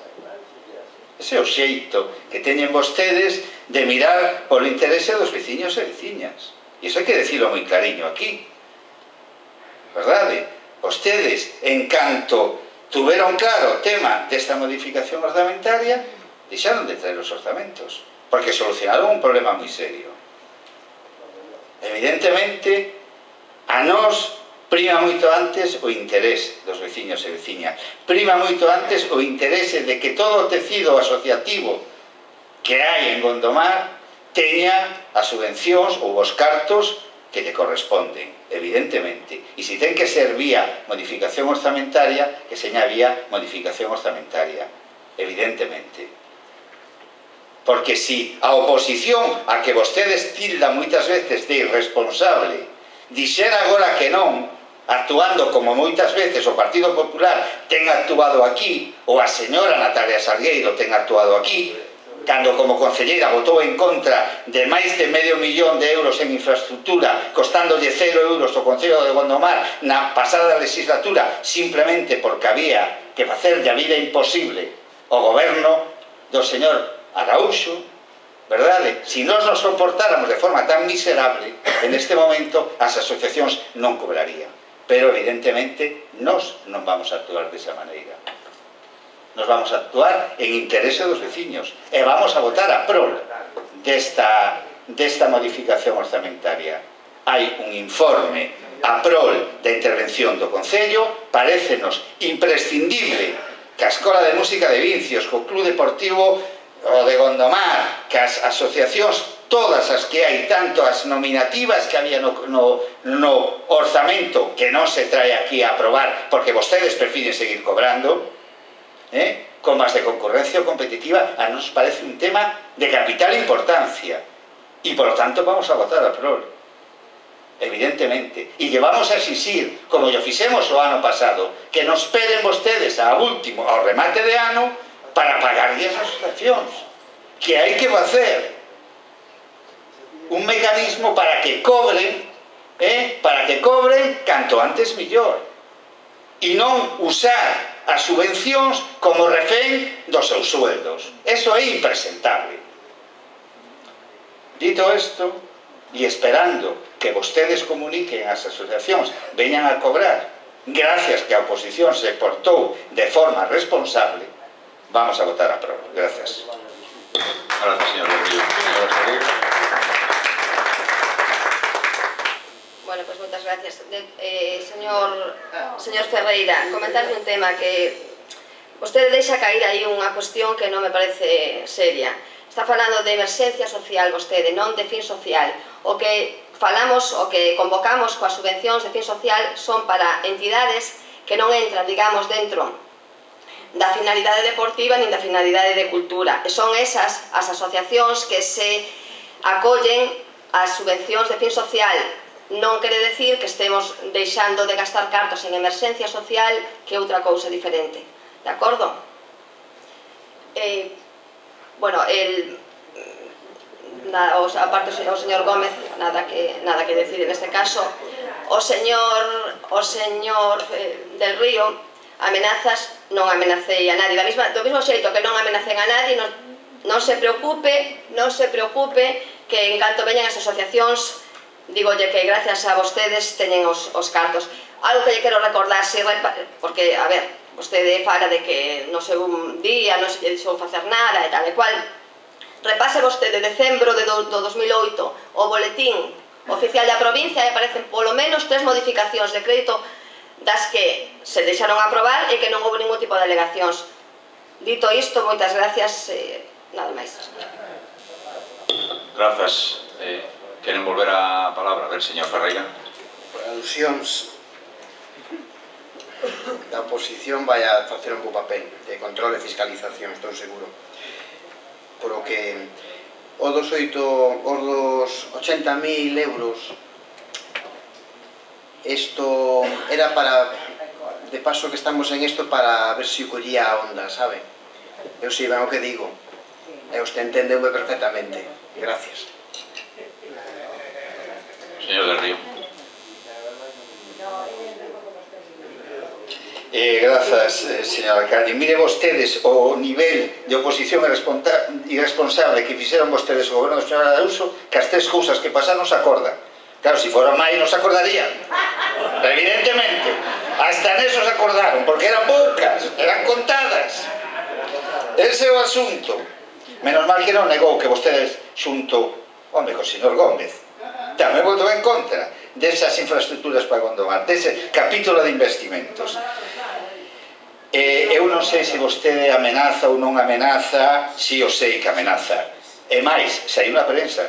Ese é o xeito que teñen vostedes de mirar polo interese dos veciños e veciñas. E iso hai que decirlo moi clariño aquí. Verdade? Vostedes, en canto tuveron claro o tema desta modificación orzamentaria, deixaron de traer os orzamentos. porque solucionaron un problema moi serio. Evidentemente, a nós prima moito antes o interés dos veciños e veciñas, prima moito antes o interese de que todo o tecido asociativo que hai en Gondomar teña as subvencións ou os cartos que lle corresponden, evidentemente. E se ten que ser vía modificación orzamentaria, que seña vía modificación orzamentaria, evidentemente. Porque si a oposición a que vostedes tildan moitas veces de irresponsable dixera agora que non, actuando como moitas veces o Partido Popular ten actuado aquí, ou a señora Natalia Salgueiro ten actuado aquí, cando como concelleira votou en contra de máis de medio millón de euros en infraestructura, costándolle cero euros ao Concello de Gondomar na pasada legislatura, simplemente porque había que facerlle a vida imposible ao goberno do señor Araúxo, verdade? Si nós nos comportáramos de forma tan miserable, en este momento as asociacións non cobrarían. Pero, evidentemente, nós non vamos a actuar desa maneira. Nos vamos a actuar en interese dos veciños e vamos a votar a prol desta, desta modificación orzamentaria. Hai un informe a prol da intervención do Concello, parécenos imprescindible que a Escola de Música de Vincios, que o Club Deportivo o de Gondomar, que as asociacións todas as que hai, tanto as nominativas que había no, no, no orzamento, que non se trae aquí a aprobar porque vostedes prefiren seguir cobrando, eh, como as de concurrencia competitiva, a nos parece un tema de capital importancia e, por lo tanto, vamos a votar a prol, evidentemente, e llevamos a exixir, como yo fixemos o ano pasado, que nos esperen vostedes ao último, ao remate de ano, para pagar as asociacións, que hai que facer un mecanismo para que cobren, eh, para que cobren canto antes millor, e non usar as subvencións como refén dos seus sueldos. Eso é impresentable. Dito isto, e esperando que vostedes comuniquen as asociacións veñan a cobrar, gracias que a oposición se portou de forma responsable, vamos a votar a prova. Gracias. Gracias, señor Río. Señora Ferreira. Bueno, pues moitas gracias. De, eh, señor, señor Ferreira, comentarle un tema que vostede deixa cair aí unha cuestión que non me parece seria. Está falando de emerxencia social vostede, non de fin social. O que falamos, o que convocamos coas subvencións de fin social son para entidades que non entran, digamos, dentro da finalidade deportiva nin da finalidade de cultura. E son esas as asociacións que se acollen as subvencións de fin social. Non quere decir que estemos deixando de gastar cartos en emerxencia social, que é outra cousa diferente. De acordo? Eh, bueno, el, na, o, aparte o señor Gómez, nada que, nada que decir en este caso. O señor, o señor eh, del Río, amenazas, non amenacei a nadie. Da misma, do mesmo xeito que non amenacen a nadie, non, non se preocupe, non se preocupe que en canto veñan as asociacións, digolle que gracias a vostedes teñen os, os cartos. Algo que lle quero recordar, si, porque, a ver, vostede fala de que no seu día non se lle deixou facer nada e tal e cual. Repase vostede decembro de do, do dos mil oito o boletín oficial da provincia e aparecen polo menos tres modificacións de crédito das que se deixaron aprobar e que non houve ningún tipo de alegacións. Dito isto, moitas gracias, eh, nada máis. Grazas. Eh, queren volver a palabra? A ver, señor Ferreira. Por alusións, da oposición vai a facer un bo papel de control e fiscalización, estou seguro. Por o que o dos oito, os dos ochenta mil euros, isto era para, de paso que estamos en isto, para ver se o collía a onda, sabe? Eu sei ben o que digo, e usted entendeume perfectamente. Gracias. Señor del Río. Eh, grazas, eh, señor alcalde. Mire vostedes o nivel de oposición irresponsable que fixeron vostedes o goberno do señor Araúxo, que as tres cousas que pasaron se acordan. Claro, se fora máis non se acordarían. Evidentemente. Hasta neso se acordaron, porque eran poucas, eran contadas. Ese é o asunto. Menos mal que non negou que vostedes xunto, home, co señor Gómez, tamén votou en contra desas infraestructuras para Gondomar, dese capítulo de investimentos. Eh, eu non sei se vostede amenaza ou non amenaza, si o sei que amenaza. E máis, se hai unha prensa,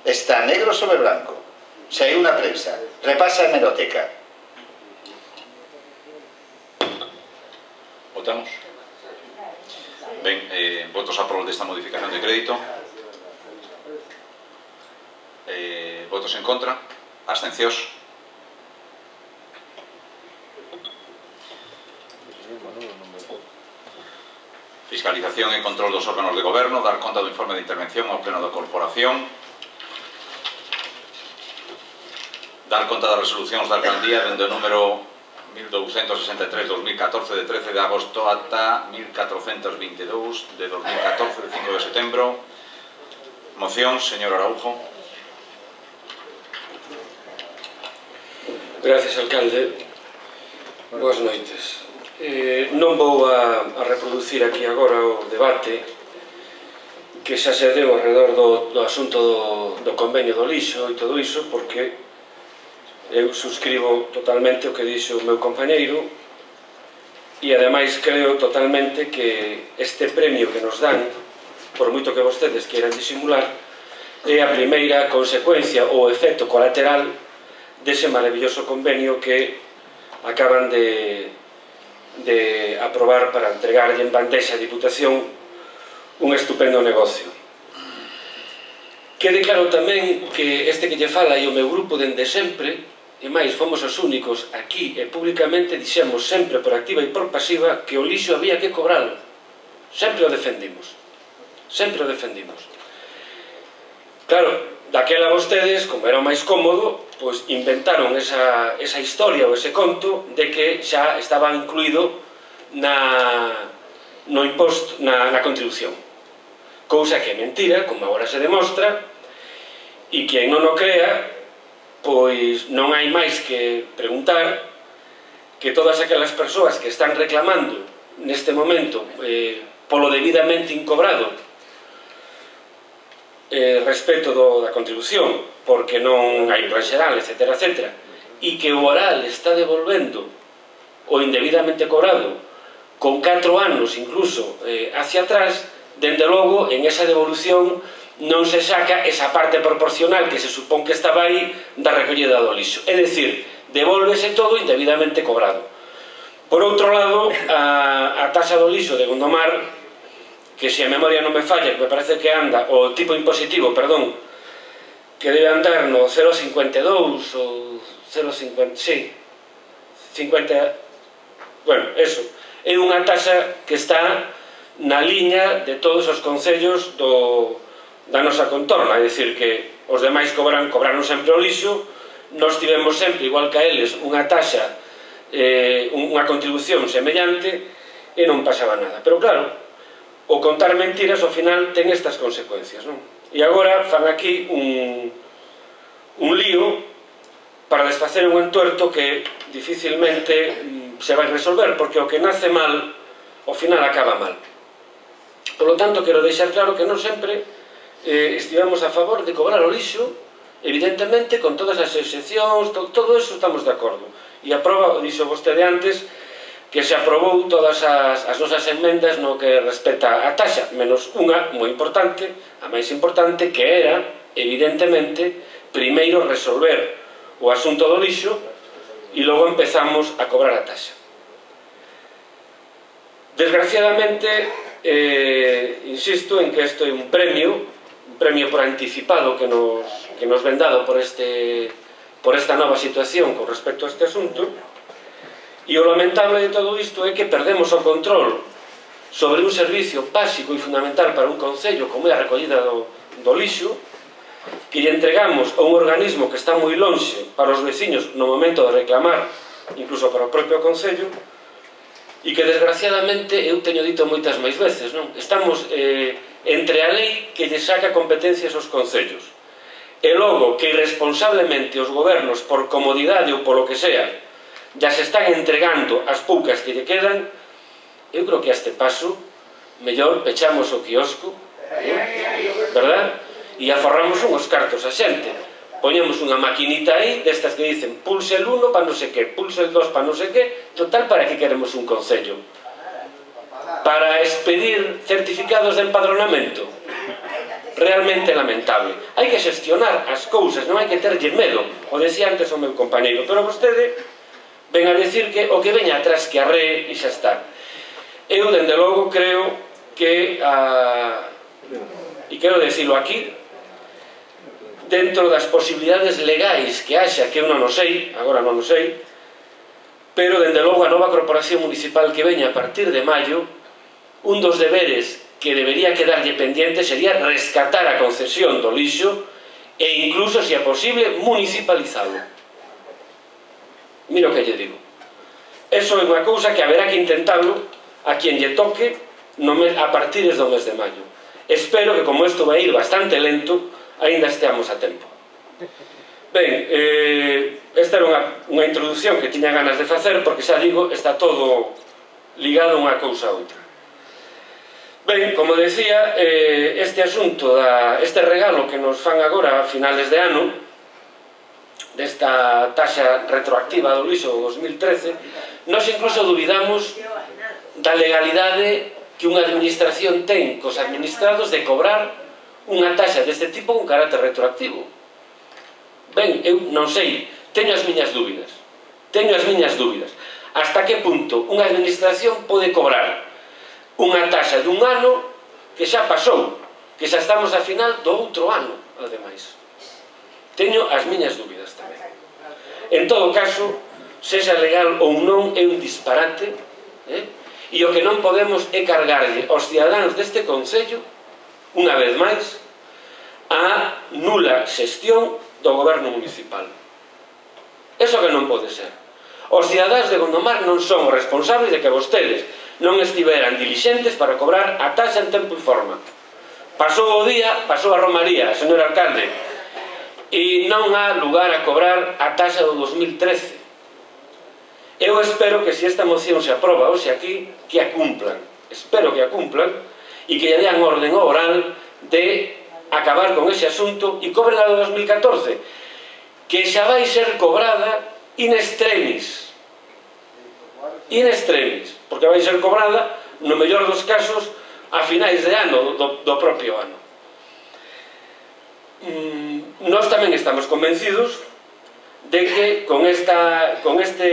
está negro sobre blanco, se hai unha prensa, repasa a hemeroteca. Votamos. Ben, eh, votos a prol desta modificación de crédito. Eh, votos en contra. Abstencións. Fiscalización e control dos órganos de goberno, dar conta do informe de intervención ao pleno da corporación, dar conta das resolucións da alcaldía dende o número mil douscentos sesenta e tres barra dos mil catorce de trece de agosto ata mil catrocentos vinte e dous de dos mil catorce de cinco de setembro. Moción, señor Araujo. Gracias, alcalde. Boas noites. Eh, non vou a, a reproducir aquí agora o debate que xa se deu alrededor do, do asunto do, do convenio do lixo e todo iso, porque eu suscribo totalmente o que dixo o meu compañeiro e ademais creo totalmente que este premio que nos dan, por moito que vostedes queiran disimular, é a primeira consecuencia ou efecto colateral dese maravilloso convenio que acaban de de aprobar para entregarlle en bandexa a Diputación un estupendo negocio. Quede claro tamén que este que lle fala e o meu grupo dende sempre, e máis fomos os únicos aquí e públicamente dixemos sempre por activa e por pasiva que o lixo había que cobralo. Sempre o defendimos. Sempre o defendimos. Claro, daquela vostedes, como era o máis cómodo, pois inventaron esa, esa historia ou ese conto de que xa estaba incluído na, no imposto, na, na contribución. Cousa que é mentira, como agora se demostra, e quen non o crea, pois non hai máis que preguntar que todas aquelas persoas que están reclamando neste momento eh, polo debidamente incobrado eh, respecto do, da contribución, porque non hai plan xeral, etcétera, etcétera, e que o oral está devolvendo o indebidamente cobrado con catro anos incluso eh, hacia atrás, dende logo en esa devolución non se saca esa parte proporcional que se supón que estaba aí da recollida do lixo, é dicir, devólvese todo indebidamente cobrado. Por outro lado, a, a taxa do lixo de Gondomar, que se a memoria non me falla, que me parece que anda, o tipo impositivo, perdón, que debe andar no cero coma cincuenta e dous ou cero coma cincuenta, sí, cincuenta, bueno, eso, é unha taxa que está na liña de todos os concellos do, da nosa contorna, é dicir que os demais cobran, cobraron sempre o lixo, nós tivemos sempre, igual que a eles, unha taxa, eh, unha contribución semellante e non pasaba nada. Pero claro, o contar mentiras ao final ten estas consecuencias, non? E agora fan aquí un, un lío para desfacer un entuerto que dificilmente se vai resolver, porque o que nace mal, ao final acaba mal. Por lo tanto, quero deixar claro que non sempre eh, estivemos a favor de cobrar o lixo, evidentemente, con todas as excepcións, to, todo eso estamos de acordo. E a prova, dixo vostede antes, que se aprobou todas as, as nosas enmendas no que respecta a taxa, menos unha moi importante, a máis importante, que era, evidentemente, primeiro resolver o asunto do lixo e logo empezamos a cobrar a taxa. Desgraciadamente, eh, insisto en que isto é un premio, un premio por anticipado que nos, que nos ven dado por, este, por esta nova situación con respecto a este asunto. E o lamentable de todo isto é que perdemos o control sobre un servicio básico e fundamental para un concello como é a recollida do, do lixo, que lle entregamos a un organismo que está moi lonxe para os veciños no momento de reclamar, incluso para o propio concello, e que desgraciadamente eu teño dito moitas máis veces, non? Estamos eh, entre a lei que lle saca competencias aos concellos e logo que irresponsablemente os gobernos, por comodidade ou polo que sea, ya se están entregando as poucas que lle quedan. Eu creo que a este paso mellor pechamos o quiosco, verdad? E aforramos unhos cartos a xente. Poñemos unha maquinita aí, destas que dicen pulse el uno para non sei que, pulse el dos para non sei que, total, para que queremos un concello? Para expedir certificados de empadronamento? Realmente lamentable. Hai que xestionar as cousas, non hai que terlle medo. O decía antes o meu compañeiro, pero vostede ven a decir que o que veña atrás que arree e xa está. Eu, dende logo, creo que a... e quero decirlo aquí, dentro das posibilidades legais que haxa, que eu non o sei, agora non o sei, pero, dende logo, a nova corporación municipal que veña a partir de maio, un dos deberes que debería quedarlle pendiente sería rescatar a concesión do lixo e incluso, se é posible, municipalizalo. Mira o que lle digo. Eso é unha cousa que haberá que intentarlo a quien lle toque a partir do mes de maio. Espero que, como isto vai ir bastante lento, aínda esteamos a tempo. Ben, esta era unha introducción que tiña ganas de facer, porque, xa digo, está todo ligado unha cousa a outra. Ben, como decía, este asunto, este regalo que nos fan agora a finales de ano, desta taxa retroactiva do lixo do dos mil trece, nós incluso dubidamos da legalidade que unha administración ten cos administrados de cobrar unha taxa deste tipo con carácter retroactivo. Ben, eu non sei, teño as miñas dúbidas. Teño as miñas dúbidas. Hasta que punto unha administración pode cobrar unha taxa dun ano que xa pasou, que xa estamos a final do outro ano, ademais. Teño as miñas dúbidas tamén. En todo caso, sexa legal ou non, é un disparate, e o que non podemos é cargarlle aos ciudadanos deste concello, unha vez máis, a nula xestión do goberno municipal. Eso que non pode ser. Os cidadáns de Gondomar non son responsables de que vostedes non estiveran dilixentes para cobrar a taxa en tempo e forma. Pasou o día, pasou a romaría, señor alcalde, e non há lugar a cobrar a taxa do dos mil trece. Eu espero que se esta moción se aproba hoxe aquí, que a cumplan. Espero que a cumplan e que lle dean orden ao oral de acabar con ese asunto e cobren a do dos mil catorce, que xa vai ser cobrada in extremis. In extremis, porque vai ser cobrada, no mellor dos casos, a finais de ano, do propio ano. Nós tamén estamos convencidos de que con este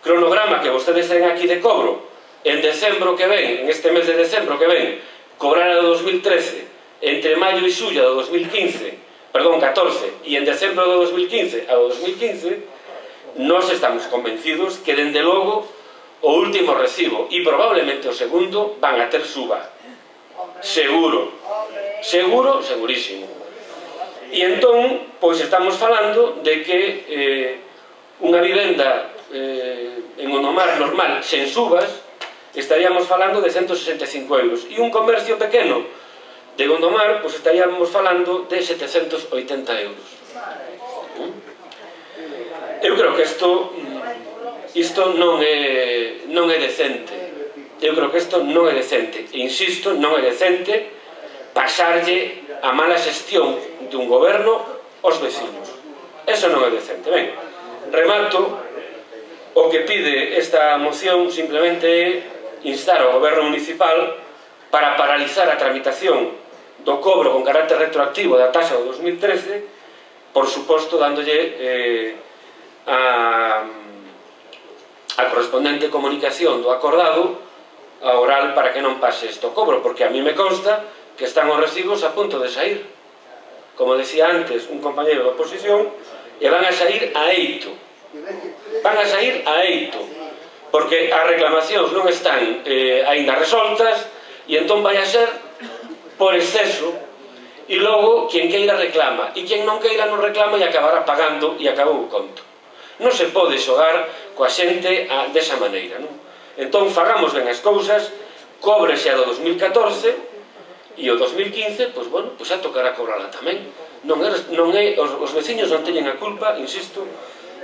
cronograma que vostedes ten aquí de cobro, en decembro que ven, en este mes de decembro que ven, cobrar a do dos mil trece, entre maio e xulla do dos mil quince, perdón, catorce, e en decembro do dos mil quince a do dos mil quince, nós estamos convencidos que, dende logo, o último recibo e probablemente o segundo van a ter suba. Seguro. Seguro, segurísimo. E entón, pois estamos falando de que unha vivenda en Gondomar normal, sen subas, estaríamos falando de ciento sesenta e cinco euros. E un comercio pequeno de Gondomar, pois estaríamos falando de setecentos oitenta euros. Eu creo que isto isto non é non é decente. Eu creo que isto non é decente. E insisto, non é decente pasarlle a mala xestión dun goberno aos vecinos. Eso non é decente. Ben, remato. O que pide esta moción simplemente é instar ao goberno municipal para paralizar a tramitación do cobro con carácter retroactivo da taxa do dos mil trece, por suposto dándolle eh, a, a correspondente comunicación do acordado a oral para que non pase isto cobro, porque a mí me consta que están os recibos a punto de sair, como decía antes un compañeiro da oposición, e van a sair a eito, van a sair a eito, porque as reclamacións non están eh, aínda resoltas, e entón vai a ser por exceso, e logo quen queira reclama, e quen non queira non reclama e acabará pagando e acabou o conto. Non se pode xogar coa xente a, desa maneira, non? Entón fagamos ben as cousas, cóbrese a do dos mil catorce, e o dos mil quince, pois, bueno, pois a tocará cobrala tamén. Non é, non é, os, os veciños non teñen a culpa, insisto,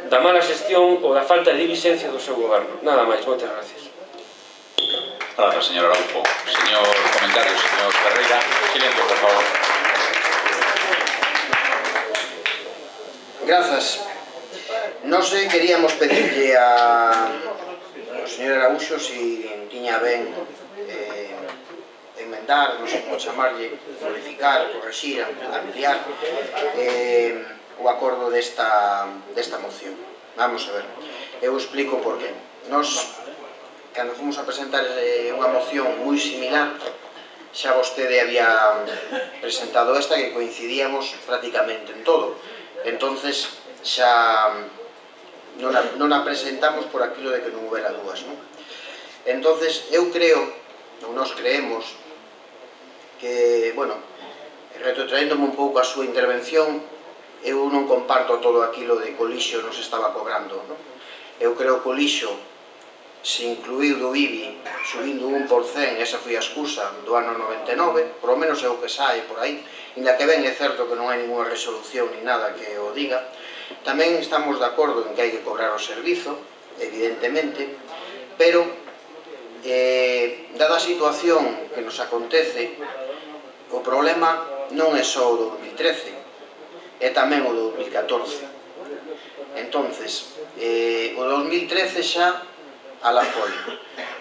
da mala xestión ou da falta de dilixencia do seu goberno. Nada máis, moitas gracias. Gracias, señor Araujo. Señor comentario, señor Ferreira. Silencio, por favor. Grazas. Nós queríamos pedirle a ao señor Arauxo si tiña ben eh, enmendar, non sei como chamarlle, modificar, corregir, ampliar eh, o acordo desta, desta moción. Vamos a ver, eu explico por qué. Nos, cando fomos a presentar eh, unha moción moi similar, xa vostede había presentado esta que coincidíamos prácticamente en todo. Entonces xa non a, non a presentamos por aquilo de que non houbera dúas, non? Entonces eu creo, ou nós creemos, que, bueno, retrotraéndome un pouco a súa intervención, eu non comparto todo aquilo de que o lixo nos estaba cobrando, non? Eu creo que o lixo se incluiu do I B I subindo un por cento, esa foi a excusa do ano noventa e nove, por lo menos é o que sae por aí, inda que ben é certo que non hai ninguna resolución ni nada que o diga. Tamén estamos de acordo en que hai que cobrar o servizo, evidentemente, pero eh, dada a situación que nos acontece, o problema non é só o do dos mil trece, é tamén o do dos mil catorce. Entonces, eh, o dos mil trece xa ala foi.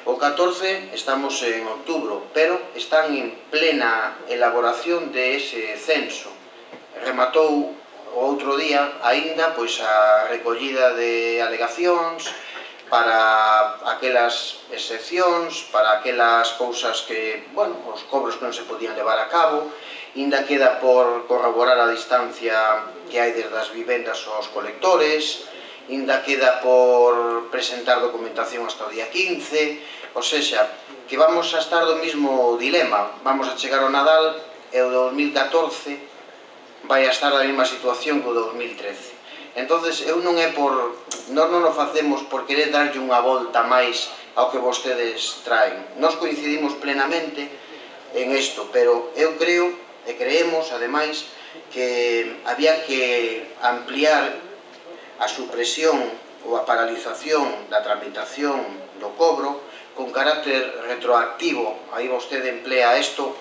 O catorce estamos en outubro, pero están en plena elaboración de ese censo. Rematou o outro día aínda pois a recollida de alegacións para aquelas excepcións, para aquelas cousas que, bueno, os cobros que non se podían levar a cabo, ainda queda por corroborar a distancia que hai desde as vivendas aos colectores, ainda queda por presentar documentación hasta o día quince, ou seja, que vamos a estar do mesmo dilema, vamos a chegar ao Nadal e o dos mil catorce vai a estar na mesma situación que o dos mil trece. Entonces, eu non é por... Nós non o facemos por querer darlle unha volta máis ao que vostedes traen. Nós coincidimos plenamente en isto, pero eu creo e creemos, ademais, que había que ampliar a supresión ou a paralización da tramitación do cobro con carácter retroactivo. Aí vostede emplea isto.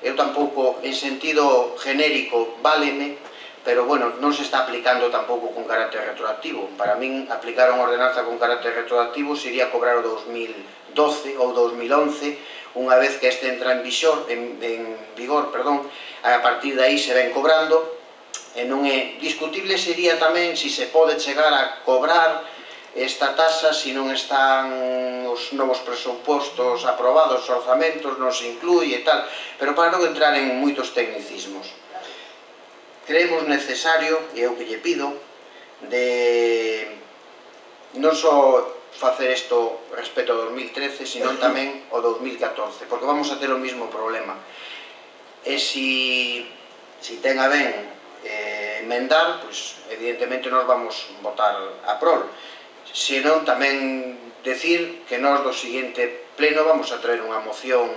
Eu tampouco, en sentido genérico, váleme, pero, bueno, non se está aplicando tampouco con carácter retroactivo. Para min, aplicar unha ordenanza con carácter retroactivo sería cobrar o dos mil doce ou dos mil once, unha vez que este entra en vigor, en, en vigor, perdón, a partir de aí se ven cobrando, e non é discutible sería tamén se se pode chegar a cobrar esta tasa se non están os novos presupostos aprobados, os orzamentos, non se inclui e tal, pero para non entrar en moitos tecnicismos. Creemos necesario, e eu que lle pido, de non só facer isto respecto ao dos mil trece, sino tamén ao dos mil catorce, porque vamos a ter o mesmo problema. E se si ten a ben eh, emendar, pois evidentemente nós vamos votar a prol. Se non, tamén decir que nós do seguinte pleno vamos a traer unha moción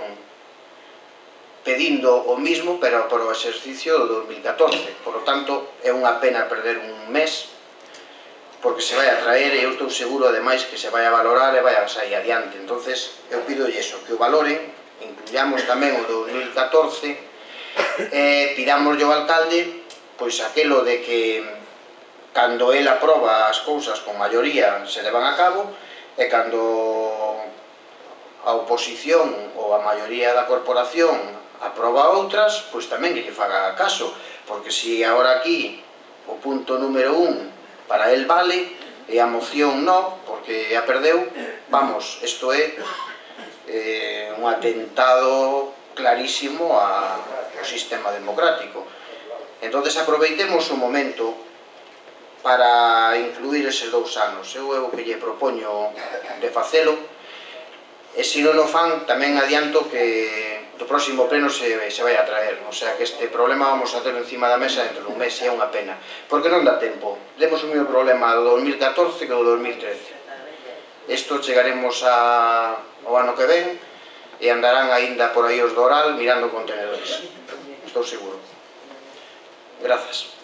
pedindo o mismo, pero por o exercicio do dos mil catorce. Por lo tanto, é unha pena perder un mes, porque se vai a traer, e eu estou seguro, ademais, que se vai a valorar e vai a sair adiante. Entonces, eu pido iso, que o valoren, incluyamos tamén o dos mil catorce, e pidamos ao alcalde, pois aquelo de que cando el aproba as cousas con maioría se levan a cabo, e cando a oposición ou a maioría da corporación aproba outras, pois tamén que lle faga caso, porque se agora aquí o punto número un para el vale e a moción non, porque a perdeu, vamos, isto é eh, un atentado clarísimo ao sistema democrático. Entonces aproveitemos o momento para incluir eses dous anos. Eu é o que lle propoño de facelo, e se non o fan, tamén adianto que do próximo pleno se, se vai a traer. O sea que este problema vamos a ter encima da mesa dentro dun mes, e é unha pena. Porque non dá tempo. Demos o mesmo problema do dos mil catorce que do dos mil trece. Isto chegaremos a, ao ano que ven, e andarán aínda por aí os do Oral mirando contenedores. Estou seguro. Grazas.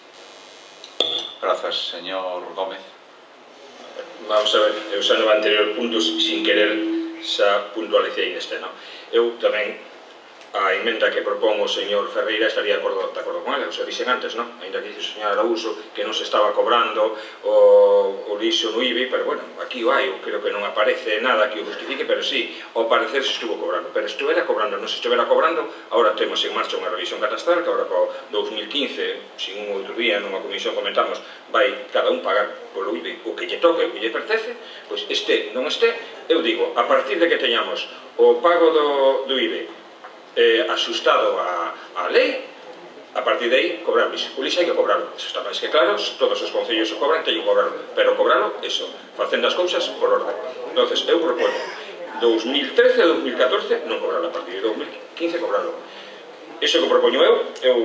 Grazas, señor Gómez. Vamos a ver, eu xa no anterior punto, sin querer xa puntualicei neste, non? Eu tamén, a emenda que propón o señor Ferreira estaría de acordo, de acordo con ela, o sea, dixen antes, non? Ainda que dixe o señor Arauso que non se estaba cobrando o, o lixo no I B I, pero bueno, aquí o hai, eu creo que non aparece nada que o justifique, pero sí, ao parecer se estuvo cobrando, pero estuvera cobrando, non se estuvera cobrando, agora temos en marcha unha revisión catastral, que agora co dous mil quince, sin un outro día, nunha comisión comentamos, vai cada un pagar polo I B I o que lle toque, o que lle pertence, pois este, non este, eu digo, a partir de que teñamos o pago do, do I B I Eh, asustado a, a lei, a partir de aí cobrar o lixo. O lixo hai que cobrarlo, eso está máis que claro, todos os concellos o cobran, teñen que cobrarlo, pero cobrarlo, eso, facendo as cousas por orden. Entonces, eu propoño dous mil trece a dous mil catorce non cobrarlo, a partir de dous mil quince cobrarlo. Iso que propoño eu, eu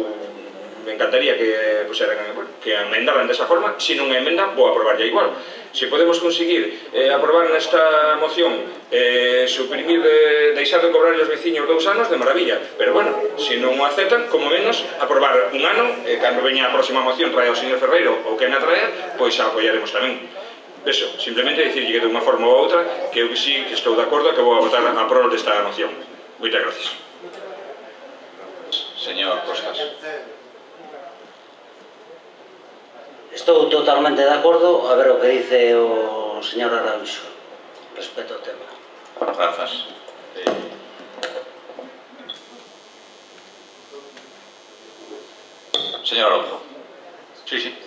me encantaría que, pues, eran, bueno, que emendaran desa forma, se non emenda, vou aprobar ya igual. Se podemos conseguir eh, aprobar nesta moción eh, suprimir, de, deixar de cobrar os veciños dous anos, de maravilla, pero bueno, se non o aceptan, como menos, aprobar un ano, eh, cando veña a próxima moción trae o señor Ferreiro ou que me atrae, pois a apoiaremos tamén. Eso, simplemente dicirlle que de unha forma ou outra, que eu sí que estou de acordo, que vou a votar a prol desta moción. Moitas gracias. Señor Costas. Estou totalmente de acordo a ver o que dice o señor Arauxo respecto ao tema. Grazas. Eh... Señor Arauxo. Sí, sí.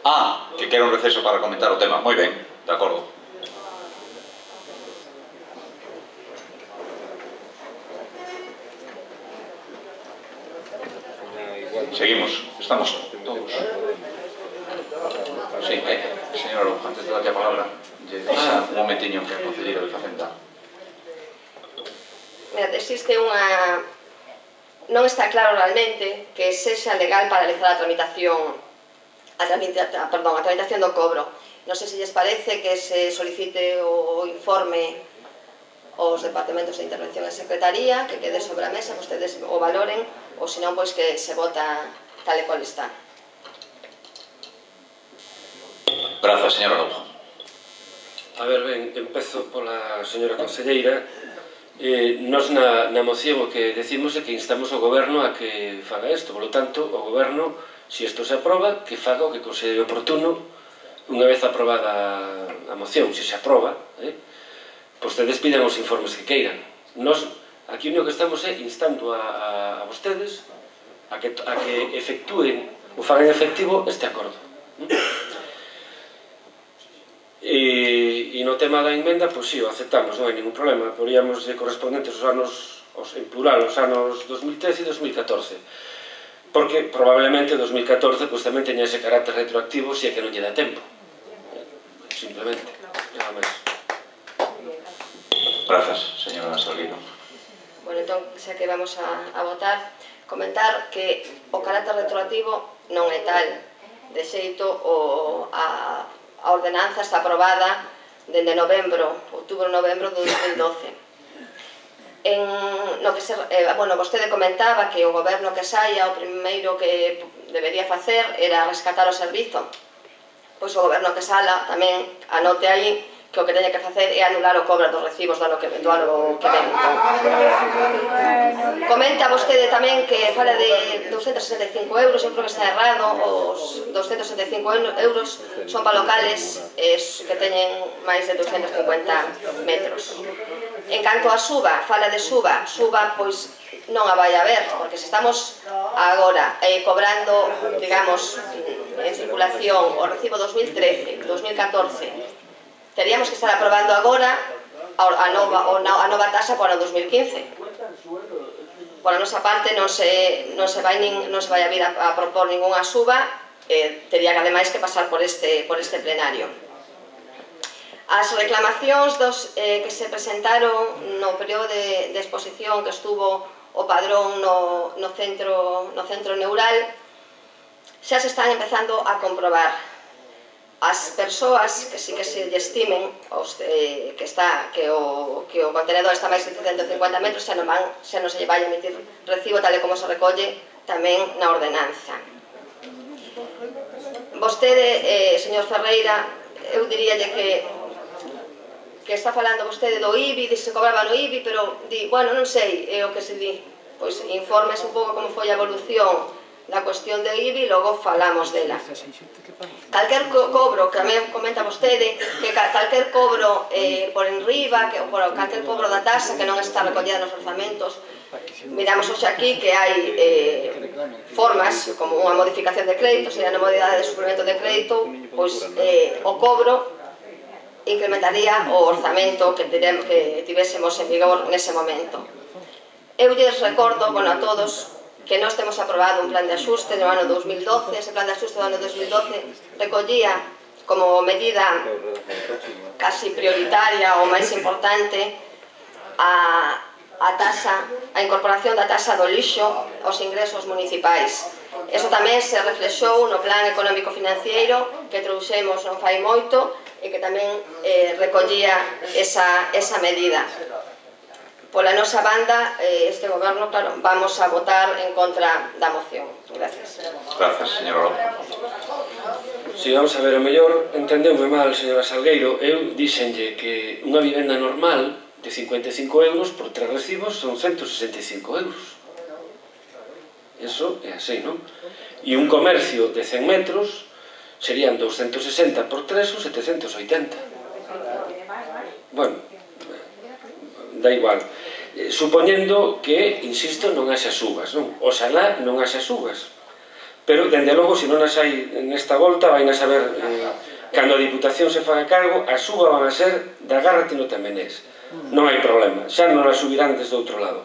Ah, que quero un receso para comentar o tema. Moi ben, de acordo. Seguimos. Estamos todos. Sí, eh, señor Araujo, antes de darlle a palabra, lle deixa un momentiño que a concelleira de Facenda. Mira, existe unha... Non está claro realmente que sexa legal paralizar a tramitación a, tramita... Perdón, a tramitación do cobro. Non sei se lles parece que se solicite o informe aos departamentos de intervención e secretaría, que quede sobre a mesa, que ustedes o valoren, ou senón, pois que se vota tal e cual está. Grazas, señor Araujo. A ver, ben, empezo pola señora conselleira. Eh, nos na, na moción o que decimos é que instamos ao goberno a que faga isto, polo tanto, o goberno, se isto se aproba, que faga o que considere oportuno, unha vez aprobada a moción, se se aproba, eh, pois vostedes pidan os informes que queiran. Nos, aquí o único que estamos é instando a, a, a vostedes a que, a que efectúen ou fagan efectivo este acordo. E, e no tema da enmenda, pois si, o aceptamos, non hai ningún problema. Poríamos de correspondentes os anos, os, en plural, os anos dos mil trece e dos mil catorce. Porque probablemente dos mil catorce pois tamén teña ese carácter retroactivo se é que non lle dá tempo. Simplemente, nada máis. Grazas, señora Salgueiro. Bueno, entón, xa que vamos a, a votar, comentar que o carácter retroactivo non é tal. De xeito, o, a, a ordenanza está aprobada dende novembro, outubro-novembro de dos mil doce. En, no que se, eh, bueno, vostede comentaba que o goberno que saia, o primeiro que debería facer era rescatar o servizo. Pois o goberno que sala tamén anote aí que o que teña que facer é anular o cobro dos recibos do ano que, do ano que ven. Comenta vostede tamén que fala de doscientos sesenta e cinco euros, eu creo que está errado, os doscientos sesenta e cinco euros son para locales eh, que teñen máis de doscientos cincuenta metros. En canto a suba, fala de suba, suba pois non a vai a ver, porque se estamos agora eh, cobrando, digamos, en circulación o recibo dos mil trece, dos mil catorce, teríamos que estar aprobando agora a nova, a nova tasa para o dos mil quince. Por a nosa parte non se, non se, vai, nin, non se vai a vir a, a propor ninguna suba, eh, tería que ademais que pasar por este, por este plenario. As reclamacións dos, eh, que se presentaron no período de, de exposición que estuvo o padrón no, no, centro, no centro neural xa se están empezando a comprobar. As persoas que sí que se estimen os, eh, que, está, que, o, que o contenedor está máis de ciento cincuenta metros xa non, van, xa non se lle vai a emitir recibo tal e como se recolle tamén na ordenanza. Vostede, eh, señor Ferreira, eu diríalle que que está falando vostede do I B I, dice se cobraba no I B I, pero di, bueno, non sei, é o que se di. Pois informes un pouco como foi a evolución da cuestión do I B I, logo falamos dela. Calquer co cobro, que tamén comenta vostede, que ca calquer cobro eh, por enriba, que, por calquer cobro da tasa que non está recollida nos orzamentos, miramos hoxe aquí que hai eh, formas, como unha modificación de crédito, sería a modalidade de suplemento de crédito, pois eh, o cobro incrementaría o orzamento que, tiremos, que tivésemos en vigor nese momento. Eu lles recordo, bueno, a todos, que nós temos aprobado un plan de axuste no ano dos mil doce. Ese plan de axuste do ano dos mil doce recollía como medida casi prioritaria ou máis importante a, a tasa, a incorporación da tasa do lixo aos ingresos municipais. Eso tamén se reflexou no plan económico financiero que trouxemos non fai moito e que tamén eh, recollía esa, esa medida. Pola nosa banda, este goberno, claro, vamos a votar en contra da moción. Gracias. Gracias, señora López. Si, vamos a ver, o mellor entendeume mal, señora Salgueiro. Eu dixenlle que unha vivenda normal de cincuenta e cinco euros por tres recibos son ciento sesenta e cinco euros. Eso é así, non? E un comercio de cen metros serían doscientos sesenta por tres ou setecientos oitenta. Bueno, da igual. Supoñendo que, insisto, non haxa subas, non? Oxalá non haxa subas. Pero, dende logo, se non as hai nesta volta, vai a saber, eh, cando a Diputación se faga cargo, a suba van a ser da Gárrate no Temenés. Non hai problema, xa non a subirán desde outro lado.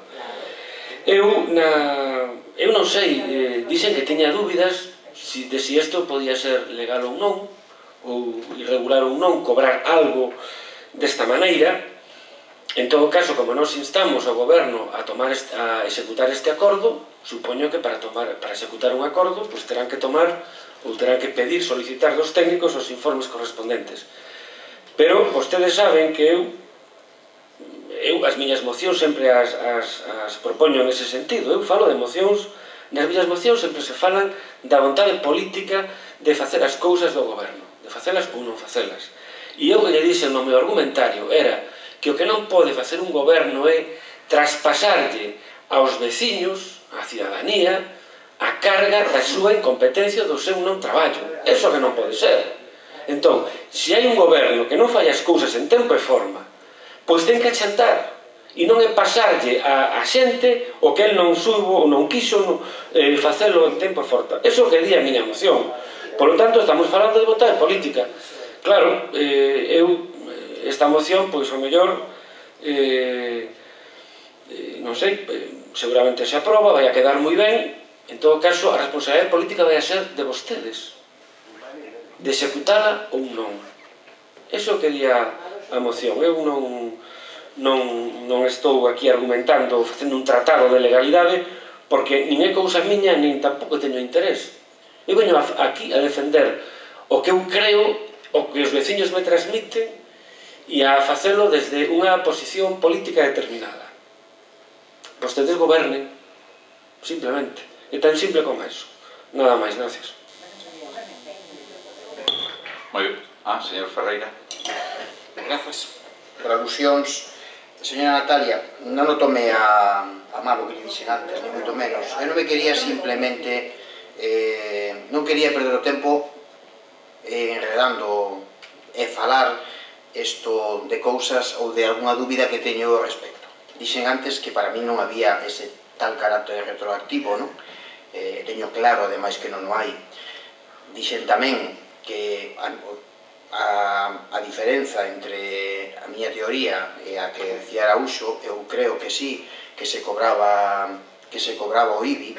Eu, na... eu non sei, eh, dixen que teña dúbidas si, de si isto podía ser legal ou non, ou irregular ou non, cobrar algo desta maneira. En todo caso, como nos instamos ao goberno a tomar este, a executar este acordo, supoño que para tomar para executar un acordo, pues terán que tomar ou terán que pedir, solicitar dos técnicos os informes correspondentes. Pero vostedes saben que eu eu as miñas mocións sempre as, as, as propoño nese sentido. Eu falo de mocións, nas miñas mocións sempre se falan da vontade política de facer as cousas do goberno, de facelas ou non facelas. E eu que lle dixen no meu argumentario era que o que non pode facer un goberno é traspasarlle aos veciños, á cidadanía, a carga da súa incompetencia do seu non traballo. Eso que non pode ser. Entón, se hai un goberno que non fai as cousas en tempo e forma, pois ten que achantar. E non é pasarlle a, a xente o que el non subo ou non quiso no, eh, facelo en tempo e forma. Eso que di a miña moción. Por lo tanto, estamos falando de vontade política. Claro, eh, eu esta moción, pois, o mellor, eh, eh, non sei, eh, seguramente se aproba, vai a quedar moi ben. En todo caso, a responsabilidade política vai a ser de vostedes, de executala ou non. Eso que di a, a moción. Eu non, non, non estou aquí argumentando, facendo un tratado de legalidade, porque nin é cousa miña, nin tampouco teño interés. Eu veño aquí a defender o que eu creo, o que os veciños me transmiten, e a facelo desde unha posición política determinada. Vostedes gobernen, simplemente. É tan simple como eso. Nada máis, gracias. Moi ben. Ah, señor Ferreira. Grazas por alusións. Señora Natalia, non o tome a, a mal o que lle dixen antes, ni moito menos. Eu non me quería simplemente... Eh, non quería perder o tempo eh, enredando e falar isto de cousas ou de alguna dúbida que teño ao respecto. Dixen antes que para mí non había ese tal carácter retroactivo, non? Eh, teño claro, ademais, que non o hai. Dixen tamén que a, a, a diferenza entre a miña teoría e a que decía Araúxo, eu creo que sí, que se cobraba que se cobraba o I B I,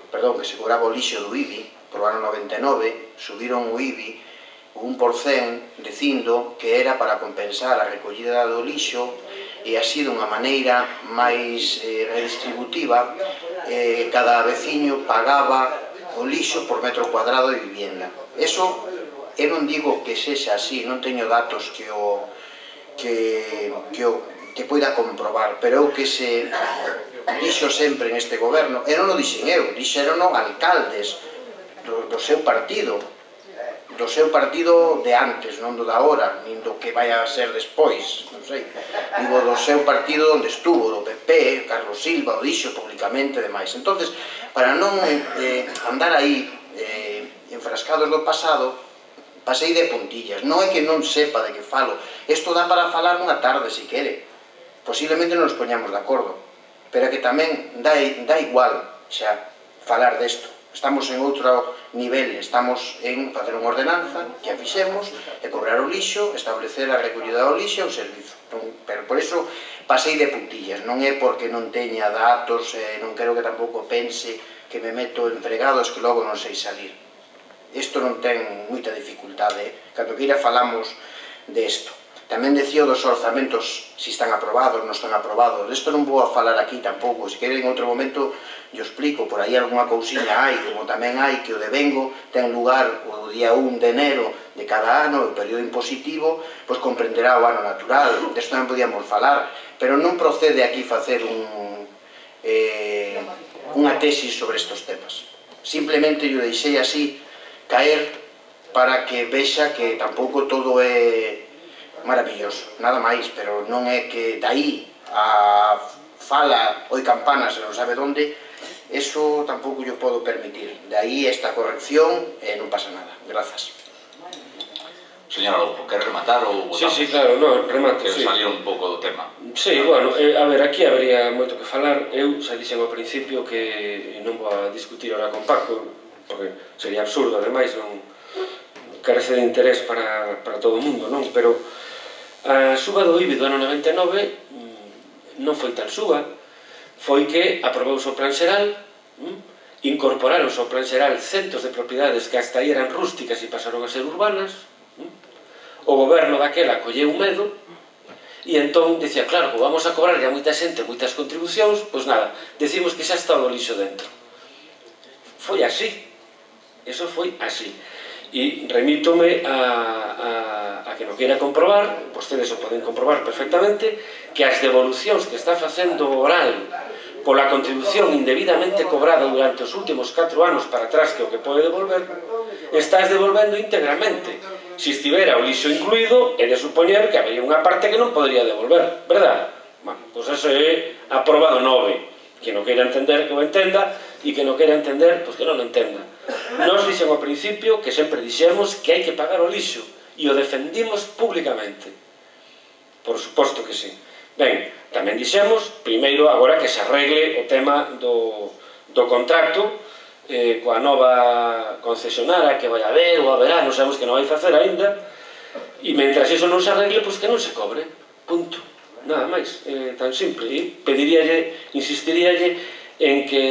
perdón, que se cobraba o lixo do I B I, por o ano noventa e nove, subiron o I B I un por cen, dicindo que era para compensar a recollida do lixo e así dunha maneira máis eh, redistributiva, eh, cada veciño pagaba o lixo por metro cuadrado de vivienda. Eso, eu non digo que sexa así, non teño datos que o que, que, o, que poida comprobar, pero eu que se dixo sempre neste goberno, e non o dixen eu, dixeron alcaldes do, do seu partido, do seu partido de antes, non do da hora, nin do que vai a ser despois, non sei. Digo, do seu partido onde estuvo, do P P, Carlos Silva, o dixo públicamente e demais. Entonces, para non eh, andar aí eh, enfrascados do pasado, pasei de puntillas. Non é que non sepa de que falo. Isto dá para falar unha tarde, se quere. Posiblemente non nos poñamos de acordo. Pero que tamén dá, dá igual xa falar desto. Estamos en outro nivel, estamos en facer unha ordenanza que a fixemos e cobrar o lixo, establecer a recollida do lixo e o servizo. Pero por iso pasei de puntillas, non é porque non teña datos, eh, non quero que tampouco pense que me meto en fregados que logo non sei salir. Isto non ten moita dificultade, cando que ira falamos desto. Tamén decía dos orzamentos, se están aprobados, non están aprobados. Isto non vou a falar aquí tampouco, se queren en outro momento yo explico, por aí alguna cousiña hai, como tamén hai que o devengo ten lugar o día un de enero de cada ano, o período impositivo, pois comprenderá o ano natural, desto non podíamos falar, pero non procede aquí facer un, eh, unha tesis sobre estos temas. Simplemente yo deixei así caer para que vexa que tampouco todo é maravilloso, nada máis, pero non é que dai a fala oi campana se non sabe onde, eso tampouco yo podo permitir. De aí esta corrección e non pasa nada. Grazas. Señora Lobo, quer rematar ou votamos? Sí, sí, claro, no, remato, que sí. salir un pouco do tema. Sí, bueno, eh, a ver, aquí habería moito que falar. Eu xa dixen ao principio que non vou a discutir ahora con Paco, porque sería absurdo, ademais, non carece de interés para, para todo o mundo, non? Pero a suba do I B I do ano noventa e nove non foi tan suba, foi que aprobouse o plan xeral, incorporaronse ao plan xeral centos de propiedades que hasta aí eran rústicas e pasaron a ser urbanas, o goberno daquela colleu medo e entón dicía, claro, vamos a cobrar a moita xente moitas contribucións, pois nada, decimos que xa está o lixo dentro. Foi así, eso foi así. E remítome a, a, a que non queira comprobar, vostedes o poden comprobar perfectamente, que as devolucións que está facendo oral pola contribución indebidamente cobrada durante os últimos catro anos para atrás, que o que pode devolver, estás devolvendo íntegramente. Se estivera o lixo incluído, é de supoñer que había unha parte que non podría devolver, verdad? Bueno, pois eso é aprobado nove. Que non queira entender, que o entenda, e que non queira entender, pois que non o entenda. Nos dixen ao principio que sempre dixemos que hai que pagar o lixo, e o defendimos públicamente. Por suposto que sí. Ben, tamén dixemos, primeiro, agora que se arregle o tema do, do contrato eh, coa nova concesionara que vai haber ou haberá, non sabemos que non vai facer aínda, e mentras iso non se arregle, pois que non se cobre. Punto. Nada máis, eh, tan simple. E pediríalle, insistiríalle en que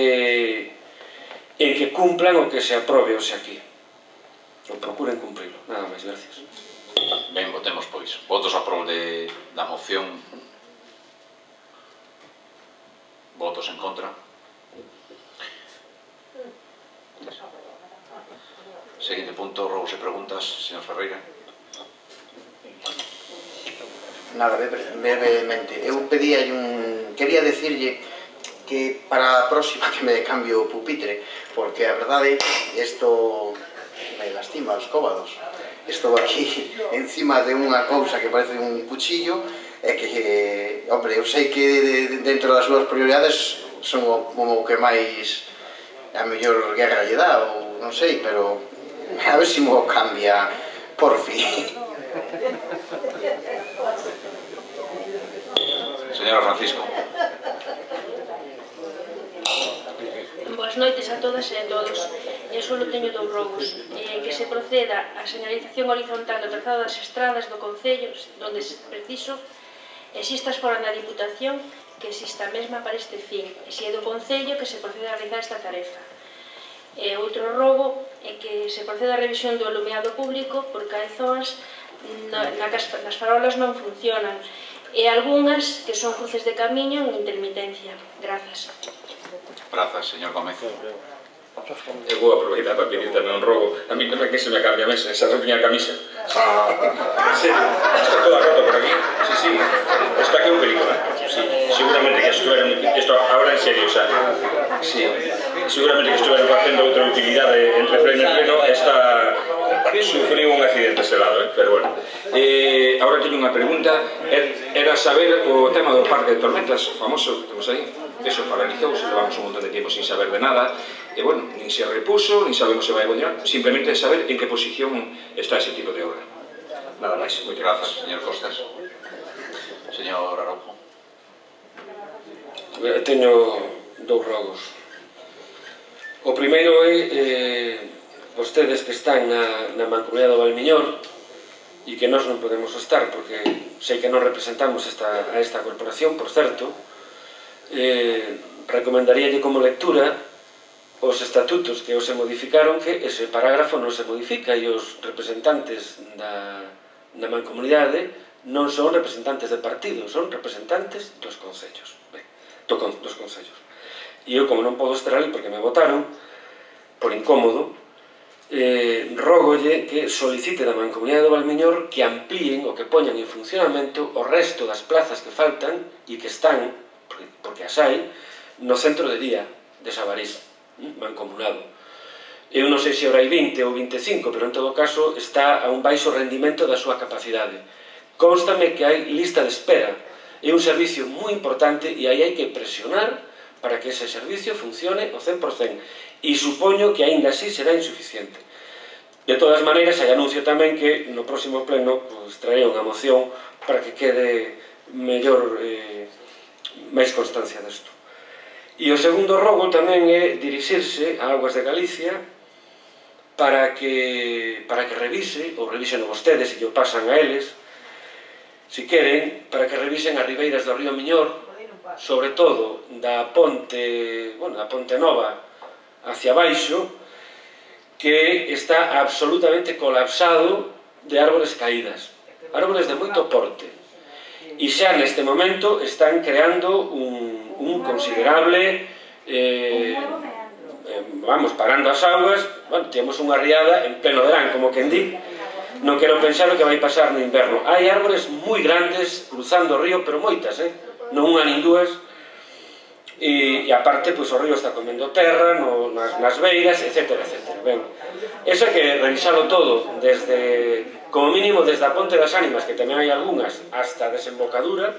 en que cumplan o que se aprobe hoxe aquí. O procuren cumprilo. Nada máis, gracias. Ben, votemos pois. Votos a prol de, da moción. Votos en contra. Seguinte punto, robos e preguntas, señor Ferreira. Nada, brevemente. Eu pedía un... quería decirlle que para a próxima que me cambio o pupitre, porque a verdade, isto me lastima os cóbados. Estou aquí encima de unha cousa que parece un cuchillo e que, hombre, eu sei que dentro das súas prioridades son como o que máis a mellor guerra lle dá, ou non sei, pero a ver se mo cambia por fin. Señora Francisco. Boas noites a todas e a todos. Eu só teño dous rogos. Eh, que se proceda a señalización horizontal do trazado das estradas do Concello, donde se preciso, existas fora da Diputación, que exista a mesma para este fin. E se é do Concello, que se proceda a realizar esta tarefa. E outro rogo é que se proceda a revisión do alumeado público, porque hai zonas na, na que as farolas non funcionan. E algunhas que son cruces de camiño en intermitencia. Grazas. Grazas, señor Gómez. Eu vou aproveitar para pedir tamén un rogo. A mí non é que se me acabe a mesa, esa ropiña a camisa. En serio, está toda rota por aquí. Sí, sí, está aquí un película. Sí, seguramente que estuveron... Esto ahora en serio, o sea... Sí, seguramente que estuveron facendo outra utilidade entre pleno e pleno. Esta... sufriu un accidente ese lado, eh? Pero bueno. Eh, ahora teño unha pregunta, era saber o tema do parque de tormentas, famoso, temos aí, eso paralizouse, levamos un montón de tiempo sin saber de nada, e bueno, nin se repuso, nin sabemos se vai a continuar, simplemente saber en que posición está ese tipo de obra. Nada máis. Moitas grazas, señor Costas. Señor Araujo. Teño dous rogos. O primeiro é eh, vostedes que están na, na Mancomunidade do Valmiñor e que nós non podemos estar porque sei que non representamos esta, a esta corporación, por certo, eh, recomendaríalle como lectura os estatutos que os se modificaron, que ese parágrafo non se modifica e os representantes da, da Mancomunidade non son representantes de partidos, son representantes dos concellos, ben, do, dos concellos. E eu, como non podo estar ali porque me votaron, por incómodo, eh, rogolle que solicite da Mancomunidade do Valmiñor que amplíen o que poñan en funcionamento o resto das plazas que faltan e que están, porque as hai, no centro de día de Sabarís, mancomunado. Eu non sei se ora hai vinte ou vinte e cinco, pero en todo caso está a un baixo rendimento da súa capacidade. Constame que hai lista de espera. É un servicio moi importante e aí hai que presionar para que ese servicio funcione ao cen por cen. E supoño que aínda así será insuficiente. De todas maneiras, hai anuncio tamén que no próximo pleno pues, traeré unha moción para que quede mellor, eh, máis constancia desto. E o segundo rogo tamén é dirixirse a Augas de Galicia para que, para que revise, ou revisen vostedes e o pasan a eles, si queren, para que revisen as ribeiras do río Miñor, sobre todo da ponte, bueno, da Ponte Nova hacia baixo, que está absolutamente colapsado de árbores caídas, árbores de moito porte, e xa neste momento están creando un, un considerable eh, vamos, parando as augas. Bueno, temos unha riada en pleno verán, como quen di, non quero pensar o que vai pasar no inverno. Hai árbores moi grandes cruzando o río, pero moitas, eh? Non unha nin dúas, e, e aparte, pois, o río está comendo terra no, nas, nas beiras, etcétera, etcétera. Ben, eso hai que revisarlo todo, desde, como mínimo, desde a Ponte das Ánimas, que tamén hai algunhas, hasta a desembocadura,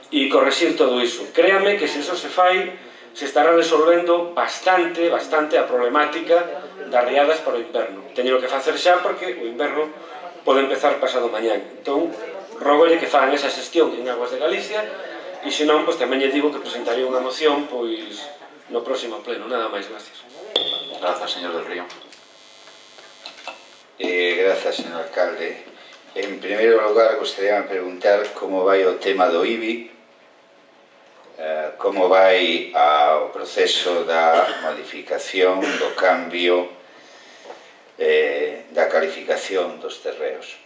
e correxir todo iso. Créame que se iso se fai, se estará resolvendo bastante, bastante a problemática das riadas para o inverno. Teño que facer xa porque o inverno pode empezar pasado mañán. Entón, rogolle que fagan esa xestión en Augas de Galicia e se non, pois tamén lle digo que presentaría unha moción pois no próximo pleno. Nada máis, gracias. Grazas, señor del Río. Eh, grazas, señor alcalde. En primeiro lugar, gostaría de preguntar como vai o tema do I B I, eh, como vai ao proceso da modificación, do cambio eh, da calificación dos terreos.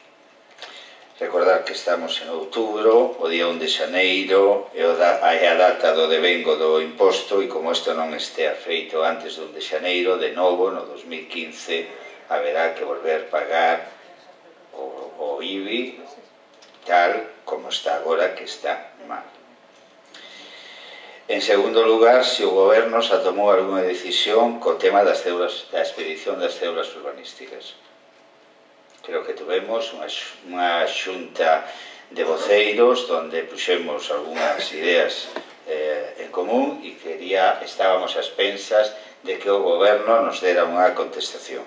Recordar que estamos en outubro, o día un de xaneiro é a data do devengo do imposto, e como isto non estea feito antes do un de xaneiro, de novo, no dos mil quince, haberá que volver pagar o, o I B I tal como está agora, que está mal. En segundo lugar, se o goberno xa tomou algunha decisión co tema das cédulas, da expedición das cédulas urbanísticas. Creo que tuvemos unha, unha xunta de voceiros donde puxemos algunhas ideas eh, en común e quería, estábamos a expensas de que o goberno nos dera unha contestación.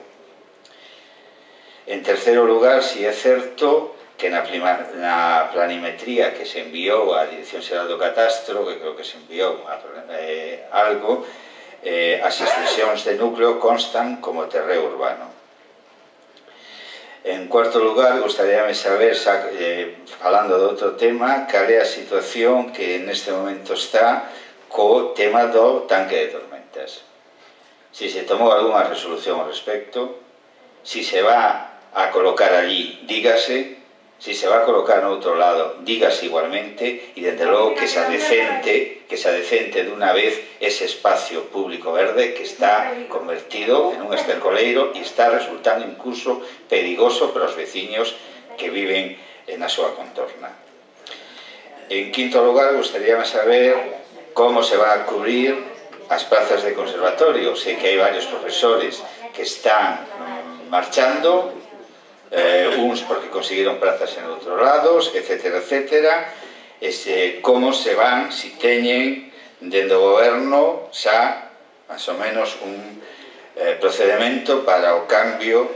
En terceiro lugar, si é certo que na, prima, na planimetría que se enviou á Dirección Xeral do Catastro, que creo que se enviou a, eh, algo, eh, as extensións de núcleo constan como terreo urbano. En cuarto lugar, gostaríame saber, xa, eh, falando de outro tema, cal é a situación que neste momento está co tema do tanque de tormentas. Si se tomou algunha resolución ao respecto, si se va a colocar allí, dígase, si se va a colocar no outro lado, dígase igualmente, e desde logo que se adecente, que se adecente dunha vez ese espacio público verde que está convertido en un estercoleiro e está resultando incluso perigoso para os veciños que viven na súa contorna. En quinto lugar, gostaríame saber como se van a cubrir as plazas de conservatorio. Sei que hai varios profesores que están marchando, eh, uns porque conseguiron prazas en outros lados, etcétera, etcétera, ese, como se van, si teñen dende o goberno xa, máis ou menos, un eh, procedimento para o cambio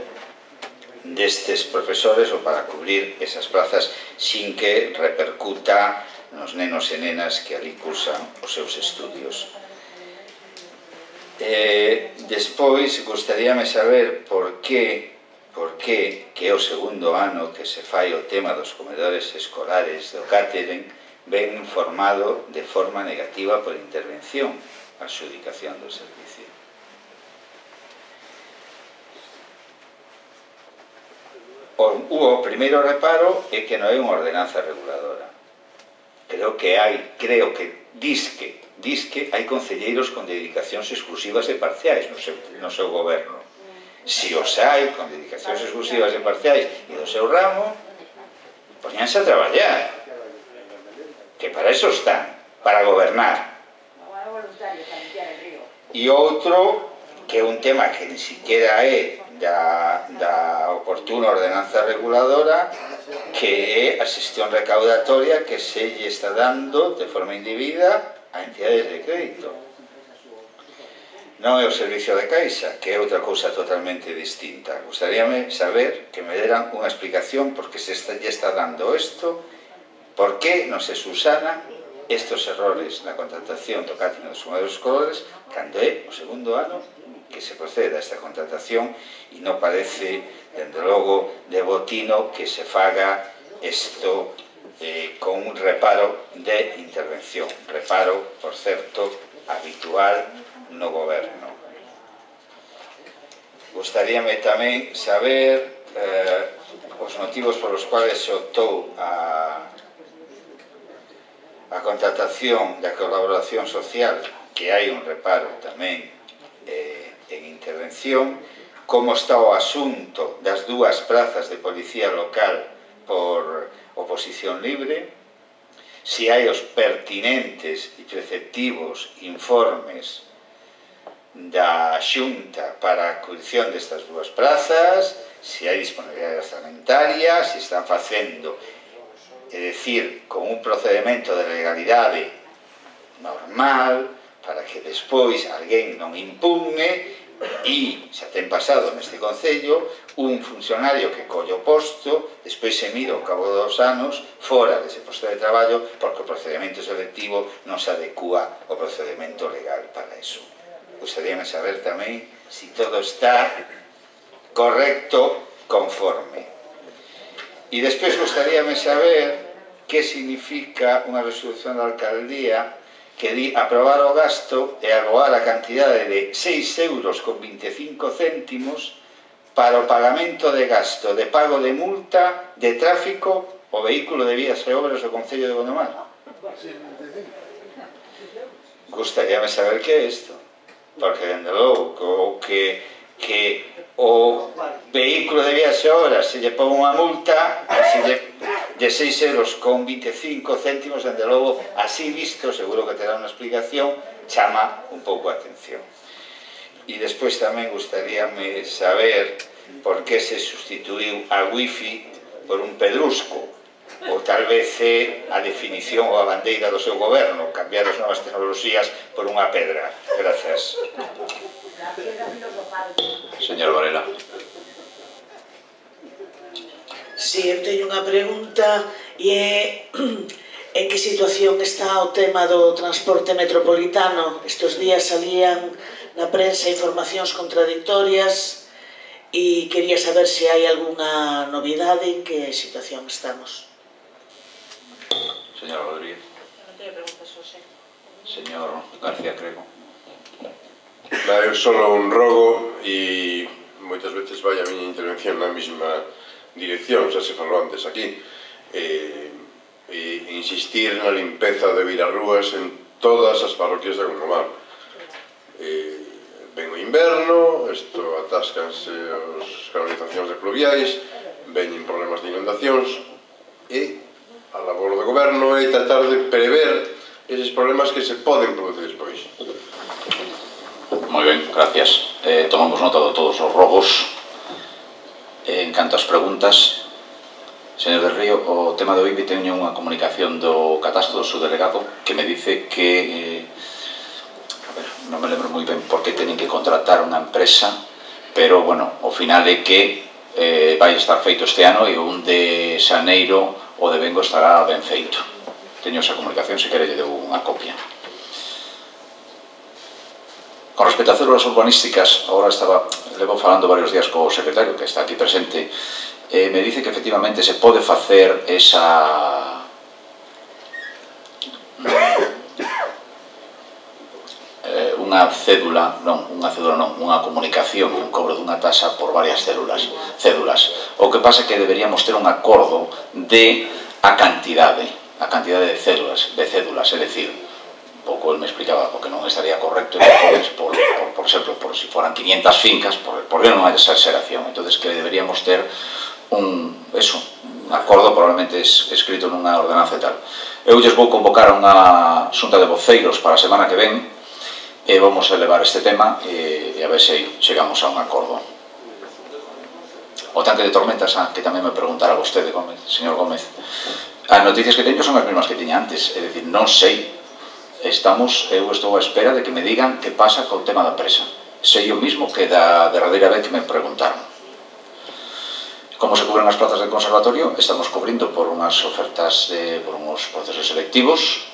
destes profesores ou para cubrir esas plazas sin que repercuta nos nenos e nenas que ali cursan os seus estudios. Eh, despois, gustaríame saber por que, por que, que é o segundo ano que se fai o tema dos comedores escolares do catering ben informado de forma negativa por intervención a adxudicación do servicio. O, o primeiro reparo é que non hai unha ordenanza reguladora. Creo que hai, creo que disque, disque hai concelleiros con dedicacións exclusivas e parciais no seu, no seu goberno. Si os hai con dedicacións exclusivas e parciais e do seu ramo, poñanse a traballar, que para eso están, para gobernar. E outro, que é un tema que ni siquiera é da, da oportuna ordenanza reguladora, que é a xestión recaudatoria que se lle está dando de forma indebida a entidades de crédito. Non é o servicio de Caixa, que é outra cousa totalmente distinta. Gustaríame saber que me deran unha explicación por que se está, lle está dando isto, por que non se subsanan estos errores na contratación do catering dos comedores escolares cando é o segundo ano que se procede a esta contratación e non parece, dende logo, de botino que se faga isto eh, con un reparo de intervención. Reparo, por certo, habitual no goberno. Gustaríame tamén saber eh, os motivos polos cuales se optou a, a contratación da colaboración social, que hai un reparo tamén eh, en intervención, como está o asunto das dúas plazas de policía local por oposición libre, si hai os pertinentes e preceptivos informes da Xunta para a acudición destas dúas plazas, si hai disponibilidade orzamentaria, si están facendo, é dicir, con un procedimento de legalidade normal, para que despois alguén non impugne e xa ten pasado neste Concello un funcionario que colle o posto, despois se mira ao cabo dos anos fora dese posto de traballo porque o procedimento selectivo non se adecúa ao procedimento legal para iso. Gustaríame saber tamén se todo está correcto, conforme. E despois gustaríame saber que significa unha resolución da alcaldía que di aprobar o gasto e agoar a cantidade de seis euros con veinticinco céntimos para o pagamento de gasto de pago de multa de tráfico o vehículo de vías e obras do Concello de Gondomar. Gustaríame saber que é isto, porque, dende logo, o que, que o vehículo de vías e obras se lle pon unha multa se lle de seis euros con veinticinco céntimos, dende logo, así visto, seguro que terá unha explicación, chama un pouco a atención. E despois tamén gustaríame saber por que se sustituiu a wifi por un pedrusco, ou tal vez é a definición ou a bandeira do seu goberno, cambiar as novas tecnoloxías por unha pedra. Grazas. Señor Varela. Si, eu teño unha pregunta e é en que situación está o tema do transporte metropolitano. Estes días salían na prensa informacións contradictorias e quería saber se hai algunha novidade, en que situación estamos. Señora Rodríguez. Non teño preguntas, José. Señor García Crego. É solo un rogo e moitas veces vai a miña intervención na mesma dirección, xa se falou antes aquí, e, e insistir na limpeza de virarrúas en todas as parroquias de Gondomar. E, ven o inverno, isto atáscanse as canalizacións de pluviais, veñen problemas de inundacións, e a labor do goberno é tratar de prever eses problemas que se poden producir despois. Moi ben, gracias. Eh, tomamos nota de todos os rogos. En En canto ás preguntas, señor del Río, o tema do I B I teño unha comunicación do catastro do subdelegado que me dice que eh, a ver, non me lembro moi ben por que teñen que contratar unha empresa, pero, bueno, ao final é que eh, vai estar feito este ano e un de xaneiro o de vengo estará ben feito. Teño esa comunicación, se quere lle deu unha copia. Con respecto a células urbanísticas, agora estaba, levo falando varios días co secretario que está aquí presente, eh, me dice que efectivamente se pode facer esa eh, unha cédula, non, unha cédula non, unha comunicación, un cobro dunha taxa por varias células, cédulas. O que pasa é que deberíamos ter un acordo de a cantidade, a cantidade de cédulas, de cédulas, é dicir, pouco el me explicaba o que non estaría correcto por, por, por exemplo, por si foran quinientas fincas, por, por non hai exageración, entonces que deberíamos ter un, eso, un acordo probablemente es, escrito nunha ordenanza e tal. Eu lles vou convocar a unha xunta de voceiros para a semana que ven e vamos a elevar este tema e, e a ver se chegamos a un acordo. O tanque de tormentas, ah, que tamén me preguntara vostede, Gómez, señor Gómez, as noticias que teño son as mesmas que tiña antes, é dicir, non sei. Estamos, eu estou á espera de que me digan que pasa co tema da presa. Sei o mismo que da derradeira vez que me preguntaron. Como se cubren as plazas de conservatorio? Estamos cubrindo por unhas ofertas, de, por unhos procesos selectivos,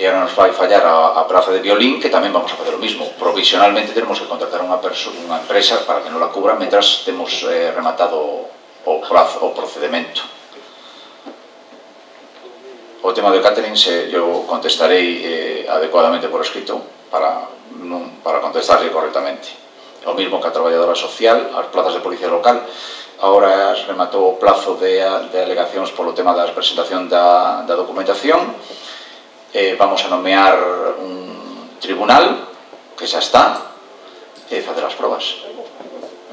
e agora nos vai fallar a, a praza de violín, que tamén vamos a facer o mismo. Provisionalmente tenemos que contratar unha, unha empresa para que non la cubra mentras temos eh, rematado o, prazo, o procedimento. O tema de catering se, eu contestarei eh, adecuadamente por escrito para, non, para contestarle correctamente. O mismo que a traballadora social, as plazas de policía local, agora rematou o plazo de, de alegacións polo tema da presentación da, da documentación. Eh, vamos a nomear un tribunal que xa está e facer as probas.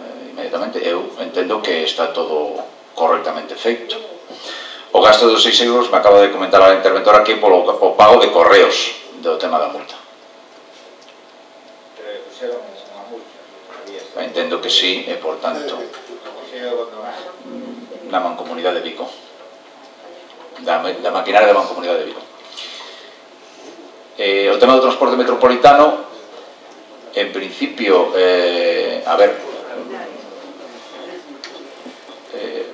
Eh, inmediatamente eu entendo que está todo correctamente feito. O gasto dos seis euros me acaba de comentar a interventora aquí polo o pago de correos do tema da multa. Entendo que sí, e por tanto na Mancomunidade de Vigo, da, da maquinaria da Mancomunidade de Vigo. Eh, o tema do transporte metropolitano, en principio, eh, a ver, eh,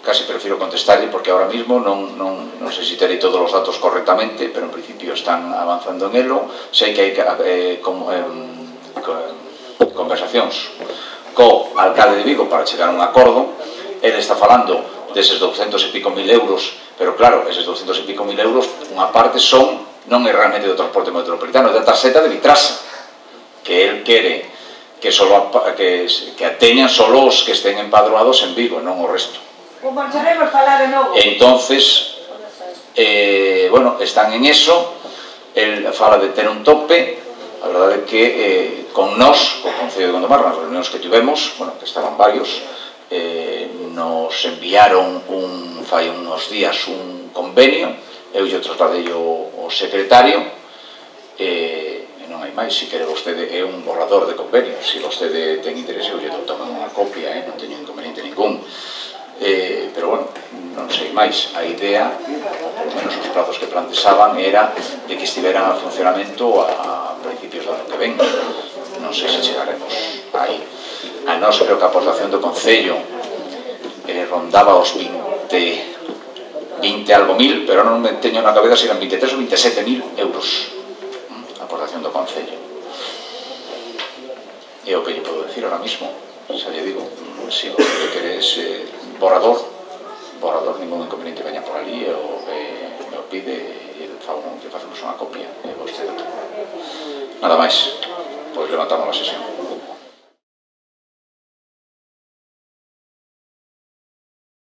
casi prefiro contestarle porque ahora mismo non, non, non sei se terei todos os datos correctamente, pero en principio están avanzando en elo. Sei que hai eh, como, eh, conversacións co alcalde de Vigo para chegar a un acordo. Ele está falando deses douscentos e pico mil euros, pero claro, eses douscentos e pico mil euros, unha parte son, non é realmente do transporte metropolitano, é da tarxeta de Vitrasa, que el quere que, solo, que, que ateñan solo os que estén empadroados en Vigo, non o resto. Como sabemos falar de novo. Entonces, eh, bueno, están en eso, el fala de ter un tope. A verdade é que eh, con nós, co Concello de Gondomar, nas reunións que tivemos, bueno, que estaban varios, eh, nos enviaron un, fai unos días un convenio, eu lle trasladei o, o secretario, e eh, non hai máis, se quere vostede, é un borrador de convenio, se vostede ten interese, eu lle dou tamén unha copia, eh, non teño inconveniente ningún. Eh, pero bueno, non sei máis, a idea, por menos os plazos que planteaban, era de que estiveran a funcionamento a, a principios do ano que ven. Non sei se chegaremos aí. A nós creo que a aportación do Concello eh, rondaba os vinte, vinte algo mil, pero non me teño na cabeza se eran veintitrés ou veintisiete mil euros a aportación do Concello. É o que lle podo decir ahora mismo. Xa lle digo, se o que queres eh, borrador, borrador, ningún inconveniente veña por ali, o eh, me o pide e que facemos unha copia e vostede. Nada máis, pois levantamos a sesión.